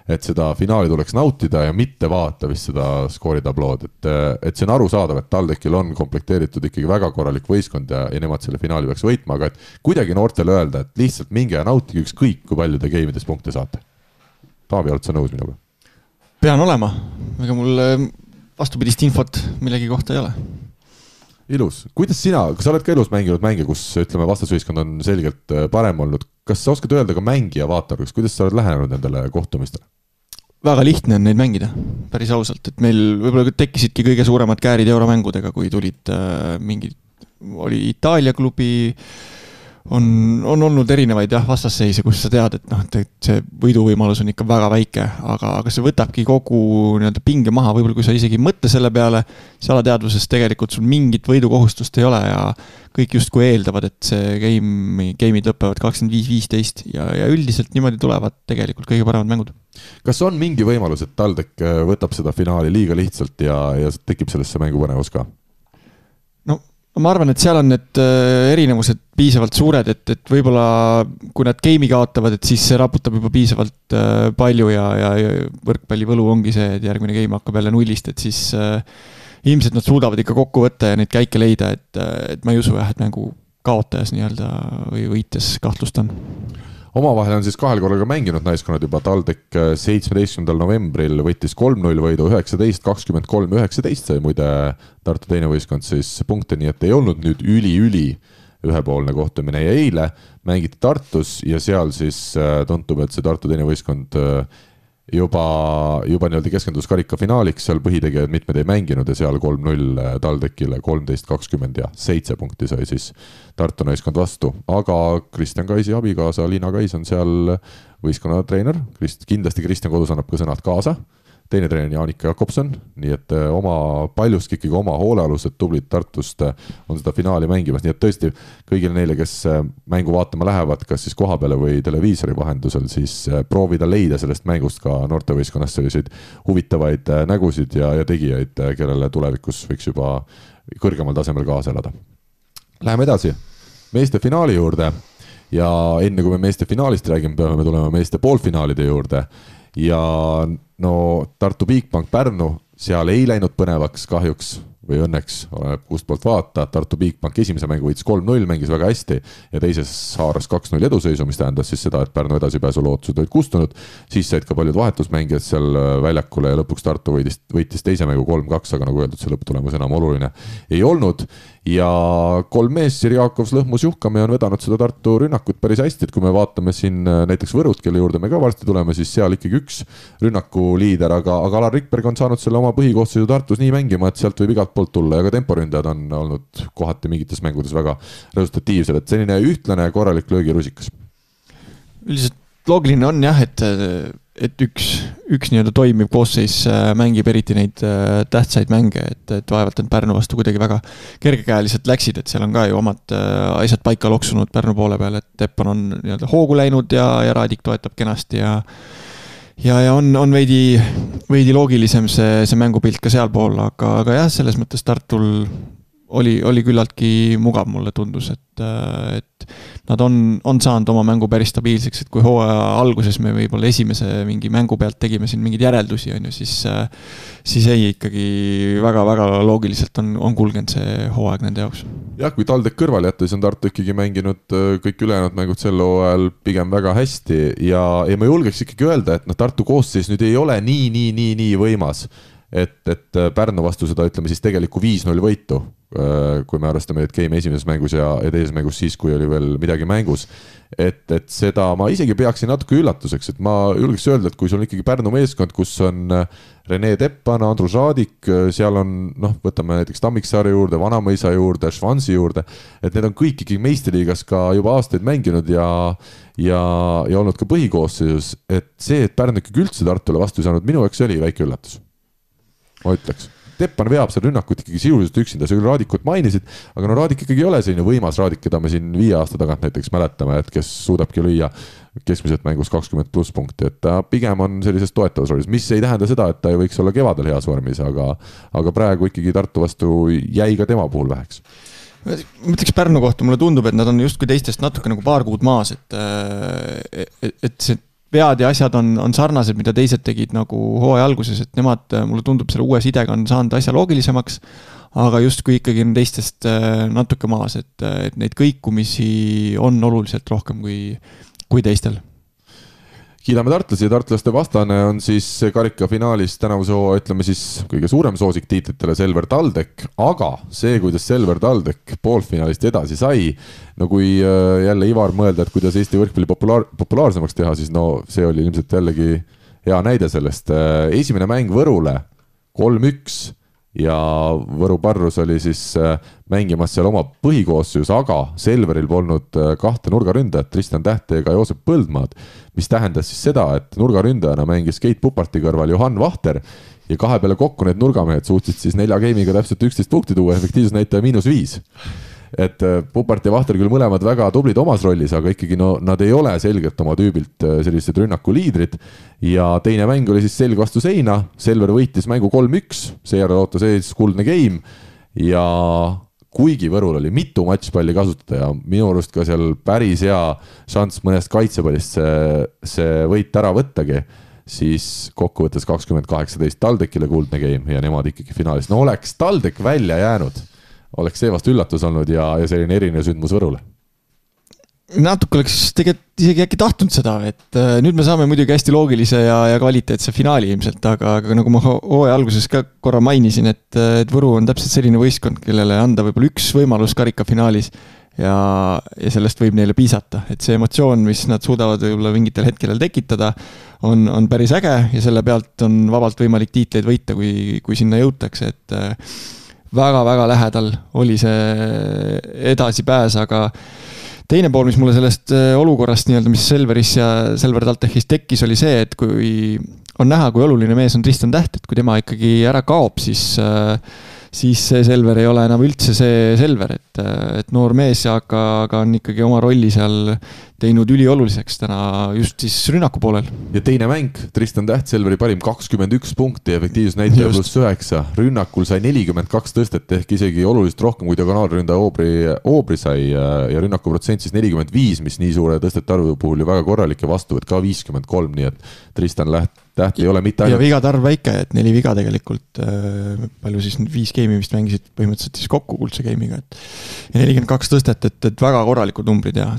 et seda finaali tuleks nautida ja mitte vaata vist seda skooritablood, et see on arusaadav, et TalTechil on komplekteeritud ikkagi väga korralik võistkond ja nemad selle finaali peaks võitma, aga et kuidagi noortele öelda, et lihtsalt minge ja nautige ükskõik, kui palju te game'ides punkte saate. Taavi, oled sa nõus minuga? Pean olema, ega mul vastupidist infot millegi kohta ei ole. Ilus. Kuidas sina, kas sa oled ka elus mänginud mänge, kus ütleme vastasvõistkond on selgelt parem olnud? Kas sa oskad öelda ka mängija vaatajaks, kuidas sa oled lähenenud nendele kohtumistele? Väga lihtne on neid mängida, päris ausalt, et meil võib-olla tekkisidki kõige suuremad käärid euromängudega, kui tulid oli Itaalia klubi, on olnud erinevaid vastasseise, kus sa tead, et see võiduvõimalus on ikka väga väike, aga see võtabki kogu pinge maha, võib-olla kui sa isegi mõtle selle peale, see alateadvuses tegelikult sul mingit võidukohustust ei ole ja kõik justkui eeldavad, et see game'id lõpevad 25-15 ja üldiselt niimoodi tulevad tegelikult kõige paremad mängud. Kas on mingi võimalus, et TalTech võtab seda finaali liiga lihtsalt ja tekib sellesse mängu põnevus ka? Ma arvan, et seal on need erinevused piisavalt suured, et võib-olla kui nad game'i kaotavad, et siis see raputab juba piisavalt palju ja võrkpalli võlu ongi see, et järgmine game hakkab jälle nullist, et siis ilmselt nad suudavad ikka kokku võtta ja neid käike leida, et ma ei usu et mängu kaotajas nii-öelda või võites kahtlust on. Omavahel on siis kahel korral ka mänginud naiskonnad juba. TalTech 17. novembril võttis 3-0 võidu 19-23-19 sai muide Tartu teine võistkond siis punkte, nii et ei olnud nüüd üli ühepoolne kohtumine ja eile mängiti Tartus ja seal siis tundub, et see Tartu teine võistkond juba nii-öelda keskendus karika finaaliks, seal põhitegijad mitmed ei mänginud ja seal 3-0 TalTechile 13-20 ja 7 punkti sai siis Tartu naiskond vastu, aga Kristjan Kaisi abikaasa Liina Kais on seal võistkonna treener, kindlasti Kristjan kodus annab ka sõnad kaasa, teine treener Jaanika Jakobson, nii et paljuski ikkagi oma hoolealused tublid Tartust on seda finaali mängimas, nii et tõesti kõigile neile, kes mängu vaatama lähevad, kas siis kohapeale või televiisori vahendusel, siis proovida leida sellest mängust ka noortevõistkonnast selliseid huvitavaid nägusid ja tegijaid, kellele tulevikus võiks juba kõrgemal tasemel kaasa elada. Läheme edasi meeste finaali juurde ja enne kui me meeste finaalist räägime, peame tulema meeste poolfinaalide juurde ja Tartu Bigbank Pärnu, seal ei läinud põnevaks kahjuks või õnneks, oleneb kust poolt vaata, Tartu Bigbank esimese mängu võitis 3-0, mängis väga hästi ja teises haaras 2-0 eduseisu, mis tähendas siis seda, et Pärnu edasipääsu lootused olid kustunud, siis said ka paljud vahetusmängijad seal väljakule ja lõpuks Tartu võitis teise mängu 3-2, aga nagu öeldud, see lõpptulemus enam oluline ei olnud ja kolm mees, Siri Jaakovs, Lõhmus, Juhkame on vedanud seda Tartu rünnakut päris hästi, et kui me vaatame siin näiteks Võrut, kelle juurde me ka varsti tuleme, siis seal ikkagi üks rünnakuliider, aga Alar Rikberg on saanud selle oma põhikoosseisu Tartus nii mängima, et sealt võib igalt poolt tulla ja ka temporündajad on olnud kohati mingites mängudes väga resultatiivsed, et selline ühtlane korralik löögirusikas. Üldiselt loogiline on jah, et üks nii-öelda toimiv koosseis mängib eriti neid tähtsaid mänge, et vaevalt on Pärnu vastu kuidagi väga kergekäeliselt läksid, et seal on ka ju omad asjad paika loksunud Pärnu poole peal, et Teppan on nii-öelda hoogu läinud ja Raadik toetab kenasti ja on veidi loogilisem see mängupilt ka sealpool, aga jah, selles mõttes Tartul oli küllaltki mugav, mulle tundus, et nad on saanud oma mängu päris stabiilseks, et kui hooaja alguses me võib-olla esimese mingi mängu pealt tegime siin mingeid järeldusi, on ju, siis ei ikkagi väga-väga loogiliselt on kulgenud see hooaeg nende jaoks. Jah, kui TalTech kõrval jätta, siis on Tartu ikkagi mänginud kõik ülejäänud mängud sel hooajal pigem väga hästi ja ma julgeks ikkagi öelda, et Tartu koosseis nüüd ei ole nii võimas, et Pärnu vastu seda, ütleme siis tegeliku 5-0 võitu, kui me arvestame, et game esimeses mängus ja teises mängus siis, kui oli veel midagi mängus, et seda ma isegi peaksin natuke üllatuseks, et ma julgeks öelda, et kui sul on ikkagi Pärnu meeskond, kus on Rene Teppan, Andrus Raadik, seal on, võtame näiteks Tammiksaare juurde, Vanamõisa juurde, Švansi juurde, et need on kõik ikkagi meistriliigas ka juba aastaid mänginud ja olnud ka põhikoosseisus, et see, et Pärnu ikkagi üldse Tartule vastu ei saanud, minu jaoks oli väike üllatus. Ma ütleks. Teppan veab seal rünnakut ikkagi sisuliselt üksinda, sa küll Raadikut mainisid, aga Raadik ikkagi ei ole selline võimas Raadik, keda me siin 5 aasta tagant näiteks mäletame, et kes suudabki lüüa keskmiselt mängus 20+ punkti, et ta pigem on sellises toetavas rollis, mis ei tähenda seda, et ta ei võiks olla kevadel heas vormis, aga praegu ikkagi Tartu vastu jäi ka tema puhul väheks. Mõtleks Pärnu kohta, mulle tundub, et nad on justkui teistest natuke nagu paar kuud maas, et see vead ja asjad on sarnased, mida teised tegid nagu hooaja alguses, et nemad, mulle tundub, selle uue sidega on saanud asja loogilisemaks, aga justkui ikkagi on teistest natuke maas, et neid kõikumisi on oluliselt rohkem kui teistel. Kiidame tartlasi ja tartlaste vastane on siis karika finaalis tänavuse hooaja, ütleme siis kõige suurem soosik tiitlitele Selver TalTech, aga see, kuidas Selver TalTech poolfinaalist edasi sai, no kui jälle Ivar mõelda, et kuidas Eesti võrkpalli populaarsemaks teha, siis see oli ilmselt jällegi hea näide sellest. Esimene mäng Võrule 3-1 ja Võru Parrus oli siis mängimas seal oma põhikoosseus, aga Selveril polnud 2 nurgaründajat, Tristan Tähte ega Joosep Põldmaad, mis tähendas siis seda, et nurgaründajana mängis Keit Puparti kõrval Johan Vahter ja 2 peale kokku need nurgamehed suutsid siis 4 game'iga täpselt 11 punkti tuua, efektiivsusnäitaja -5. Et Pupart ja Vahter küll mõlemad väga tublid omas rollis, aga ikkagi nad ei ole selgelt oma tüübilt sellised rünnakuliidrid ja teine mäng oli siis selg vastu seina, Selver võitis mängu 3-1, seejärel ootas ees kuldne game ja kuigi Võrul oli mitu matšpalli kasutada ja minu arust ka seal päris hea šanss mõnest kaitsepallist see võit ära võttagi, siis kokkuvõttes 2018 TalTechile kuldne game ja nemad ikkagi finaalis. No oleks TalTech välja jäänud, oleks see vast üllatus olnud ja selline erinev sündmus Võrule. Natuke oleks tegelikult isegi äkki tahtnud seda, et nüüd me saame muidugi hästi loogilise ja kvaliteetse finaali ilmselt, aga nagu ma hooaja alguses ka korra mainisin, et Võru on täpselt selline võistkond, kellele anda võib-olla üks võimalus karika finaalis ja sellest võib neile piisata, et see emotsioon, mis nad suudavad võib-olla mingitel hetkedel tekitada, on päris äge ja selle pealt on vabalt võimalik tiitleid võita, kui sinna jõutakse, et väga-väga lähedal oli see edasipääs, aga teine pool, mis mulle sellest olukorrast, mis Selveris ja Selver TalTechis tekkis, oli see, et kui on näha, kui oluline mees on Tristan Täht, et kui tema ikkagi ära kaob, siis see Selver ei ole enam üldse see Selver, et noor mees, aga on ikkagi oma rolli seal teinud ülioluliseks täna just siis rünnaku poolel. Ja teine mäng, Tristan Täht, Selveri parim 21 punkti, efektiivsusnäitaja +9, rünnakul sai 42 tõstet ehk isegi oluliselt rohkem kui diagonaalründaja Oobri sai ja rünnakuprotsent siis 45, mis nii suure tõstete arvu puhul ju väga korralik ja vastuvõtt ka 53, nii et Tristan Täht ei ole mitte ainult... Ja vigade arv väike, et 4 viga tegelikult, palju siis 5 game'i vist mängisid põhimõtteliselt siis kokku kuldse game'iga, ja 42 tõstet, et väga korralikud numbrid ja...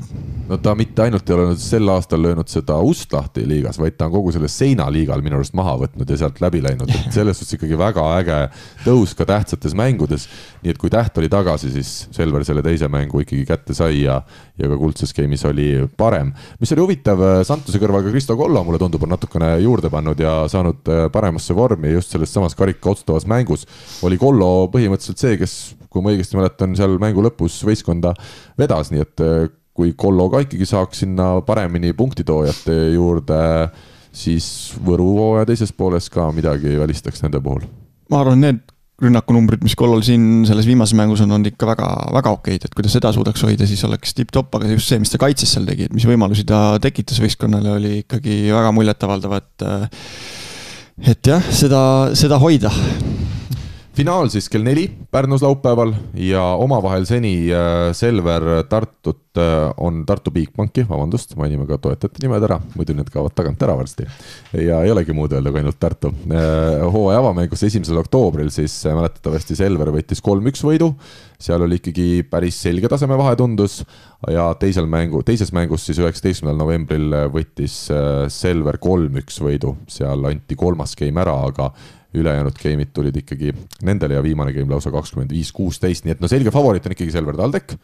No ta mitte ainult ei ole sel aastal löönud seda ust lahti liigas, vaid ta on kogu selle seinaliigal minu arust maha võtnud ja sealt läbi läinud, et selles suhtes ikkagi väga äge tõus ka tähtsates mängudes, nii et kui Täht oli tagasi, siis Selver selle teise mängu ikkagi kätte sai ja ka kuldses game'is oli parem. Mis oli huvitav, Santuse kõrval ka Kristo Kollo, mulle tundub, on natukene juurde pannud ja saanud paremasse vormi just selles samas karika otsustavas mängus. Oli Kollo põhimõtteliselt see, kes, kui ma õigesti mäletan, seal mängu lõpus võistkonda vedas, nii et kui Kollo ka ikkagi saaks sinna paremini punktitoojate juurde, siis Võru ja teises pooles ka midagi välistaks nende puhul. Ma arvan, need rünnakunumbrid, mis Kollol siin selles viimases mängus on ikka väga, väga okeid, et kui ta seda suudaks hoida, siis oleks tipp-top, aga just see, mis ta kaitses seal tegi, et mis võimalusi ta tekitas võistkonnale, oli ikkagi väga muljetavaldav, et jah, seda hoida. finaal siis kell 4 Pärnus laupäeval ja omavahel seni Selver Tartut on Tartu Bigbanki, vabandust, mainime ka toetajate nimed ära, muidu need kaovad tagant ära varsti. Ja ei olegi muud öelda kui ainult Tartu. Hooaja avamängus 1. oktoobril siis mäletatavasti Selver võttis 3-1 võidu, seal oli ikkagi päris selge taseme vahe tundus ja teises mängus siis 19. novembril võttis Selver 3-1 võidu, seal anti 3. game ära, aga ülejäänud game'id tulid ikkagi nendele ja viimane game lausa 25-16, nii et no selge favoriit on ikkagi Selver TalTech,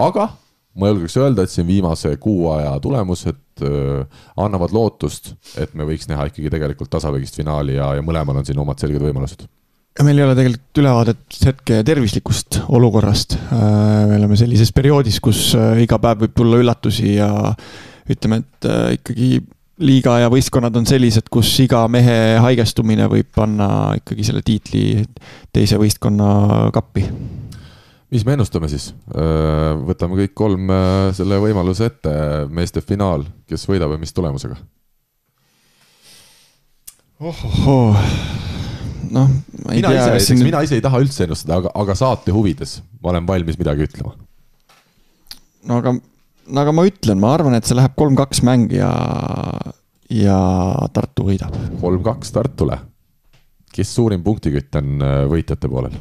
aga ma julgeks öelda, et siin viimase kuu aja tulemused annavad lootust, et me võiks näha ikkagi tegelikult tasavägist finaali ja mõlemal on siin omad selged võimalused. Ja meil ei ole tegelikult ülevaadet hetke tervislikust olukorrast. Me oleme sellises perioodis, kus iga päev võib tulla üllatusi ja ütleme, et ikkagi liiga ja võistkonnad on sellised, kus iga mehe haigestumine võib panna ikkagi selle tiitli teise võistkonna kappi. Mis me ennustame siis? Võtame kõik 3 selle võimaluse ette, meeste finaal, kes võidab ja mis tulemusega? No, mina ise ei taha üldse ennustada, aga saate huvides ma olen valmis midagi ütlema. No aga ma ütlen, ma arvan, et see läheb 3-2 mäng ja Tartu võidab. 3-2 Tartule. Kes suurim punktikütt on võitjate poolel?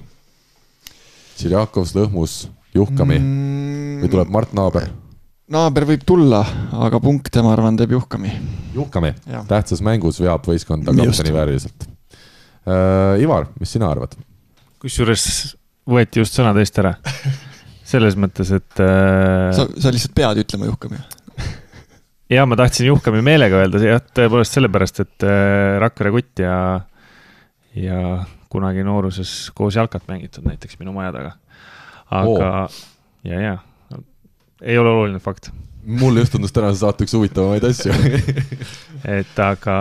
Sirjakovs, Lõhmus, Juhkami või tuleb Mart Naaber? Naaber võib tulla, aga punkte ma arvan teeb Juhkami. Juhkami, tähtsas mängus veab võistkonda kapteni vääriliselt. Ivar, mis sina arvad? Kusjuures võeti just sõnad eest ära. Selles mõttes, et... Sa lihtsalt pead ütlema Juhkami. Ja ma tahtsin Juhkami meelega öelda, tõepoolest sellepärast, et Rakvere Kutt ja kunagi nooruses koos jalkat mängitud näiteks minu maja taga. Aga ja, ei ole oluline fakt. Mul just tundus tänase saate üks huvitavamaid asju. Et aga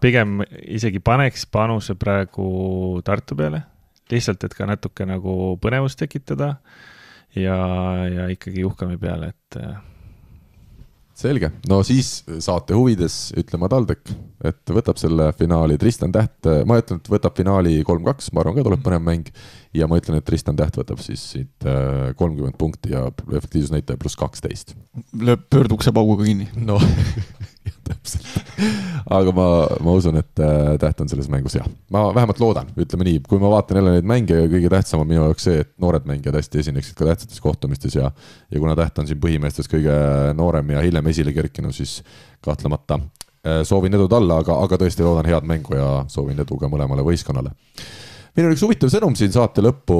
pigem isegi paneks panuse praegu Tartu peale. Lihtsalt, et ka natuke nagu põnevust tekitada. Ja ikkagi Juhkami peale, et... Selge. No siis saate huvides ütlema TalTech, et võtab selle finaali Tristan Täht. Ma ütlen, et võtab finaali 3-2, ma arvan ka tuleb põnev mäng. Ja ma ütlen, et Tristan Täht võtab siis siit 30 punkti ja efektiivsusnäitaja pluss 12. Lööb pöördukse pauguga kinni. No, täpselt. Aga ma usun, et Täht on selles mängus hea. Ma vähemalt loodan, ütleme nii, kui ma vaatan jälle neid mänge, kõige tähtsam on minu jaoks see, et noored mängijad hästi esineksid ka tähtsates kohtumistes ja kuna Täht on siin põhimeestes kõige noorem ja hiljem esile kerkinu, siis kahtlemata soovin edu talle, aga tõesti loodan head mängu ja soovin edu ka mõlemale võistkonnale. Meil on üks huvitav sõnum siin saate lõppu.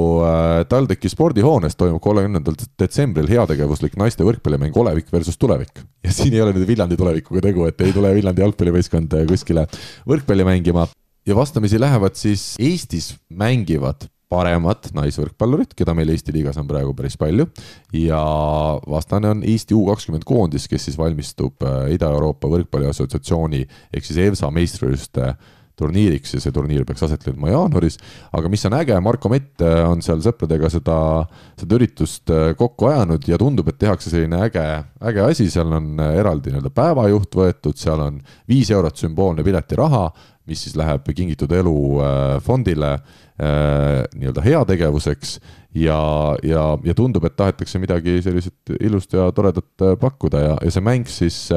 TalTechi spordihoones toimub 30. detsembril heategevuslik naiste võrkpallimäng Olevik versus Tulevik. Ja siin ei ole nüüd Viljandi tulevikuga tegu, et ei tule Viljandi jalgpallivõistkond kuskile võrkpalli mängima. Ja vastamisi lähevad siis Eestis mängivad paremad naisvõrkpallurid, keda meil Eesti liigas on praegu päris palju. Ja vastane on Eesti U20 koondis, kes siis valmistub Ida-Euroopa võrkpalliassotsiatsiooni ehk siis EVSA meistrivõistluste turniiriks ja see turniir peaks aset leidma jaanuaris, aga mis on äge, Marko Mett on seal sõpradega seda üritust kokku ajanud ja tundub, et tehakse selline äge asi, seal on eraldi päevajuht võetud, seal on 5 eurot sümboolne piletiraha, mis siis läheb Kingitud Elu fondile heategevuseks ja tundub, et tahetakse midagi sellised ilust ja toredat pakkuda ja see mäng siis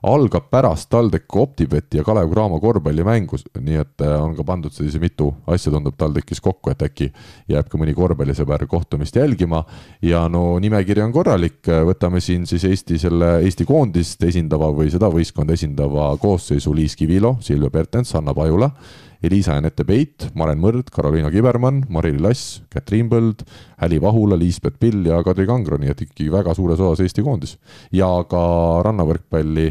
algab pärast TalTechi Optibeti ja Kalev Cramo korvpallimängus, nii et on ka pandud sellise mitu asja tundub TalTechis kokku, et äkki jääb ka mõni korvpallisõber kohtumist jälgima ja no nimekiri on korralik, võtame siin siis Eesti koondist esindava või seda võistkonda esindava koosseisu Liis Kivilo, Silvia Pertens, Anna Pajula, Elisa Janette Peit, Maren Mõrd, Karoliina Kibermann, Marili Lass, Katriin Põld, Häli Vahula, Liisbet Pill ja Kadri Kangro, nii et ikkagi väga suures osas Eesti koondis. Ja ka rannavõrkpalli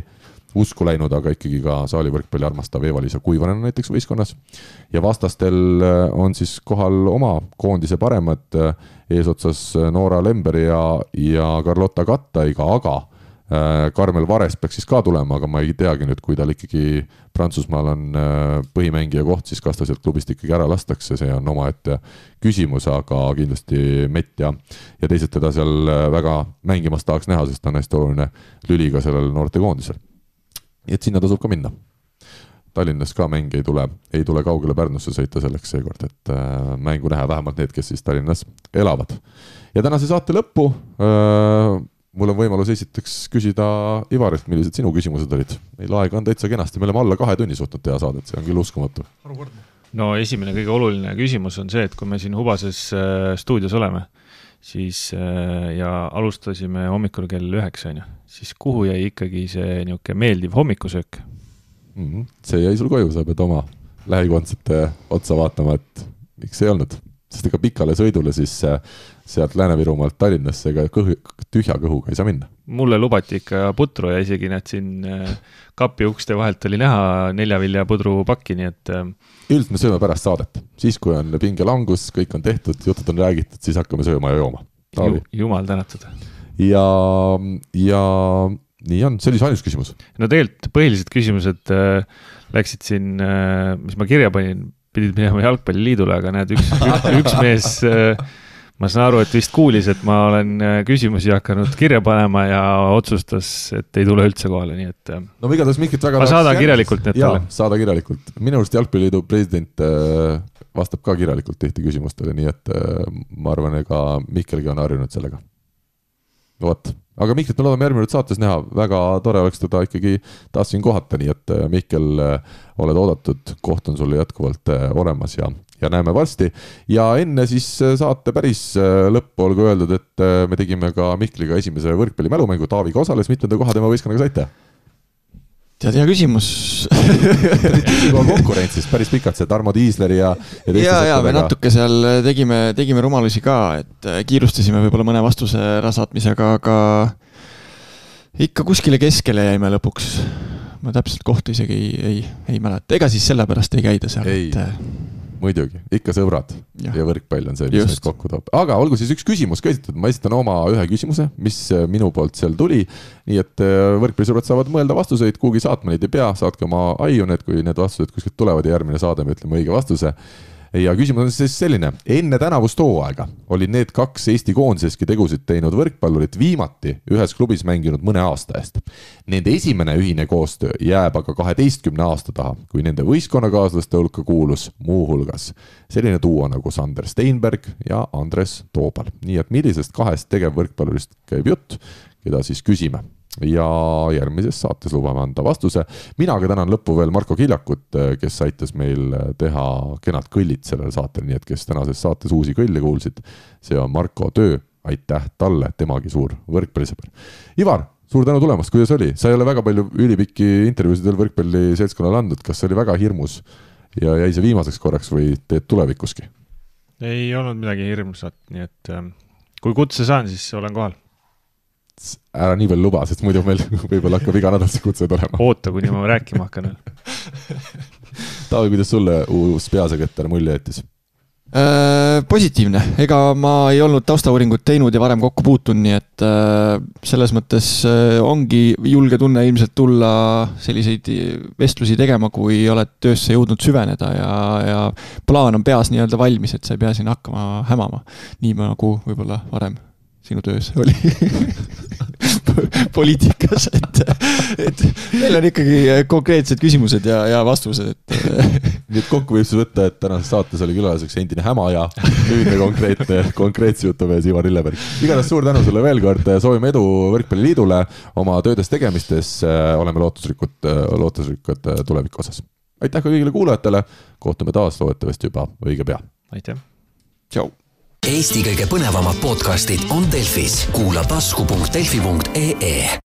usku läinud, aga ikkagi ka saalivõrkpalli armastav Eva-Liisa Kuivanen näiteks võistkonnas. Ja vastastel on siis kohal oma koondise paremad eesotsas Noora Lember ja Carlotta Kattaiga, aga Karmel Vares peaks siis ka tulema, aga ma ei teagi nüüd, kui tal ikkagi Prantsusmaal on põhimängija koht, siis kas ta sealt klubist ikkagi ära lastakse, see on oma ette küsimus, aga kindlasti Mett ja teised teda seal väga mängimas tahaks näha, sest ta on hästi oluline lüli ka sellel noorte koondisel. Et sinna tasub ka minna. Tallinnas ka mäng ei tule kaugele Pärnusse sõita selleks seekord, et mängu näha vähemalt need, kes siis Tallinnas elavad. Ja tänase saate lõppu mul on võimalus esiteks küsida Ivarilt, millised sinu küsimused olid. Meil aega on täitsa kenasti, me oleme alla 2 tunni suutnud teha saadet, see on küll uskumatu. No esimene kõige oluline küsimus on see, et kui me siin Hubases stuudios oleme, siis ja alustasime hommikul kell 9, siis kuhu jäi ikkagi see niuke meeldiv hommikusöök? See jäi sul koju, sa pead oma lähikondsete otsa vaatama, et miks ei olnud. Sest ega pikale sõidule siis sealt Lääne-Virumaalt Tallinnasse ega tühja kõhuga ei saa minna. Mulle lubati ikka putru ja isegi näed siin kapi ukste vahelt oli näha 4 vilja pudru pakki, nii et... Üldiselt me sööme pärast saadet. Siis, kui on pingelangus, kõik on tehtud, jutud on räägitud, siis hakkame sööma ja jooma. Jumal tänatud. Ja nii on, see oli see ainus küsimus. No tegelikult põhilised küsimused läksid siin, mis ma kirja panin, pidid minema jalgpalliliidule, aga näed, üks mees, ma saan aru, et vist kuulis, et ma olen küsimusi hakanud kirja panema ja otsustas, et ei tule üldse kohale, nii et... No igatahes Mikrit väga... Ma saadan kirjalikult need talle. Saada kirjalikult. Minu arust Jalgpalliliidu president vastab ka kirjalikult tihti küsimustele, nii et ma arvan, ega Mikkelgi on harjunud sellega. Võt. Aga Mikrit me loodame järgmine saates näha, väga tore oleks teda ikkagi taas siin kohata, nii et Mikkel, oled oodatud, koht on sulle jätkuvalt olemas ja näeme varsti. Ja enne siis saate päris lõppu olgu öeldud, et me tegime ka Mikliga esimese võrkpalli mälumängu, Taaviga osales, mitmenda koha tema võistkonnaga saite? Tead, hea küsimus. Konkurentsis päris pikalt see Tarmo Tiisleri ja me natuke seal tegime rumalusi ka, et kiirustasime võib-olla mõne vastuse ärasaatmisega, aga ikka kuskile keskele jäime lõpuks. Ma täpselt kohta isegi ei mäleta. Ega siis sellepärast ei käida seal. Muidugi, ikka sõbrad ja võrkpall on see, mis meid kokku toob. Aga olgu siis üks küsimus ka esitatud, ma esitan oma ühe küsimuse, mis minu poolt seal tuli, nii et võrkpallisõbrad saavad mõelda vastuseid, kuhugi saatma neid ei pea, saatke oma aiu need, kui need vastused kuskilt tulevad ja järgmine saade me ütleme õige vastuse. Ja küsimus on siis selline, enne tänavust hooaega olid need 2 Eesti koondiseski tegusid teinud võrkpallurid viimati ühes klubis mänginud mõne aasta eest. Nende esimene ühine koostöö jääb aga 12 aasta taha, kui nende võistkonnakaaslaste hulka kuulus muu hulgas selline duo nagu Sander Steinberg ja Andres Toobal. Nii et millisest 2 tegevvõrkpallurist käib jutt, keda siis küsime. Ja järgmises saates lubame anda vastuse. Mina aga tänan lõppu veel Marko Kiljakut, kes aitas meil teha kenad kõllid sellel saatel, nii et kes tänases saates uusi kõlle kuulsid, see on Marko töö, aitäh talle, temagi suur võrkpallisõber. Ivar, suur tänu tulemast, kuidas oli? Sa ei ole väga palju ülipikki intervjuusid veel võrkpalli seltskonnal andnud, kas see oli väga hirmus ja jäi see viimaseks korraks või teed tulevikuski? Ei olnud midagi hirmsat, nii et kui kutse saan, siis olen kohal. Ära nii veel luba, sest muidu meil võib-olla hakkab iga nädal see kutse tulema. Oota, kuni ma rääkima hakkan. Taavi, kuidas sulle uus peasekretär mulje jättis? Positiivne. Ega ma ei olnud taustauuringut teinud ja varem kokku puutun, nii et selles mõttes ongi julge tunne ilmselt tulla selliseid vestlusi tegema, kui oled töösse jõudnud süveneda ja plaan on peas nii-öelda valmis, et sa ei pea siin hakkama hämama. Nii nagu võib-olla varem sinu töös oli poliitikas, et meil on ikkagi konkreetsed küsimused ja vastused. Nii et kokku võib siis võtta, et tänases saates oli külaseks endine häma ja nüüdne konkreetse jutumees Ivar Lilleberg. Igatahes suur tänu sulle veel kord, soovime edu Võrkpalliliidule oma töödes tegemistes, oleme lootusrikkad tuleviku osas. Aitäh ka kõigile kuulajatele, kohtume taas loodetavasti juba õige pea. Aitäh. Tšau. Eesti kõige põnevamad podcastid on Delfis. Kuula tasku.delfi.ee.